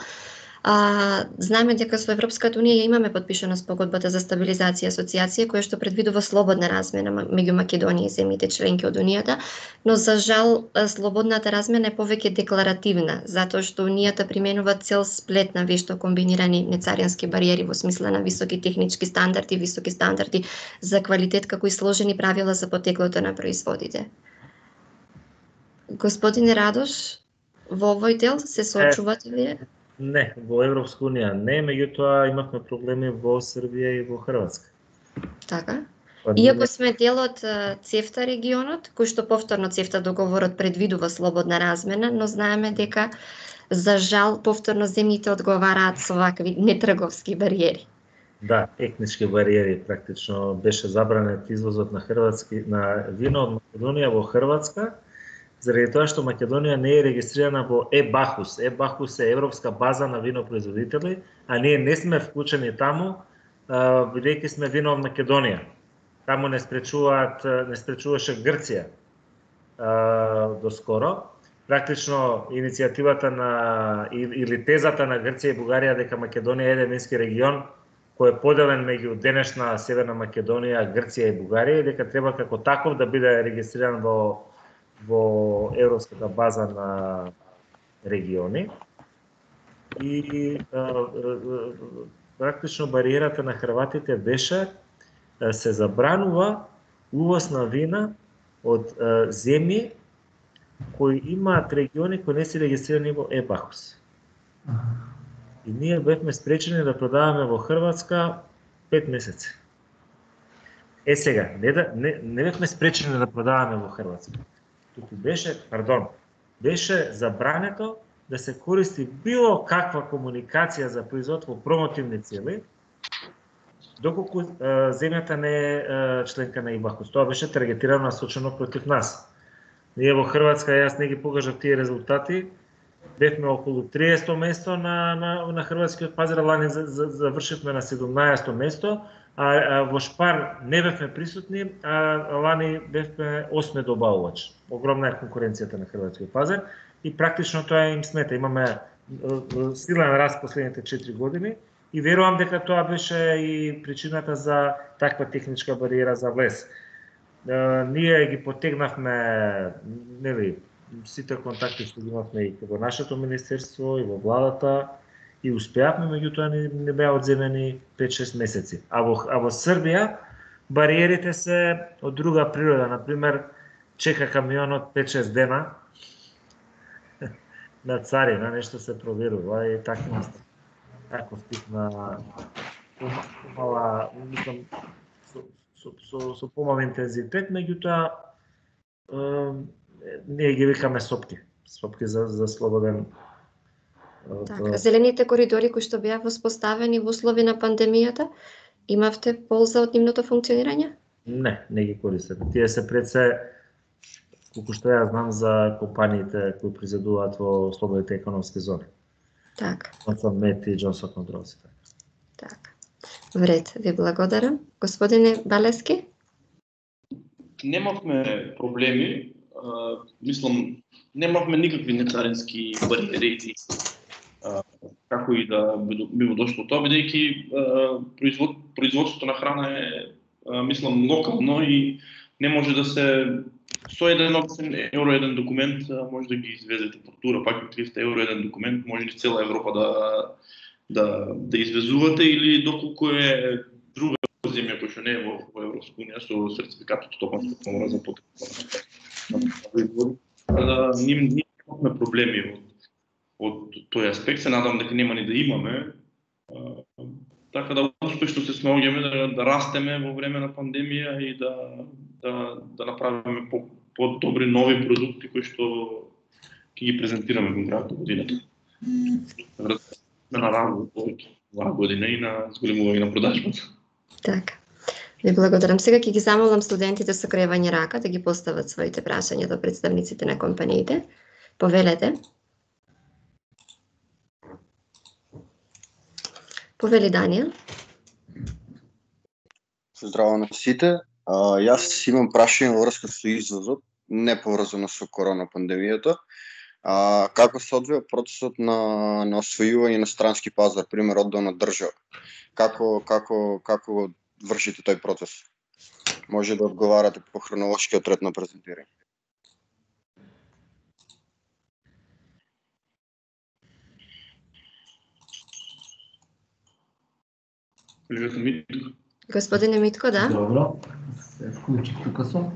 А, знаеме дека со Европската унија ја имаме подпишана спогодбата за стабилизација и асоциација која што предвидува слободна размена меѓу Македонија и земјите членки од унијата, но за жал слободната размена е повеќе декларативна, затоа што унијата применува цел сплет на вешто комбинирани нецарински бариери во смисла на високи технички стандарди, високи стандарди за квалитет, како и сложени правила за потеклото на производите. Господине Радош, во овој дел се соочувате вие? Не, во Европска унија не, меѓутоа имавме проблеми во Србија и во Хрватска. Така. Иако сме дел од ЦЕФТА регионот, кој што повторно ЦЕФТА договорот предвидува слободна размена, но знаеме дека за жал повторно земјите одговараат со вакви нетрговски бариери. Да, етнички бариери практично беше забранет извозот на хрватски на вино од Македонија во Хрватска, заради тоа што Македонија не е регистрирана во ЕБАХУС. ЕБАХУС е Европска база на винопроизводители, а ние не сме вклучени таму, бидејќи сме вино од Македонија. Таму не спречуваат, не спречуваше Грција доскоро. Практично иницијативата на или тезата на Грција и Бугарија дека Македонија е еден вински регион кој е поделен меѓу денешна Северна Македонија, Грција и Бугарија, дека треба како таков да биде регистриран во во Европската база на региони. И а, а, практично бариерата на хрватите беше да се забранува увоз на вина од а, земји кои имаат региони кои не се регистрирани во ЕБАХУС. И ние бевме спречени да продаваме во Хрватска пет месеци. Е сега, не, да, не, не бевме спречени да продаваме во Хрватска. Туку беше, пардон, беше забрането да се користи било каква комуникација за производ во промотивни цели, доколку е, земјата не е, е членка на ЕБАХУС. Тоа беше таргетирано насочено против нас. Ние во Хрватска, јас не ги покажав тие резултати, бевме околу триесетто место на, на, на хрватскиот пазар, лани завршивме на седумнаесетто место, а, а во Шпар не бевме присутни, а лани бевме осми добавувач. Огромна е конкуренцијата на хрватскиот пазар и практично тоа им смета. Имаме силен раст последните четири години и верувам дека тоа беше и причината за таква техничка бариера за влез. Ние ги потегнавме, нели, сите контакти што ги имавме и во нашето министерство и во владата и успеавме, меѓутоа не, не беа одземени пет-шест месеци. А во, а во Србија бариерите се од друга природа, например чека камионот пет-шест дена на царина, нешто се проверува и така таков тип на помала, мислам, со, со, со, со помал интензитет, меѓутоа ние ги викаме сопки, сопки за, за слободен. Така, зелените коридори кои што беа воспоставени во услови на пандемијата, имавте полза од нивното функционирање? Не, не ги користат. Тие се пред се колку што ја знам за компаниите кои произведуваат во слободните економски зони. Така. Джонсон Мет и Джонсон Контролс. Така. Вред, ви благодарам. Господине Балески? Немавме проблеми, а, мислам, немавме никакви нецарински бариери, а, како и да би му дошло тоа, бидејќи производ, производството на храна е, а, мислам, локално и не може да се со еден обичен евро еден документ може да ги извезете фактура, пак и триста евро еден документ, може низ цела Европа да да да извезувате или доколку е друга земја која што не е во, во Европска унија со сертификатот стопанска комора за потреба. Да ним немаме проблеми од од тој аспект, се надам дека нема ни да имаме. А, така да успешно се снаоѓаме да, да растеме во време на пандемија и да да да направиме по по-добри нови продукти кои што ќе ги презентираме во крајот на годината. На работа повеќе оваа година и на зголемување на продажбата. Така. Ви благодарам. Сега ќе ги замолам студентите со кревање рака да ги постават своите прашања до представниците на компаниите. Повелете. Повели Данијел. Здраво на сите. А, јас имам прашање во врска со извозот, не поврзано со корона пандемијата. А, како се одвива процесот на на освојување на странски пазар, пример одделна држава? Како како како вршите тој процес? Може да одговарате по хронолошкиот ред на презентирање. Господине Митко, да? Добро, се вклучи тука сум.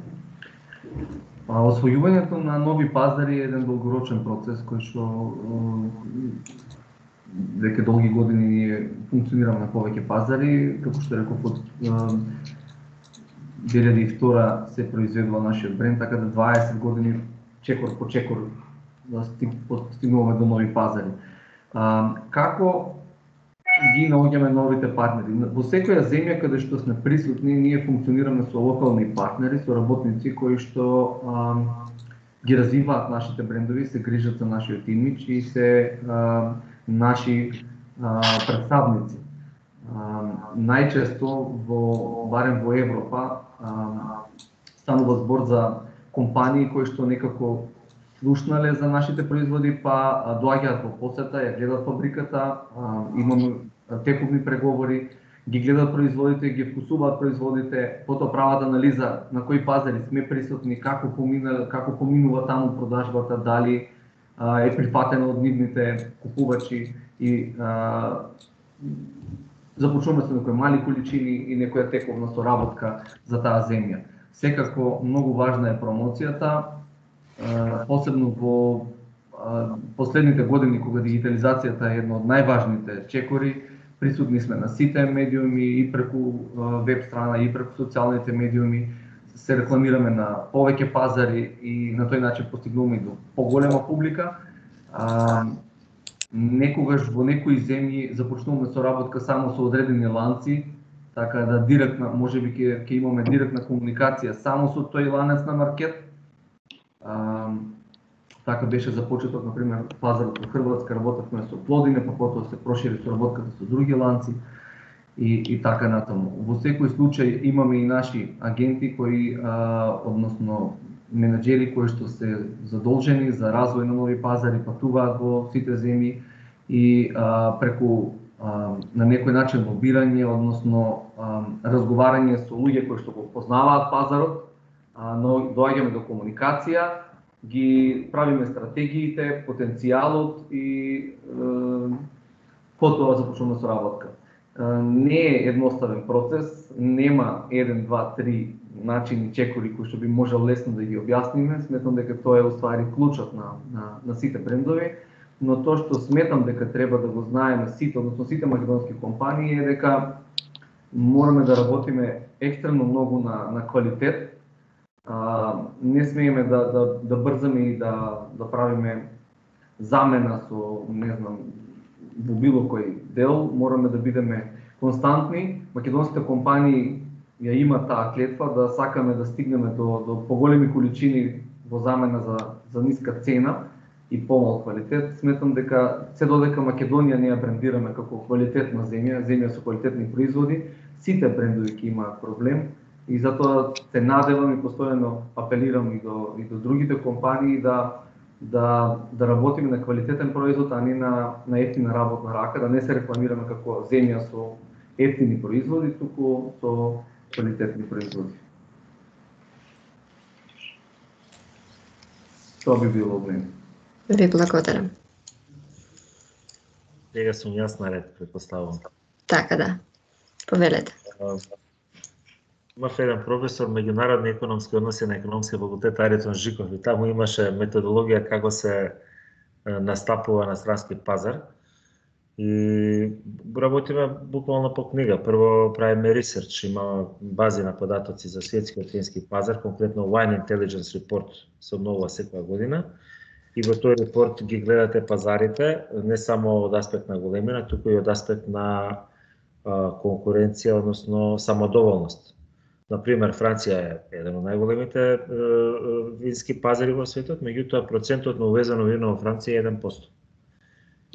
А, освојувањето на нови пазари е еден долгорочен процес кој што веќе долги години ние функционираме на повеќе пазари, како што реков од две илјади и втора се произведува нашиот бренд, така да дваесет години чекор по чекор да стигнуваме до нови пазари. А, како ги наоѓаме новите партнери? Во секоја земја каде што сме присутни, ние функционираме со локални партнери, со работници кои што а, ги развиваат нашите брендови, се грижат за нашиот имидж и се а, наши а, представници. А, најчесто во барем во Европа а, станува збор за компании кои што некако слушнале за нашите производи, па доаѓаат во посета, ја гледат фабриката, а, имаме тековни преговори, ги гледат производите, ги вкусуваат производите, потоа прават анализа на кои пазари сме присутни, како помина, како поминува таму продажбата, дали а, е прифатено од нивните купувачи и а, започнуваме со некои мали количини и некоја тековна соработка за таа земја. Секако многу важна е промоцијата, посебно во последните години кога дигитализацијата е една од најважните чекори, присутни сме на сите медиуми и преку веб страна и преку социјалните медиуми, се рекламираме на повеќе пазари и на тој начин постигнуваме и до поголема публика. А, некогаш во некои земји започнуваме соработка само со одредени ланци, така да директна, можеби ќе ќе имаме директна комуникација само со тој ланец на маркет. А, така беше започеток, например, пазарот во Хрватска, работевме со Плодине, па потоа се прошири соработката со други ланци и, и така натаму. Во секој случај имаме и наши агенти кои, а, односно менаџери кои што се задолжени за развој на нови пазари, патуваат во сите земји и а, преку а, на некој начин лобирање, односно а, разговарање со луѓе кои што го познаваат пазарот, а, но доаѓаме до комуникација, ги правиме стратегиите, потенцијалот и е, потоа започнуваме со работка. Е, не е едноставен процес, нема еден, два, три начини, чекори кои што би можел лесно да ги објасниме. Сметам дека тоа е уствари клучот на, на, на сите брендови, но тоа што сметам дека треба да го знаеме сите, односно сите македонски компании е дека мораме да работиме екстрено многу на, на квалитет. А, не смееме да, да, да брзаме и да, да правиме замена со, не знам, во било кој дел, мораме да бидеме константни. Македонските компании ја има таа клетва да сакаме да стигнеме до, до поголеми количини во замена за за ниска цена и помал квалитет. Сметам дека се додека Македонија не ја брендираме како квалитетна земја, земја со квалитетни производи, сите брендови ќе имаат проблем и затоа се надевам и постојано апелирам и до и до другите компании да да да работиме на квалитетен производ, а не на на ефтина работна рака, да не се рекламираме како земја со ефтини производи, туку со квалитетни производи. Тоа би било од мене. Ви благодарам. Сега сум јас наред, предпоставувам. Така да. Повелете. Имав еден професор меѓународни економски односи на економски факултет Аритон Жиков и таму имаше методологија како се настапува на странски пазар. И работиме буквално по книга. Прво правиме ресерч, има бази на податоци за светскиот фински пазар, конкретно Wine Intelligence Report се обновува секоја година. И во тој репорт ги гледате пазарите, не само од аспект на големина, туку и од аспект на конкуренција, односно самодоволност. Например, Франција е еден од најголемите вински пазари во светот, меѓутоа процентот на увезено вино во Франција е еден процент.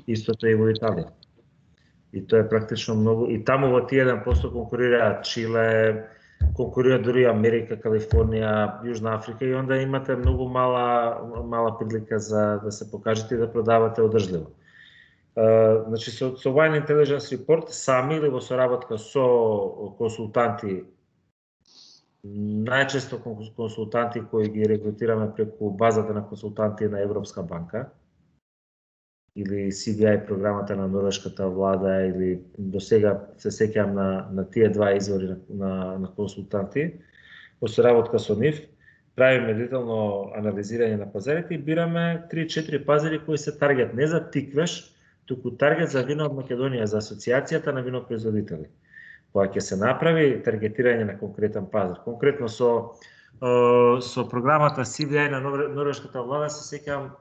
Истото е и во Италија. И тоа е практично многу. И таму во тие еден процент конкурираат Чиле, конкурира дури Америка, Калифорнија, Јужна Африка и онда имате многу мала мала прилика за да се покажете и да продавате одржливо. Uh, значи со, со Wine Intelligence Report сами или во соработка со консултанти, најчесто консултанти кои ги рекрутираме преку базата на консултанти на Европска банка или Си Ди Ај програмата на норвешката влада, или до сега се сеќавам на, на тие два извори на, на, на консултанти, во соработка со нив, правиме детално анализирање на пазарите и бираме три-четири пазари кои се таргет не за тиквеш, туку таргет за вино од Македонија, за асоциацијата на винопроизводители. Кога ќе се направи таргетирање на конкретен пазар, конкретно со со програмата Си Ди Ај на норвешката влада, се сеќавам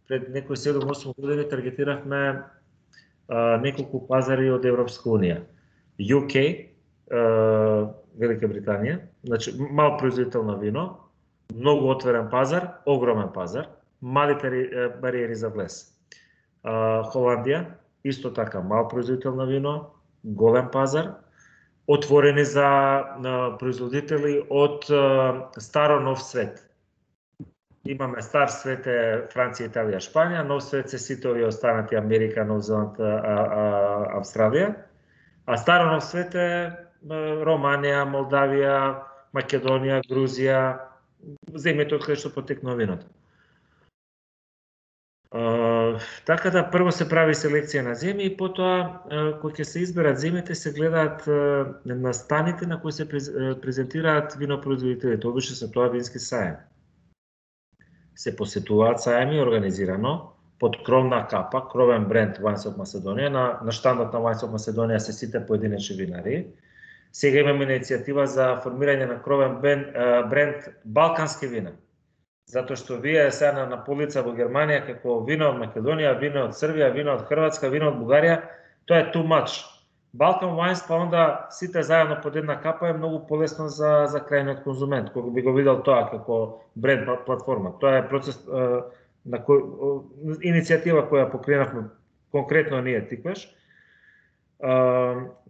пред некои седум-осум години таргетиравме а, неколку пазари од Европска унија. Ю Кеј, а, Велика Британија, значи мал производител на вино, многу отворен пазар, огромен пазар, мали бариери за влез. А, Холандија, исто така мал производител на вино, голем пазар, отворени за а, производители од а, старо нов свет. Имаме стар свет е Франција, Италија, Шпанија, нов свет се сите овие останати Америка, Нов Зеланд, Австралија, а старо нов свет е Романија, Молдавија, Македонија, Грузија, земјите од кај што потекнува виното. Uh, така да прво се прави селекција на земји и потоа uh, кога ќе се изберат земјите се гледаат uh, настаните на кои се презентираат винопроизводителите, обично се тоа вински саем. Се посетуваат саеми организирано под кровна капа, кровен бренд Wines of Macedonia, на, на штандот на Wines of Macedonia се сите поединечни винари. Сега имаме иницијатива за формирање на кровен бренд, uh, бренд балкански вина. Затоа што вие сега на, на полица во Германија како вино од Македонија, вино од Србија, вино од Хрватска, вино од Бугарија, тоа е too much. Balkan Wines па онда сите заедно под една капа е многу полесно за за крајниот конзумент, кој би го видел тоа како бренд платформа. Тоа е процес е, на кој е, иницијатива која покренавме конкретно ние Тиквеш. Е,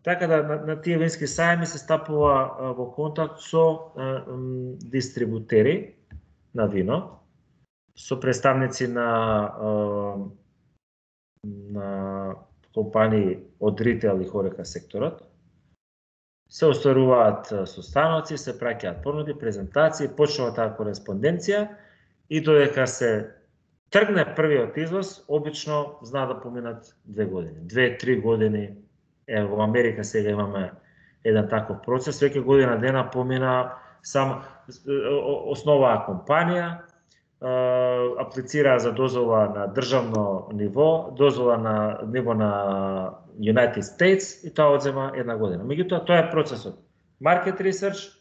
така да на, на тие вински саеми се стапува е, во контакт со е, м, дистрибутери на вино, со представници на на компании од ритейл и хорека секторот. Се остваруваат состаноци, се праќаат понуди, презентации, почнува таа кореспонденција и додека се тргне првиот извоз, обично знаа да поминат две години, две-три години. Е, во Америка сега имаме еден таков процес, веќе година дена помина само основаа компанија, аплицираа за дозвола на државно ниво, дозвола на ниво на United States и тоа одзема една година. Меѓутоа тоа е процесот. Market research,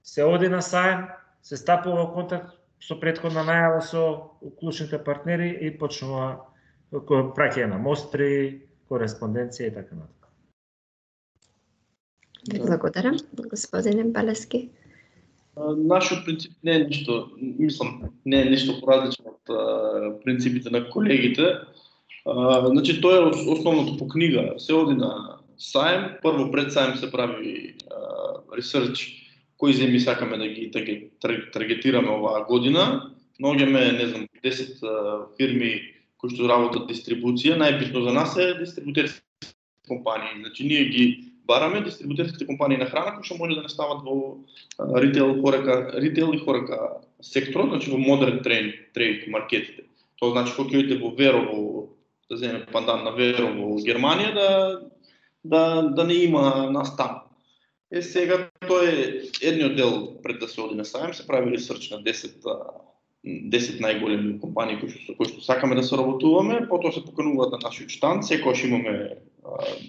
се оди на саем, се стапува во контакт со претходна најава со клучните партнери и почнува праќање на мостри, кореспонденција и така натаму. Благодарам, господине Балески. Нашиот принцип не е ништо, мислам, не е ништо поразлично од а, принципите на колегите. А, значи, тоа е основното по книга. Се оди на саем, прво пред саем се прави ресерч кои земји сакаме да ги таргетираме оваа година. Наоѓаме, не знам, десет а, фирми кои што работат дистрибуција. Најбитно за нас е дистрибутерски компании. Значи, ние ги бараме дистрибутерските компании на храна кои што може да не стават во ритейл, хорека, ритейл и хорека секторот, значи во модерн трейд, трейд маркетите. Тоа значи кога ќе во Верово, да земеме пандан на Верово во Германија, да да да не има нас таму. Е сега тоа е едниот дел пред да се оди на саем, се прави ресерч на десет десет најголеми компании кои што кои што сакаме да се работуваме, потоа се покануваат на нашиот штанд, секогаш имаме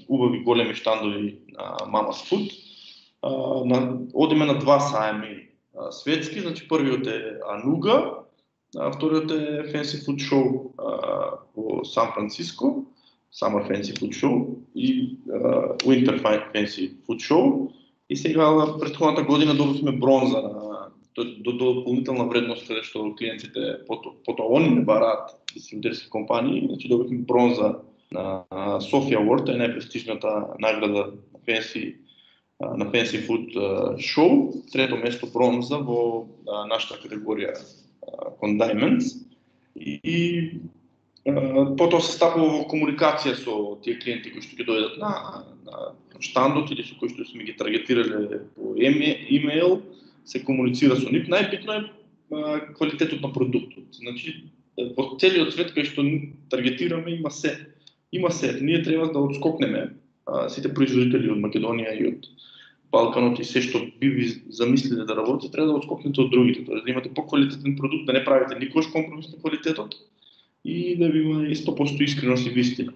убави големи штандови на Mama's Food. А, на, одиме на два саеми а, светски, значи првиот е Ануга, а вториот е Fancy Food Show а, во Сан Франциско, Summer Fancy Food Show и а, Winter Fancy Food Show. И сега претходната година добивме бронза на до, до дополнителна вредност каде што клиентите потоа пото, они не бараат дистрибутерски компании, значи добивме бронза на Софија Award, е најпрестижната награда на Fancy на Fancy Food Show, трето место бронза во нашата категорија Condiments. И, и потоа се стапува во комуникација со тие клиенти кои што ќе дојдат на, на штандот или со кои што сме ги таргетирале по имейл, се комуницира со нив. Најбитно е квалитетот на продуктот. Значи, во целиот свет кај што таргетираме има се. Има се. Ние треба да отскокнеме а, сите производители од Македонија и од Балканот и се што би ви замислиле да работите, треба да отскокнете од другите. Тоа да имате поквалитетен продукт, да не правите никош компромис на квалитетот и да ви има сто проценти искреност и вистина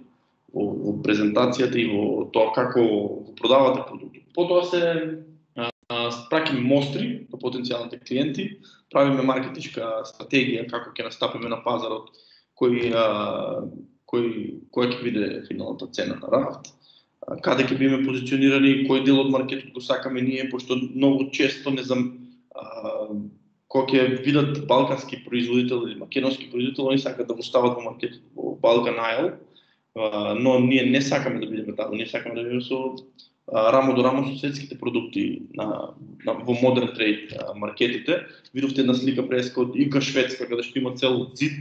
во, во презентацијата и во тоа како го продавате продуктот. Потоа се спраќаме мостри до потенцијалните клиенти, правиме маркетичка стратегија како ќе настапиме на пазарот, кој а, кој која ќе биде финалната цена на рафт, каде ќе биме позиционирани, кој дел од маркетот го сакаме ние, пошто многу често не знам а, кога ќе видат балкански производител или македонски производител, они сакаат да го стават во маркетот во Balkan Isle, а, но ние не сакаме да бидеме таму, ние сакаме да бидеме со а, рамо до рамо со светските продукти на, на во модерн трейд маркетите. Видовте една слика преска од Ика Шведска, каде што има цел зид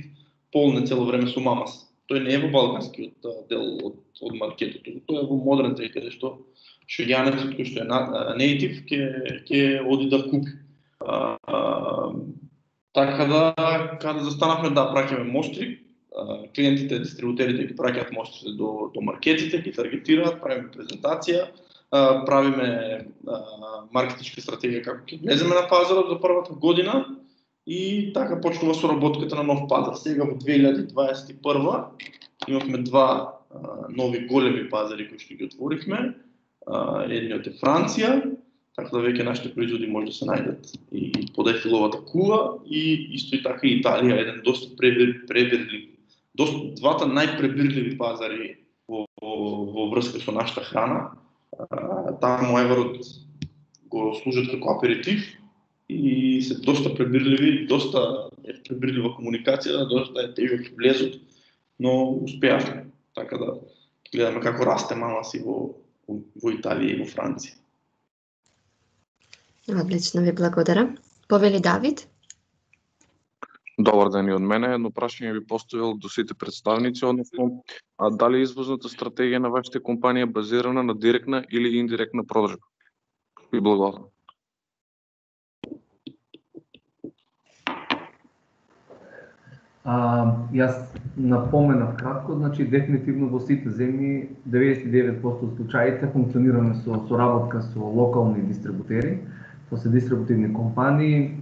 полне цело време со Мамас. Тој не е во балканскиот дел од, од маркетот, тој е во модерн трейд, каде што швеѓанецот кој што е нейтив ќе ќе оди да купи. А, а, така да каде застанавме да праќаме мостри, а, клиентите, дистрибутерите ги праќаат мострите до до маркетите, ги таргетираат, правиме презентација, а, правиме а, маркетичка стратегија како ќе влеземе на пазарот за првата година. И така почнува соработката на нов пазар. Сега во две илјади дваесет и прва имавме два а, нови големи пазари кои што ги отворивме. А, едниот е Франција, така да веќе нашите производи може да се најдат и под Ефиловата кула, и исто и така и Италија, еден доста пребирлив, доста двата најпребирливи пазари во, во, во врска со нашата храна. А, таму еварот го служат како аперитив и се доста пребирливи, доста е пребирлива комуникација, доста е тежок влезот, но успеавме. Така да гледаме како расте Мамас и во, во Италија и во Франција. Одлично, ви благодарам. Повели Давид? Добар ден и од мене. Едно прашање би поставил до сите представници, односно, а дали извозната стратегија на вашите компанија е базирана на директна или индиректна продржба? Ви благодарам. А, јас напоменав кратко, значи дефинитивно во сите земји деветдесет и девет проценти од случаите функционираме со соработка со локални дистрибутери. Тоа се дистрибутивни компании,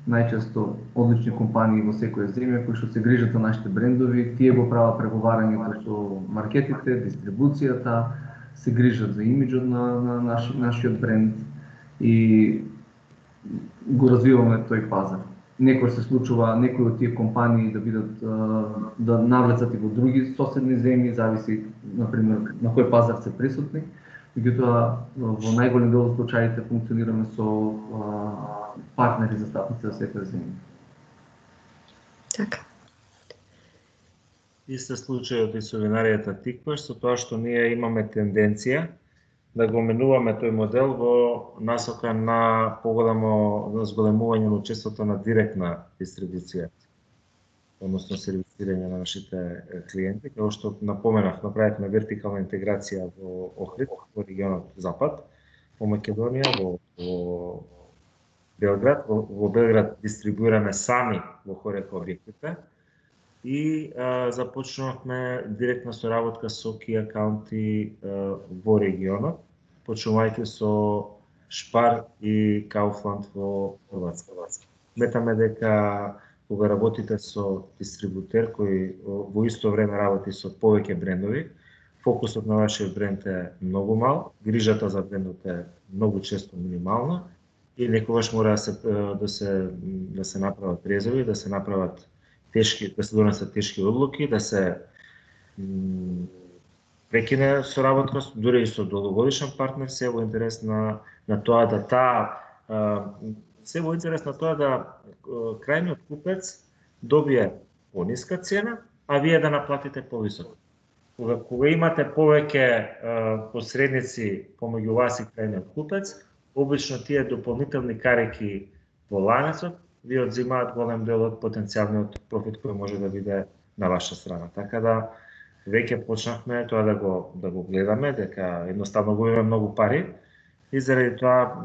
најчесто одлични компании во секоја земја кои што се грижат за нашите брендови, тие го прават преговарањето со маркетите, дистрибуцијата, се грижат за имиџот на, на наш, нашиот бренд и го развиваме тој пазар. Некој се случува некои од тие компании да бидат да навлецат и во други соседни земји, зависи например на кој пазар се присутни. Меѓутоа во најголем дел од случаите функционираме со партнери за стапници за секоја земја. Така. Иста случајот и со винаријата Тикваш, со тоа што ние имаме тенденција да го менуваме тој модел во насока на поголемо зголемување на учеството на директна дистрибуција, односно сервисирање на нашите клиенти, како што напоменав, направивме вертикална интеграција во Охрид, во регионот Запад, во Македонија, во, во Белград, во, во Белград дистрибуираме сами во Хорека објектите и а, започнавме директна соработка со Key акаунти а, во регионот, почнувајќи со Шпар и Кауфланд во Хрватска. Сметаме дека кога работите со дистрибутер кој во исто време работи со повеќе брендови, фокусот на вашиот бренд е многу мал, грижата за брендот е многу често минимална и некогаш мора да се да се да се направат резови, да се направат тешки, да се донесат тешки одлуки, да се прекине соработка дури и со долгогодишен партнер, се во интерес на на тоа да таа се во интерес на тоа да крајниот купец добие пониска цена, а вие да наплатите повисоко. Кога, кога имате повеќе посредници помеѓу вас и крајниот купец, обично тие дополнителни карики во ланецот ви одзимаат голем дел од потенцијалниот профит кој може да биде на ваша страна. Така да веќе почнавме тоа да го да го гледаме, дека едноставно губиме многу пари и заради тоа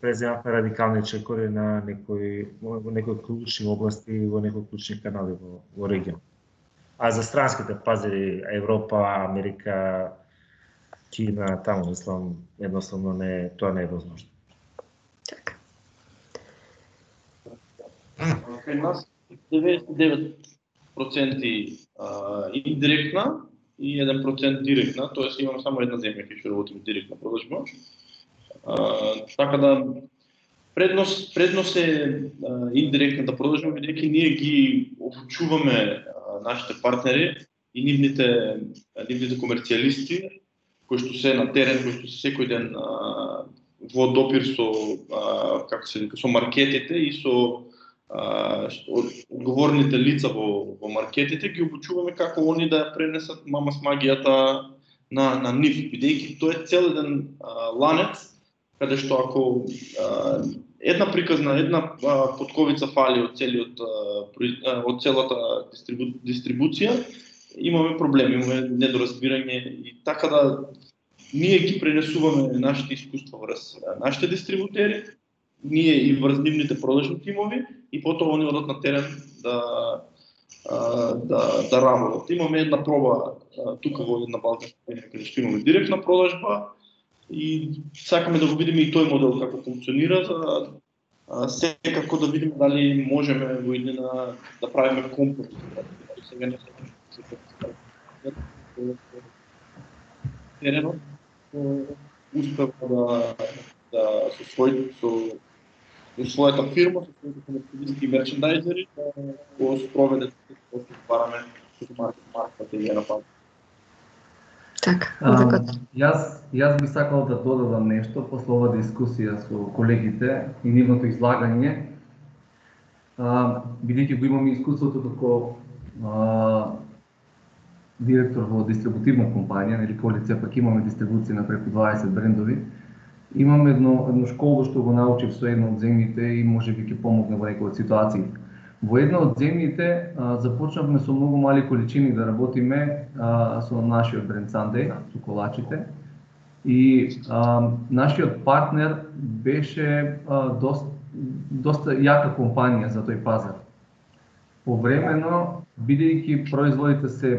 преземавме радикални чекори на некои некои клучни области во некои клучни канали во, во регион. А за странските пазари Европа, Америка, Кина, таму мислам едноставно не тоа не е возможно. Така. Кај нас деветдесет и девет проценти индиректна и еден процент директна, тоест имам само една земја кај што работим директна продажба. Така да предност предност е индиректната продажба, бидејќи ние ги обучуваме нашите партнери и нивните нивните комерцијалисти кои што се на терен, кои што се секој ден а, во допир со а, како се вика со маркетите и со а, одговорните лица во во маркетите, ги обучуваме како они да пренесат мамас магијата на на нив, бидејќи тоа е цел еден а, ланец каде што ако а, една приказна, една а, потковица фали од целиот а, од целата дистрибу, дистрибуција, имаме проблеми, имаме недоразбирање и така да ние ги пренесуваме нашите искуства врз нашите дистрибутери, ние и врз нивните продажни тимови и потоа они одат на терен да да да работат. Имаме една проба тука во една балканска земја каде што имаме директна продажба и сакаме да го видиме и тој модел како функционира, за секако да видиме дали можеме во иднина да правиме компот. Сега не теренот успева да да со свој со својата фирма, со своите комерцијалисти и мерчендайзери да го спроведе тоа што бараме со марката и на пазар. Така. А, јас јас би сакал да додадам нешто после оваа дискусија со колегите и нивното излагање. А, бидејќи го имам искуството како а, директор во дистрибутивна компанија, нели полиција, пак имаме дистрибуција на преку дваесет брендови. Имам едно едно школо што го научив со една од земјите и можеби ќе помогне во некои од ситуации. Во една од земјите а, започнавме со многу мали количини да работиме а, со нашиот бренд Sunday, со колачите. И а, нашиот партнер беше а, доста, доста јака компанија за тој пазар. Повремено, бидејќи производите се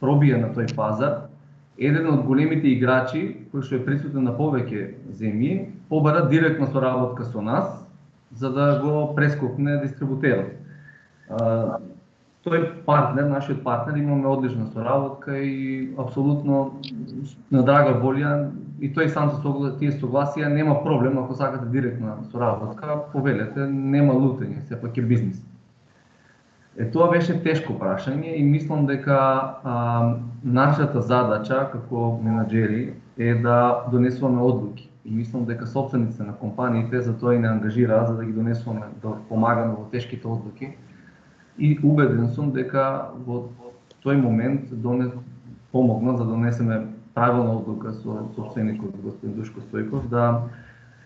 пробија на тој пазар, еден од големите играчи, кој што е присутен на повеќе земји, побара директна соработка со нас, за да го прескокне дистрибутерот. А, тој партнер, нашиот партнер, имаме одлична соработка и апсолутно на драга волја и тој сам се согласи, тие согласија, нема проблем ако сакате директна соработка, повелете, нема лутење, сепак е бизнис. Е, тоа беше тешко прашање и мислам дека а, нашата задача како менаџери е да донесуваме одлуки. и мислам дека собствениците на компаниите за тоа и не ангажираат за да ги донесуваме, да помагаме во тешките одлуки. И убеден сум дека во тој момент донес помогна за да донесеме правилна одлука со собственикот господин Душко Стојков да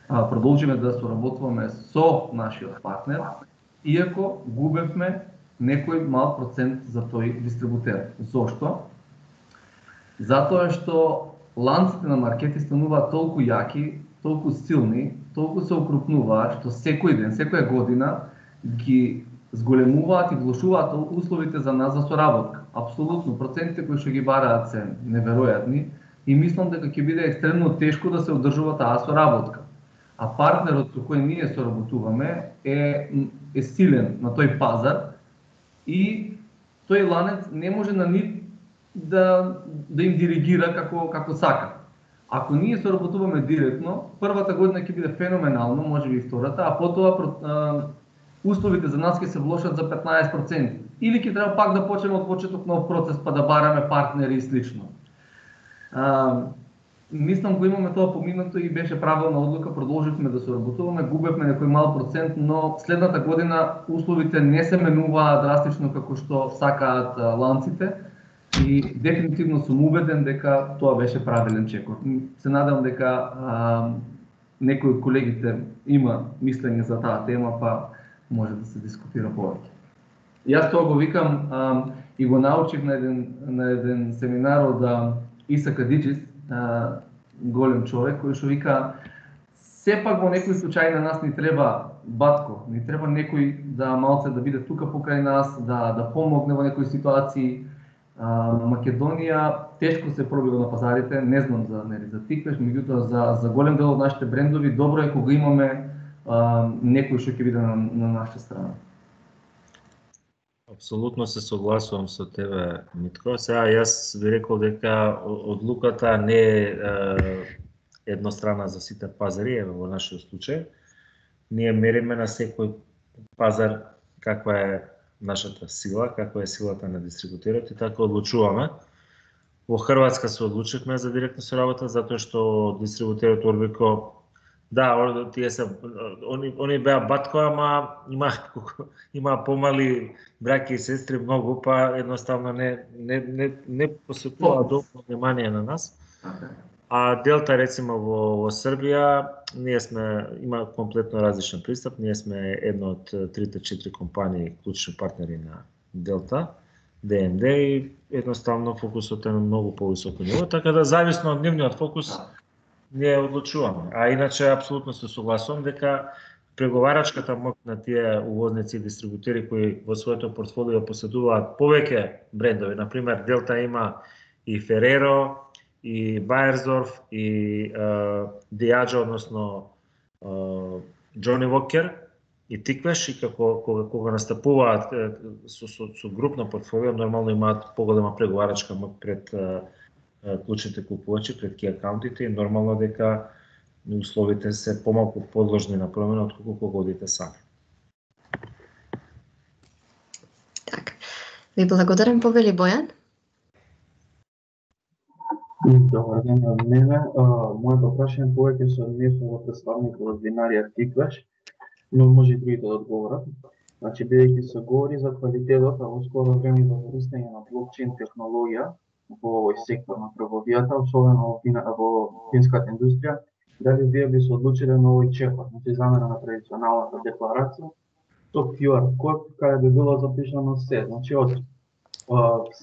а, продолжиме да соработуваме со нашиот партнер, иако губевме некој мал процент за тој дистрибутер. Зошто? Затоа што ланците на маркети стануваат толку јаки, толку силни, толку се окрупнуваат што секој ден, секоја година ги зголемуваат и влошуваат условите за нас за соработка. Апсолутно, процентите кои што ги бараат се неверојатни и мислам дека ќе биде екстремно тешко да се одржува таа соработка. А партнерот со кој ние соработуваме е, е силен на тој пазар и тој ланец не може на нив да, да им диригира како, како сака. Ако ние соработуваме директно, првата година ќе биде феноменално, може би и втората, а потоа условите за нас ќе се влошат за петнаесет проценти. Или ќе треба пак да почнеме од почеток нов процес па да бараме партнери и слично. А, мислам го имаме тоа поминато и беше правилна одлука, продолживме да соработуваме, губевме некој мал процент, но следната година условите не се менуваа драстично како што сакаат ланците и дефинитивно сум убеден дека тоа беше правилен чекор. Се надевам дека а, некој од колегите има мислење за таа тема, па може да се дискутира повеќе. Јас тоа го викам а, и го научих на еден, на еден семинар од Иса Кадиджис, а, голем човек, кој што вика сепак во некој случај на нас ни треба батко, ни треба некој да малце да биде тука покрај нас, да да помогне во некои ситуации. А, Македонија тешко се пробива на пазарите, не знам за нели за Тиквеш, меѓутоа за за голем дел од нашите брендови добро е кога имаме а, некој што ќе биде на, на наша страна. Апсолутно се согласувам со тебе, Митко. Сега јас би рекол дека одлуката не е еднострана за сите пазари, еве во нашиот случај. Ние мериме на секој пазар каква е нашата сила, каква е силата на дистрибутерот и така одлучуваме. Во Хрватска се одлучивме за директна соработа затоа што дистрибутерот Орбико, да, тие се они они беа батко, ама има има помали браќа и сестри многу, па едноставно не не не не посветува доволно внимание на нас. А Делта рецимо во, во Србија, ние сме има комплетно различен пристап, ние сме една од трите четири компании клучни партнери на Делта, Д М Д и едноставно фокусот е на многу повисоко ниво, така да зависно од нивниот фокус ние одлучуваме. А иначе апсолутно се согласувам дека преговарачката моќ на тие увозници и дистрибутери кои во своето портфолио поседуваат повеќе брендови, на пример Делта има и Фереро, и Баерсдорф, и Диаджо, односно Джони Вокер и Тиквеш, и како кога, кога настапуваат со, со, со групно портфолио, нормално имаат поголема преговарачка моќ пред клучните купувачи, пред ки акаунтите и нормално дека условите се помалку подложни на промена отколку кога одите сами. Така. Ви благодарам, повели Бојан. Добар ден од мене. Моето прашање повеќе се однесува во представникот од винарија Тиквеш, но може и другите да одговорат. Значи, бидејќи се говори за квалитетот, а во скоро време за користење на блокчейн технологија во овој сектор на трговијата, особено во, во финската индустрија, дали вие би се одлучиле на овој чекор, значи замена на традиционалната декларација, со Q R код, каде би било запишано се, значи од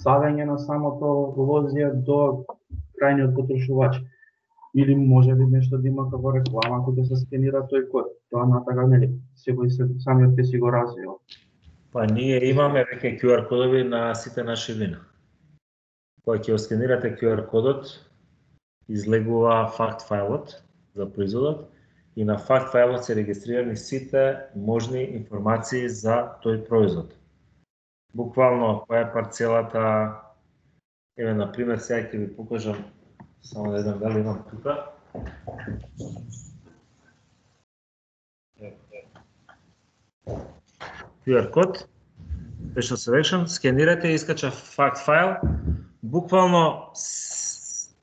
саѓање на самото лозија до крајниот потрошувач. Или може би нешто да има како реклама кога се скенира тој код. Тоа натака нели секој се самиот ќе си го развива. Па ние имаме веќе Q R кодови на сите наши вина. Кога ќе скенирате Q R кодот, излегува факт фајлот за производот и на факт фајлот се регистрирани сите можни информации за тој производ. Буквално која е парцелата, еве на пример сега ќе ви покажам, само да видам дали имам тука. Q R код, Special Selection, скенирате и искача факт файл. Буквално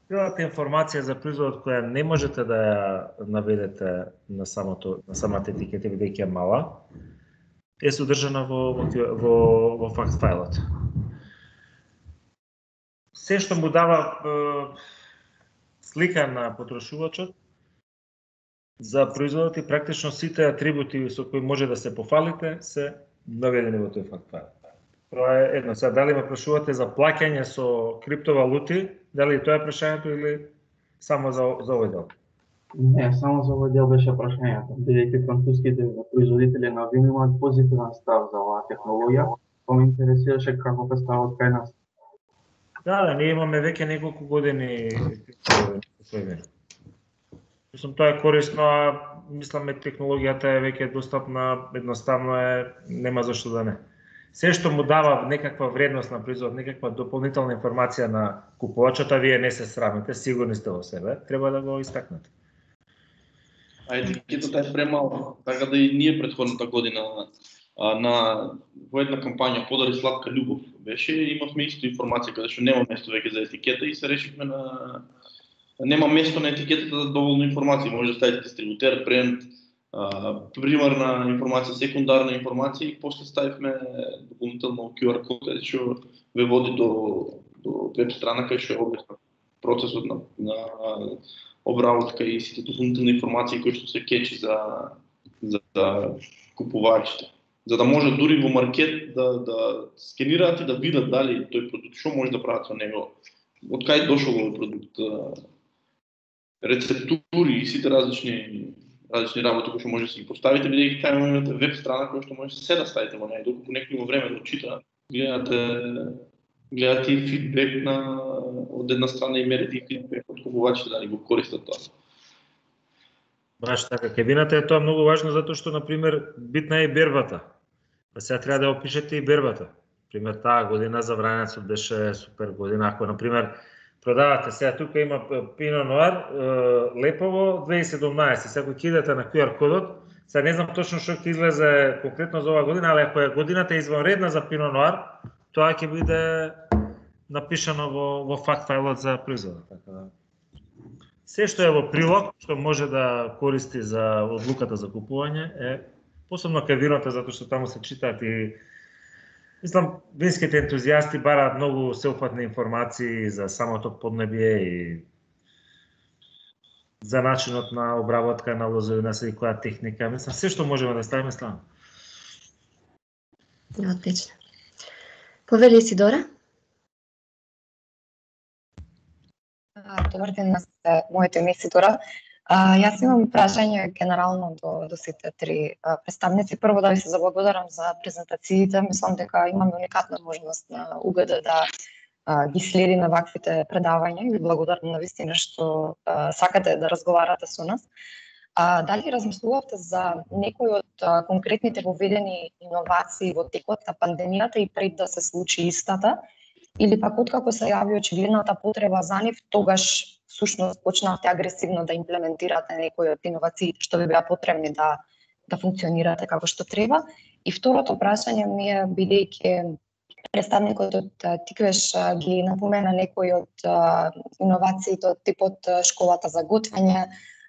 Целата информација за производот која не можете да ја наведете на самото на самата етикета бидејќи е мала, е содржана во во во, во факт фајлот. Се што му дава е, слика на потрошувачот за производот и практично сите атрибути со кои може да се пофалите се наведени во тој факт фајл. Тоа е едно. Сега, дали ме прашувате за плаќање со криптовалути, дали тоа е прашањето или само за, за овој дел? Не, само за овој дел беше прашањето. Бидејќи француските производители на вино имаат позитивен став за оваа технологија, па ме интересираше како е ставот кај нас. Да, да, ние имаме веќе неколку години тој вино. Мислам, тоа е корисно, а мислам технологијата е веќе достапна, едноставно е, нема зашто да не. Се што му дава некаква вредност на производ, некаква дополнителна информација на купувачот, а вие не се срамите, сигурни сте во себе, треба да го истакнете. А етикетата е премала, така да и ние претходната година а, на во една кампања Подари сладка љубов беше, имавме исто информација каде што нема место веќе за етикета и се решивме на нема место на етикетата за доволно информација, може да ставите дистрибутер, бренд, примерна информација, секундарна информација и после ставивме дополнително ку ар код каде што ве води до до веб страна кај што е објаснет процесот на на обработка и сите дополнителни информации кои што се кечи за за, за купувачите, за да може дури во маркет да да скенираат и да видат дали тој продукт што може да прават со него, од кај дошол овој продукт, рецептури и сите различни различни работи кои што може да се ги поставите, бидејќи таа имате веб страна која што може се да ставите во неја, доколку некој има време да чита, гледате гледате и фидбек на од една страна и мерите и фидбек од купувачите да ни го користат тоа. Баш така, кај вината е тоа многу важно затоа што на пример битна е и бербата. Па сега треба да опишете и бербата. Пример таа година за вранецот беше супер година, ако на пример продавате сега тука има Пино Ноар, Лепово две тисајќи и седумнаесет. Сега кога кидате на ку ар кодот, сега не знам точно што ќе излезе конкретно за оваа година, али ако е годината извонредна за Пино Ноар, тоа ќе биде напишано во во факт фајлот за производот, така да. Се што е во прилог, што може да користи за одлуката за купување е посебно кај виното затоа што таму се читаат и мислам, винските ентузијасти бараат многу сеопфатни информации за самото поднебие и за начинот на обработка на лозовина, се и која техника. Мислам, се што можеме да ставиме ставаме. Отлично. Повели Сидора? Добар ден на сите, моето име е Сидора. А, јас имам прашање генерално до, до сите три а, представници. Прво да ви се заблагодарам за презентациите. Мислам дека имаме уникатна можност на У Г Д да а, ги следиме ваквите предавања и ви благодарам на вистина што а, сакате да разговарате со нас. А, дали размислувавте за некои од а, конкретните воведени иновации во текот на пандемијата и пред да се случи истата? Или пак откако се јави очигледната потреба за нив, тогаш всушност почнавте агресивно да имплементирате некои од иновациите што ви беа потребни да да функционирате како што треба? И второто прашање ми е, бидејќи представникот од Тиквеш ги напомена некои од иновациите од типот школата за готвење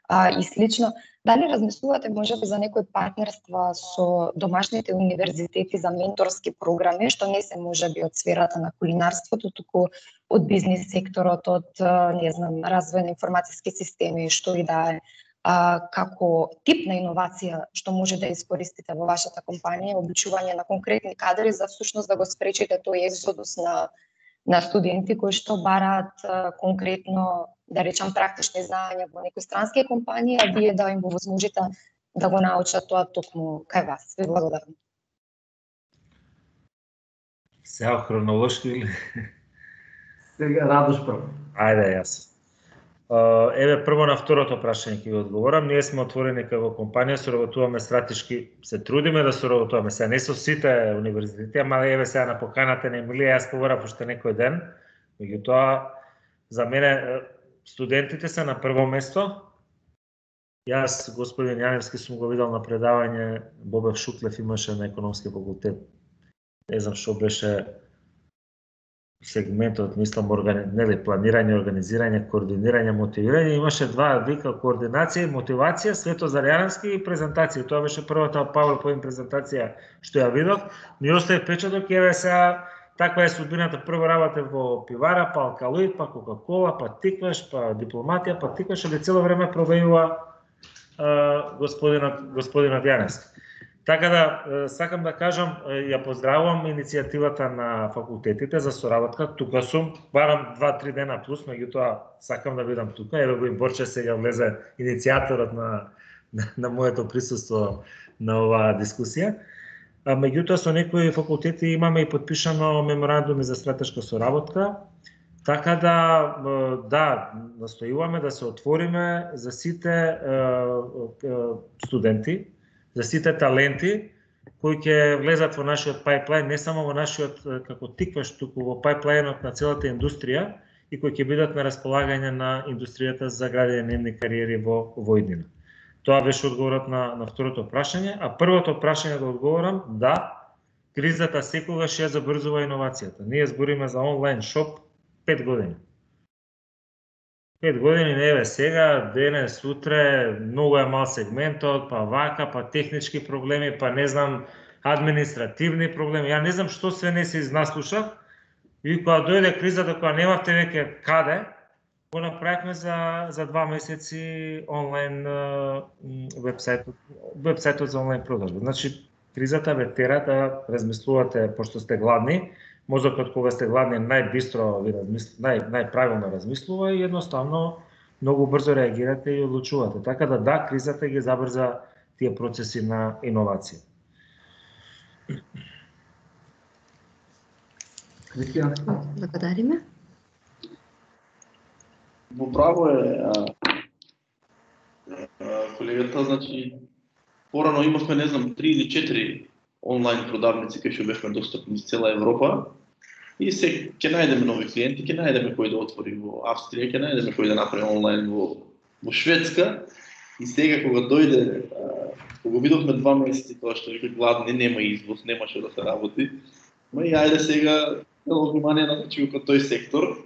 и слично, дали размислувате можеби за некои партнерства со домашните универзитети за менторски програми, што не се можеби од сферата на кулинарството, туку од бизнис секторот, од не знам, развој на информациски системи, што и да е, а, како тип на иновација што може да искористите во вашата компанија, обучување на конкретни кадри за всушност да го спречите тој екзодус на на студенти кои што бараат а, конкретно, да речам, практични знаења во некои странски компании, а вие да им го возможите да го научат тоа токму кај вас. Ви благодарам. Сега хронолошки или? Сега Радош прво. Ајде, јас. Еве прво на второто прашање ќе ви одговорам. Ние сме отворени како компанија, соработуваме стратешки, се трудиме да соработуваме. Сега не со сите универзитети, ама еве сега на поканата на Емилија јас побарав уште некој ден. Меѓутоа, за мене студентите се на прво место. Јас, господин Јаневски, сум го видел на предавање, Бобев Шуклев имаше на економски факултет. Не знам што беше сегментот, мислам, органи... нели, планирање, организирање, координирање, мотивирање, имаше два вика: координација и мотивација, Светозар Јаневски и презентација. Тоа беше првата PowerPoint презентација што ја видов. Ми остави печаток и еве сега таква е судбината. Прво работев во пивара, па Алкалоид, па Кока-кола, па Тикваш, па Дипломатија, па Тикваш, ali цело време пробејува господинот господинот Јаневски. Така да, сакам да кажам, ја поздравувам иницијативата на факултетите за соработка. Тука сум, барам два-три дена плюс, меѓутоа сакам да бидам тука. Еве го и Борче сега влезе, иницијаторот на, на, на моето присуство на оваа дискусија. А, меѓутоа со некои факултети имаме и подпишано меморандуми за стратешка соработка. Така да, да, настојуваме да се отвориме за сите е, е, студенти, за сите таленти кои ќе влезат во нашиот пайплайн, не само во нашиот како Тикваш, туку во пайплайнот на целата индустрија и кои ќе бидат на располагање на индустријата за градење на нивни кариери во во иднина. Тоа беше одговорот на на второто прашање, а првото прашање да одговорам, да, кризата секогаш ја забрзува иновацијата. Ние збориме за онлайн шоп пет години. Пет години, не еве сега, денес, утре, многу е мал сегментот, па вака, па технички проблеми, па не знам, административни проблеми. Ја не знам што све не се изнаслушав. И кога дојде кризата, кога немавте веќе каде, го направивме за за два месеци онлайн вебсајтот, вебсајтот за онлайн продажба. Значи, кризата ве тера да размислувате, пошто сте гладни. Мозокот кога сте гладни најбистро ви размисл... нај најправилно размислува и едноставно многу брзо реагирате и одлучувате. Така да да, кризата ги забрза тие процеси на иновација. Кристијан, Благодариме. Во право е а, а, колегата, значи порано имавме, не знам, три или четири онлайн продавници кои што бевме достапни из цела Европа. И се ќе најдеме нови клиенти, ќе најдеме кој да отвори во Австрија, ќе најдеме кој да направи онлайн во во Шведска. И сега кога дојде, кога видовме два месеци тоа што вика гладни, нема извоз, нема што да се работи. Ма и ајде сега цело внимание насочи кон тој сектор,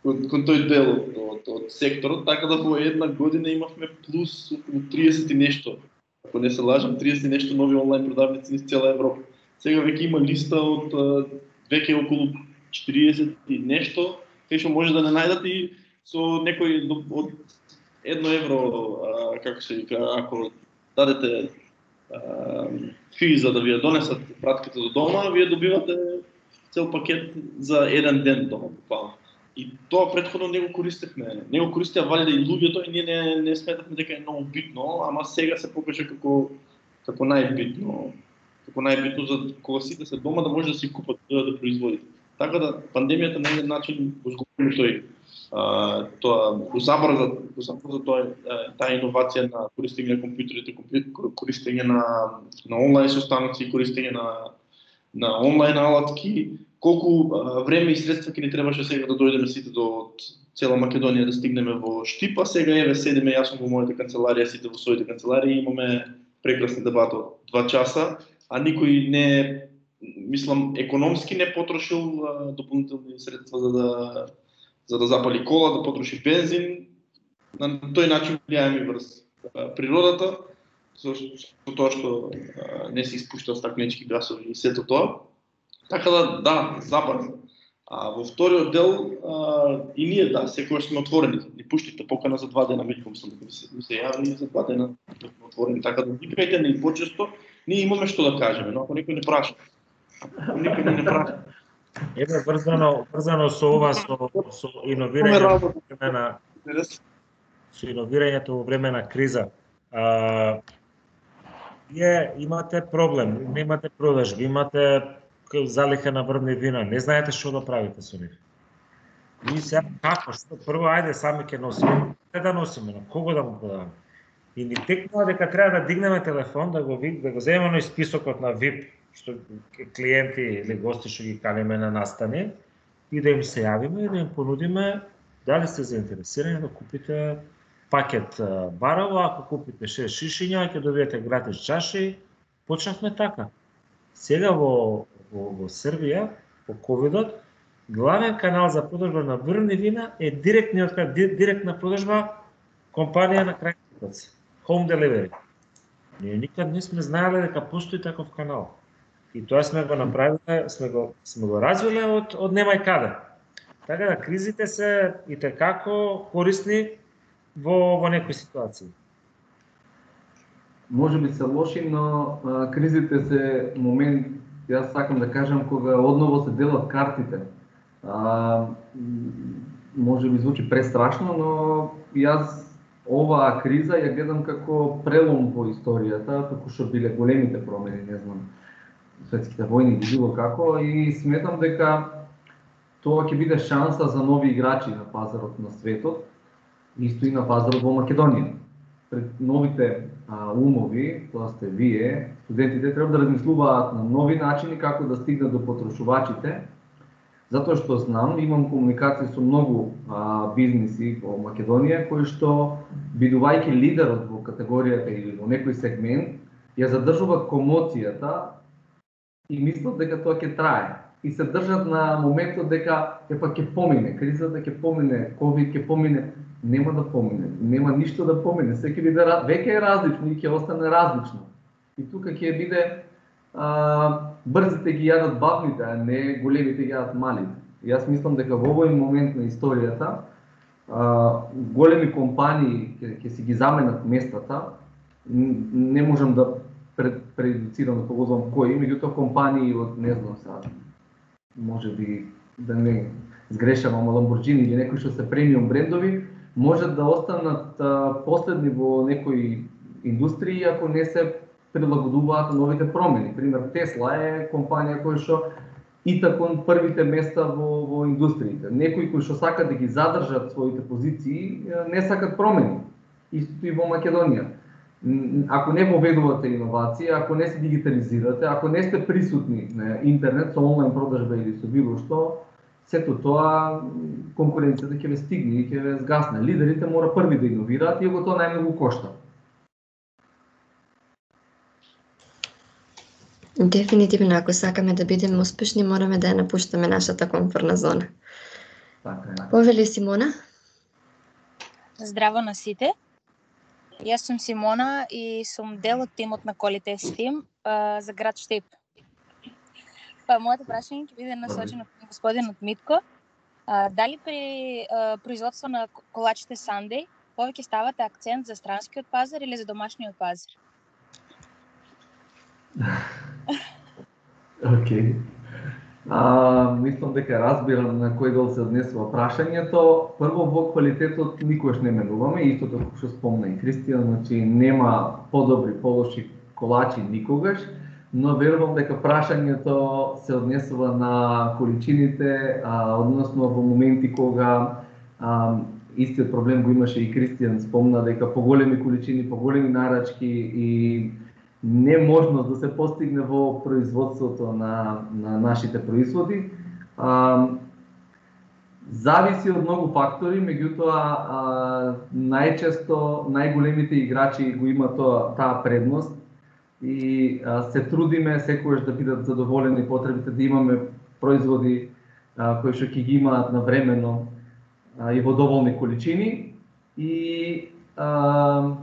кон, кон тој дел од, од, од секторот, така да во една година имавме плюс околу триесет и нешто. Ако не се лажам, триесет и нешто нови онлайн продавници из цела Европа. Сега веќе има листа од веќе околу четириесет и нешто, кај што може да не најдат и со некој од едно евро, а, како се вика, ако дадете а, фи за да ви ја донесат пратката до дома, вие добивате цел пакет за еден ден дома, буквално. И тоа претходно не го користевме, не го користеа валида и луѓето и ние не, не сметавме дека е многу битно, ама сега се покажа како како најбитно, како најбитно за кога сите се дома да може да си купат да, да производите. Така да пандемијата на еден начин го згубиме тој а, тоа го забрза, го забрза тоа таа иновација на користење на компјутерите, користење на на онлайн состаноци, користење на на онлайн алатки. Колку а, време и средства ќе ни требаше сега да дојдеме сите до цела Македонија да стигнеме во Штипа, сега еве седиме јас сум во мојата канцеларија, сите во своите канцеларии, имаме прекрасни дебати од два часа, а никој не, мислам, економски не потрошил а, дополнителни средства за да за да запали кола, да потроши бензин. На тој начин влијаеме врз а, природата, со, со тоа што а, не се испушта стакленички гасови и сето тоа. Така да, да, забрза. А во вториот дел а, и ние да, секогаш сме отворени. Ни пуштите покана за два дена, мислам дека ми се, ми се јави и за два дена сме отворени. Така да викајте ни почесто, ние имаме што да кажеме, но ако никој не праша. Ако никој не праша. Еве врзано, врзано со ова со со иновирање во време на со иновирањето во време на криза. А, вие имате проблем, немате продажби, имате залиха на врвни вина, не знаете што да правите со нив. И сега како, што прво ајде сами ќе носиме, не да носиме, на кого да му продаваме. И ни текнува дека треба да дигнеме телефон, да го да го земеме на списокот на ви ай пи, што клиенти или гости што ги каниме на настани, и да им се јавиме и да им понудиме дали сте заинтересирани да купите пакет барово, ако купите шест шишиња, ќе добиете гратис чаши. Почнавме така. Сега во во, во Србија, по ковидот, главен канал за продажба на врвни вина е директниот директна продажба компанија на крајни купец, home delivery. Ние никад не сме знаеле дека постои таков канал. И тоа сме го направиле, сме го сме го развиле од од немај каде. Така да кризите се и текако корисни во во некои ситуации. Може би се лоши, но а, кризите се момент, јас сакам да кажам, кога одново се делат картите. А, може би звучи престрашно, но јас оваа криза ја гледам како прелом во историјата, како што биле големите промени, не знам, светските војни или било како, и сметам дека тоа ќе биде шанса за нови играчи на пазарот на светот, исто и на пазарот во Македонија. Пред новите а, умови, тоа сте вие, студентите треба да размислуваат на нови начини како да стигнат до потрошувачите, затоа што знам, имам комуникација со многу а, бизниси во Македонија кои што, бидувајќи лидерот во категоријата или во некој сегмент, ја задржуваат комоцијата и мислат дека тоа ќе трае. И се држат на моментот дека епа ќе помине, кризата ќе помине, ковид ќе помине. Нема да помине, нема ништо да помине, се ќе биде веќе е различно и ќе остане различно. И тука ќе биде а, брзите ги јадат бавните, а не големите ги јадат малите. Јас мислам дека во овој момент на историјата а, големи компании ќе, ќе си ги заменат местата. Не можам да пред, предуцирам да поголовам кои, меѓутоа компании од, не знам сега, може би да не сгрешам, ама Lamborghini или некои што се премиум брендови, можат да останат а, последни во некои индустрии ако не се прилагодуваат на новите промени. Пример, Тесла е компанија која што итак кон првите места во, во индустриите. Некои кои што сакат да ги задржат своите позиции, не сакат промени. Истото и во Македонија. Ако не поведувате иновација, ако не се дигитализирате, ако не сте присутни на интернет со онлайн продажба или со било што, сето тоа конкуренцијата ќе ве стигне и ќе ве згасне. Лидерите мора први да иновираат и го тоа најмногу кошта. Дефинитивно, ако сакаме да бидеме успешни, мораме да ја напуштаме нашата комфортна зона. Така е. Повели Симона? Здраво на сите. Јас сум Симона и сум дел од тимот на Quality Team а, за град Штип. Па моето прашање ќе биде насочено кон господинот Митко. А, дали при а, производство на колачите Sunday повеќе ставате акцент за странскиот пазар или за домашниот пазар? Океј. Okay. Мислам дека разбирам на кој дел се однесува прашањето. Прво, во квалитетот никогаш не менуваме, истото како што спомна и Кристијан, значи нема подобри, полоши колачи никогаш, но верувам дека прашањето се однесува на количините, а, односно во моменти кога а, истиот проблем го имаше и Кристијан спомна дека поголеми количини, поголеми нарачки и неможност да се постигне во производството на, на нашите производи. А, зависи од многу фактори, меѓутоа а, најчесто најголемите играчи го имаат тоа, таа предност и а, се трудиме секогаш да бидат задоволени потребите, да имаме производи а, кои што ќе ги имаат навремено а, и во доволни количини и а,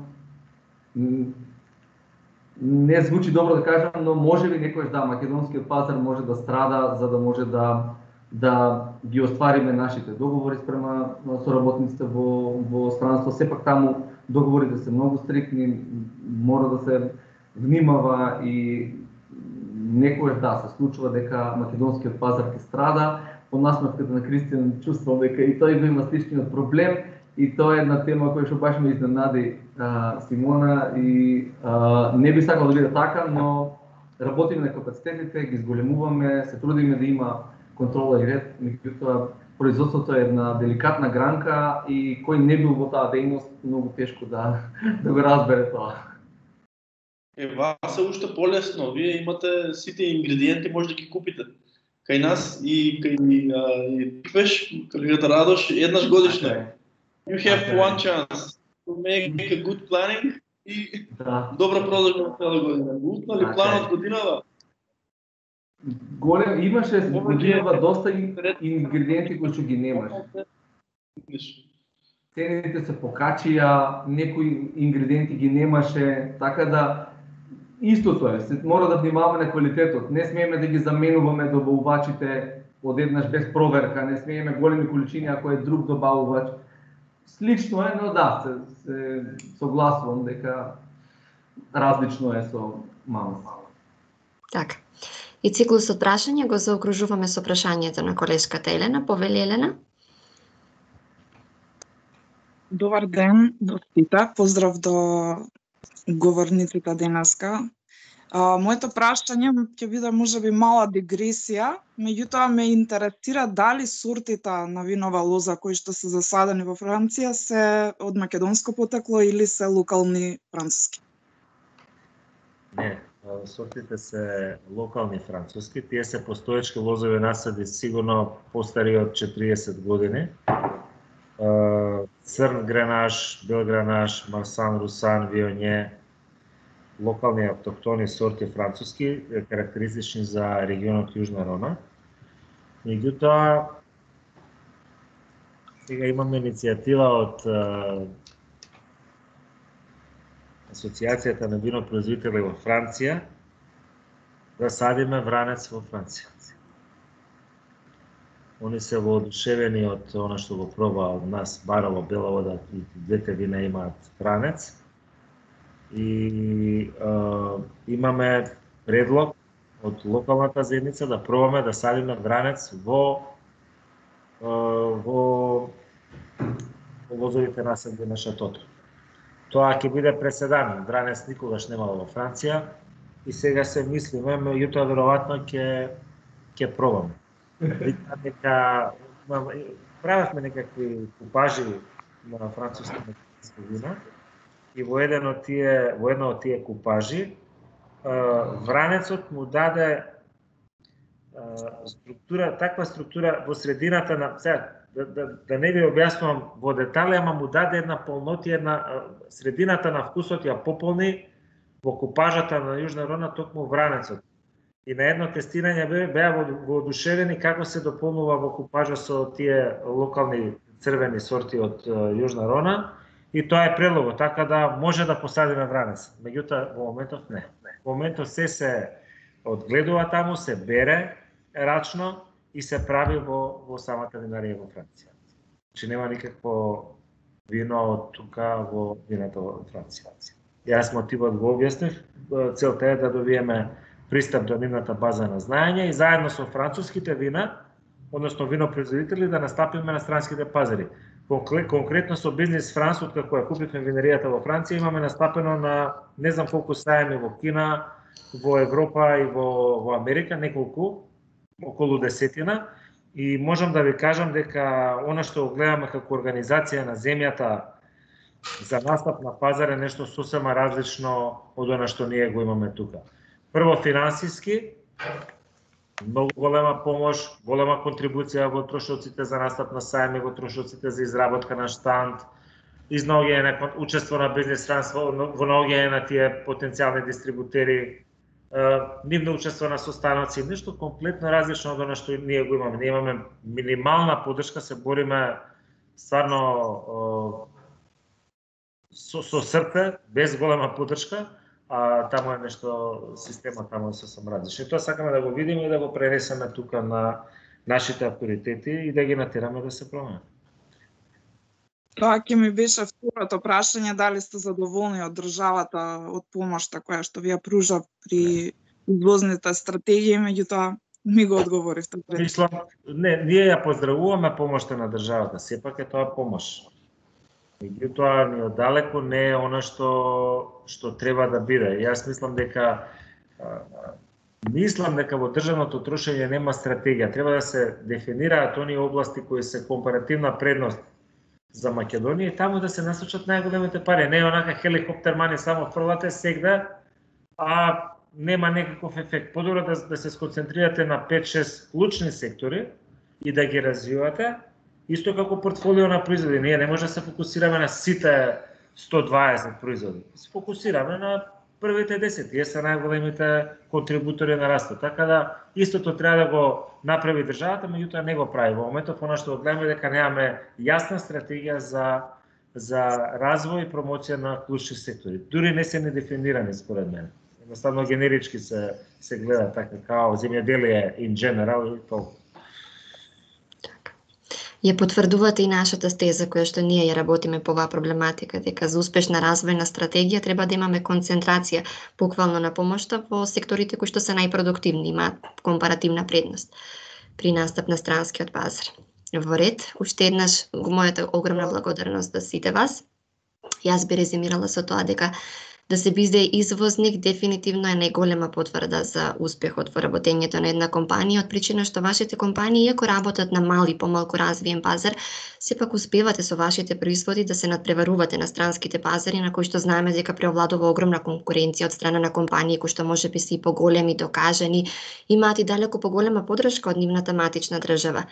не звучи добро да кажам, но може би некојаш да, македонскиот пазар може да страда за да може да да ги оствариме нашите договори спрема соработниците во во странство. Сепак таму договорите се многу стрикни, мора да се внимава и некојаш да се случува дека македонскиот пазар ќе страда. По насмевката на Кристијан чувствувам дека и тој го има сличниот проблем. И тоа е една тема која што баш ме изненади а, Симона и а, не би сакал да биде така, но работиме на капацитетите, ги зголемуваме, се трудиме да има контрола и ред, меѓутоа производството е една деликатна гранка и кој не бил во таа дејност, многу тешко да, да го разбере тоа. Е, вас е уште полесно, вие имате сите ингредиенти, може да ги купите. Кај нас и кај и Пеш, колегата Радош, еднаш годишно. You have okay. one chance to make a good planning и да. Добра продажба на цела година. Утна ли okay. планот годинава? голем имаше годинава доста ингредиенти кои што ги немаш. Цените се покачија, некои ингредиенти ги немаше, така да истото е, се мора да внимаваме на квалитетот. Не смееме да ги заменуваме добавувачите одеднаш без проверка, не смееме големи количини ако е друг добавувач. Слично е, но да, се, се согласувам дека различно е со Мамас. Така. И циклусот прашања го заокружуваме со прашањето на колешката Елена. Повели Елена. Добар ден до сите. Поздрав до говорниците денеска. А, моето прашање ќе биде можеби мала дигресија, меѓутоа ме интересира дали сортите на винова лоза кои што се засадени во Франција се од македонско потекло или се локални француски? Не, сортите се локални француски, тие се постоечки лозови насади сигурно постари од четириесет години. Црн гренаш, бел гренаш, марсан, русан, вионе, локални автохтони сорти француски, карактеристични за регионот Јужна Рона. Меѓутоа, сега имаме иницијатива од Асоциацијата на винопроизводители во Франција да садиме вранец во Франција. Они се воодушевени од она што го проба од нас Барово, Бела вода, и двете вина имаат вранец. И е, имаме предлог од локалната заедница да пробаме да садиме вранец во е, во лозовите насади на шатото. Тоа ќе биде преседан, вранец никогаш немало во Франција и сега се мислиме, меѓутоа веројатно ќе ќе пробаме. Дека правевме некакви купажи на француски вина и во еден од тие во едно од тие купажи вранецот му даде структура, таква структура во средината на сега да, да, да не ви објаснувам во детали, ама му даде една полнотија, една средината на вкусот ја пополни во купажата на Јужна Рона токму вранецот. И на едно тестирање беа воодушевени како се дополнува во купажа со тие локални црвени сорти од Јужна Рона и тоа е предлогот, така да може да посадиме вранец. Меѓутоа во моментов не. Во моментов се се одгледува таму, се бере рачно и се прави во во самата винарија во Франција. Че нема никакво вино од тука во виното во Франција. Јас мотивот го објаснив, целта е да добиеме пристап до нивната база на знаење и заедно со француските вина, односно винопроизводители, да настапиме на странските пазари. Конкретно со Бизнес Франс, откако ја купивме винеријата во Франција, имаме настапено на не знам колку сајми во Кина, во Европа и во, во Америка, неколку, околу десетина. И можам да ви кажам дека она што гледаме како организација на земјата за настап на пазар е нешто сосема различно од она што ние го имаме тука. Прво финансиски, многу голема помош, голема контрибуција во трошоците за настап на сајми, во трошоците за изработка на штанд, изнаоѓање на учество на Бизнес Франс во наоѓање на тие потенцијални дистрибутери, нивно учество на состаноци, нешто комплетно различно од она што ние го имаме. Ние имаме минимална поддршка, се бориме стварно со, со срце, без голема поддршка, а таму е нешто, система таму е сосем различна. Тоа сакаме да го видиме и да го пренесеме тука на нашите авторитети и да ги натераме да се променат. Тоа ќе ми беше второто прашање, дали сте задоволни од државата, од помошта која што ви ја пружа при извозните стратегии, меѓутоа ми го одговоривте. Мислам, не, ние ја поздравуваме помошта на државата, сепак е тоа помош. Меѓутоа, ни оддалеку не е она што што треба да биде. Јас мислам дека мислам дека во државното трошење нема стратегија. Треба да се дефинираат оние области кои се компаративна предност за Македонија и таму да се насочат најголемите пари. Не е онака хеликоптер мани само фрлате сегда, а нема некаков ефект. Подобро да, да се сконцентрирате на пет-шест клучни сектори и да ги развивате, исто како портфолио на производи. Ние не може да се фокусираме на сите сто дваесет производи. Се фокусираме на првите десет, тие се најголемите контрибутори на растот. Така да истото треба да го направи државата, меѓутоа не го прави. Во моментов она што гледаме дека немаме јасна стратегија за за развој и промоција на клучни сектори. Дури не се недефинирани според мене. Едноставно генерички се се гледа така као земјоделие in general и толку. Ја потврдувате и нашата стеза која што ние ја работиме по оваа проблематика, дека за успешна развојна стратегија треба да имаме концентрација буквално на помошта во секторите кои што се најпродуктивни, имаат компаративна предност при настап на странскиот пазар. Во ред, уште еднаш мојата огромна благодарност за сите вас. Јас би резимирала со тоа дека да се биде извозник дефинитивно е најголема потврда за успехот во работењето на една компанија, од причина што вашите компании, иако работат на мал и помалку развиен пазар, сепак успевате со вашите производи да се надпреварувате на странските пазари, на кои што знаеме дека преовладува огромна конкуренција од страна на компании кои што можеби се и поголеми, докажани, имаат и далеку поголема поддршка од нивната матична држава.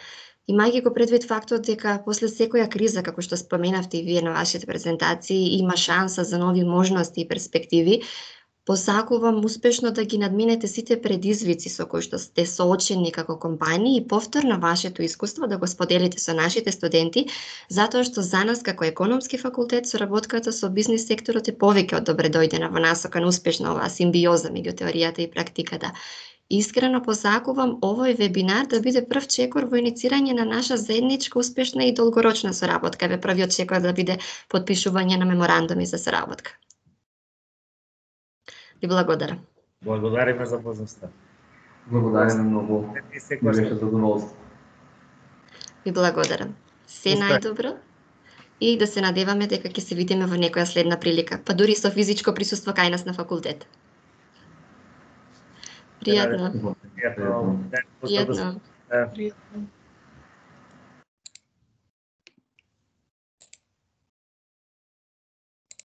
Имајќи го предвид фактот дека после секоја криза, како што споменавте и вие на вашите презентации, има шанса за нови можности и перспективи, посакувам успешно да ги надминете сите предизвици со кои што сте соочени како компании и повторно вашето искуство да го споделите со нашите студенти, затоа што за нас како економски факултет соработката со бизнис секторот е повеќе од добре дојдена во насока на успешна оваа симбиоза меѓу теоријата и практиката. Искрено посакувам овој вебинар да биде прв чекор во иницирање на наша заедничка успешна и долгорочна соработка. Еве првиот чекор да биде подпишување на меморандуми за соработка. Ви благодарам. Благодариме за возможноста. Благодариме многу. Ми беше задоволство. Ви благодарам. Се најдобро и да се надеваме дека ќе се видиме во некоја следна прилика, па дури со физичко присуство кај нас на факултет. Пријатно. Пријатно. Пријатно.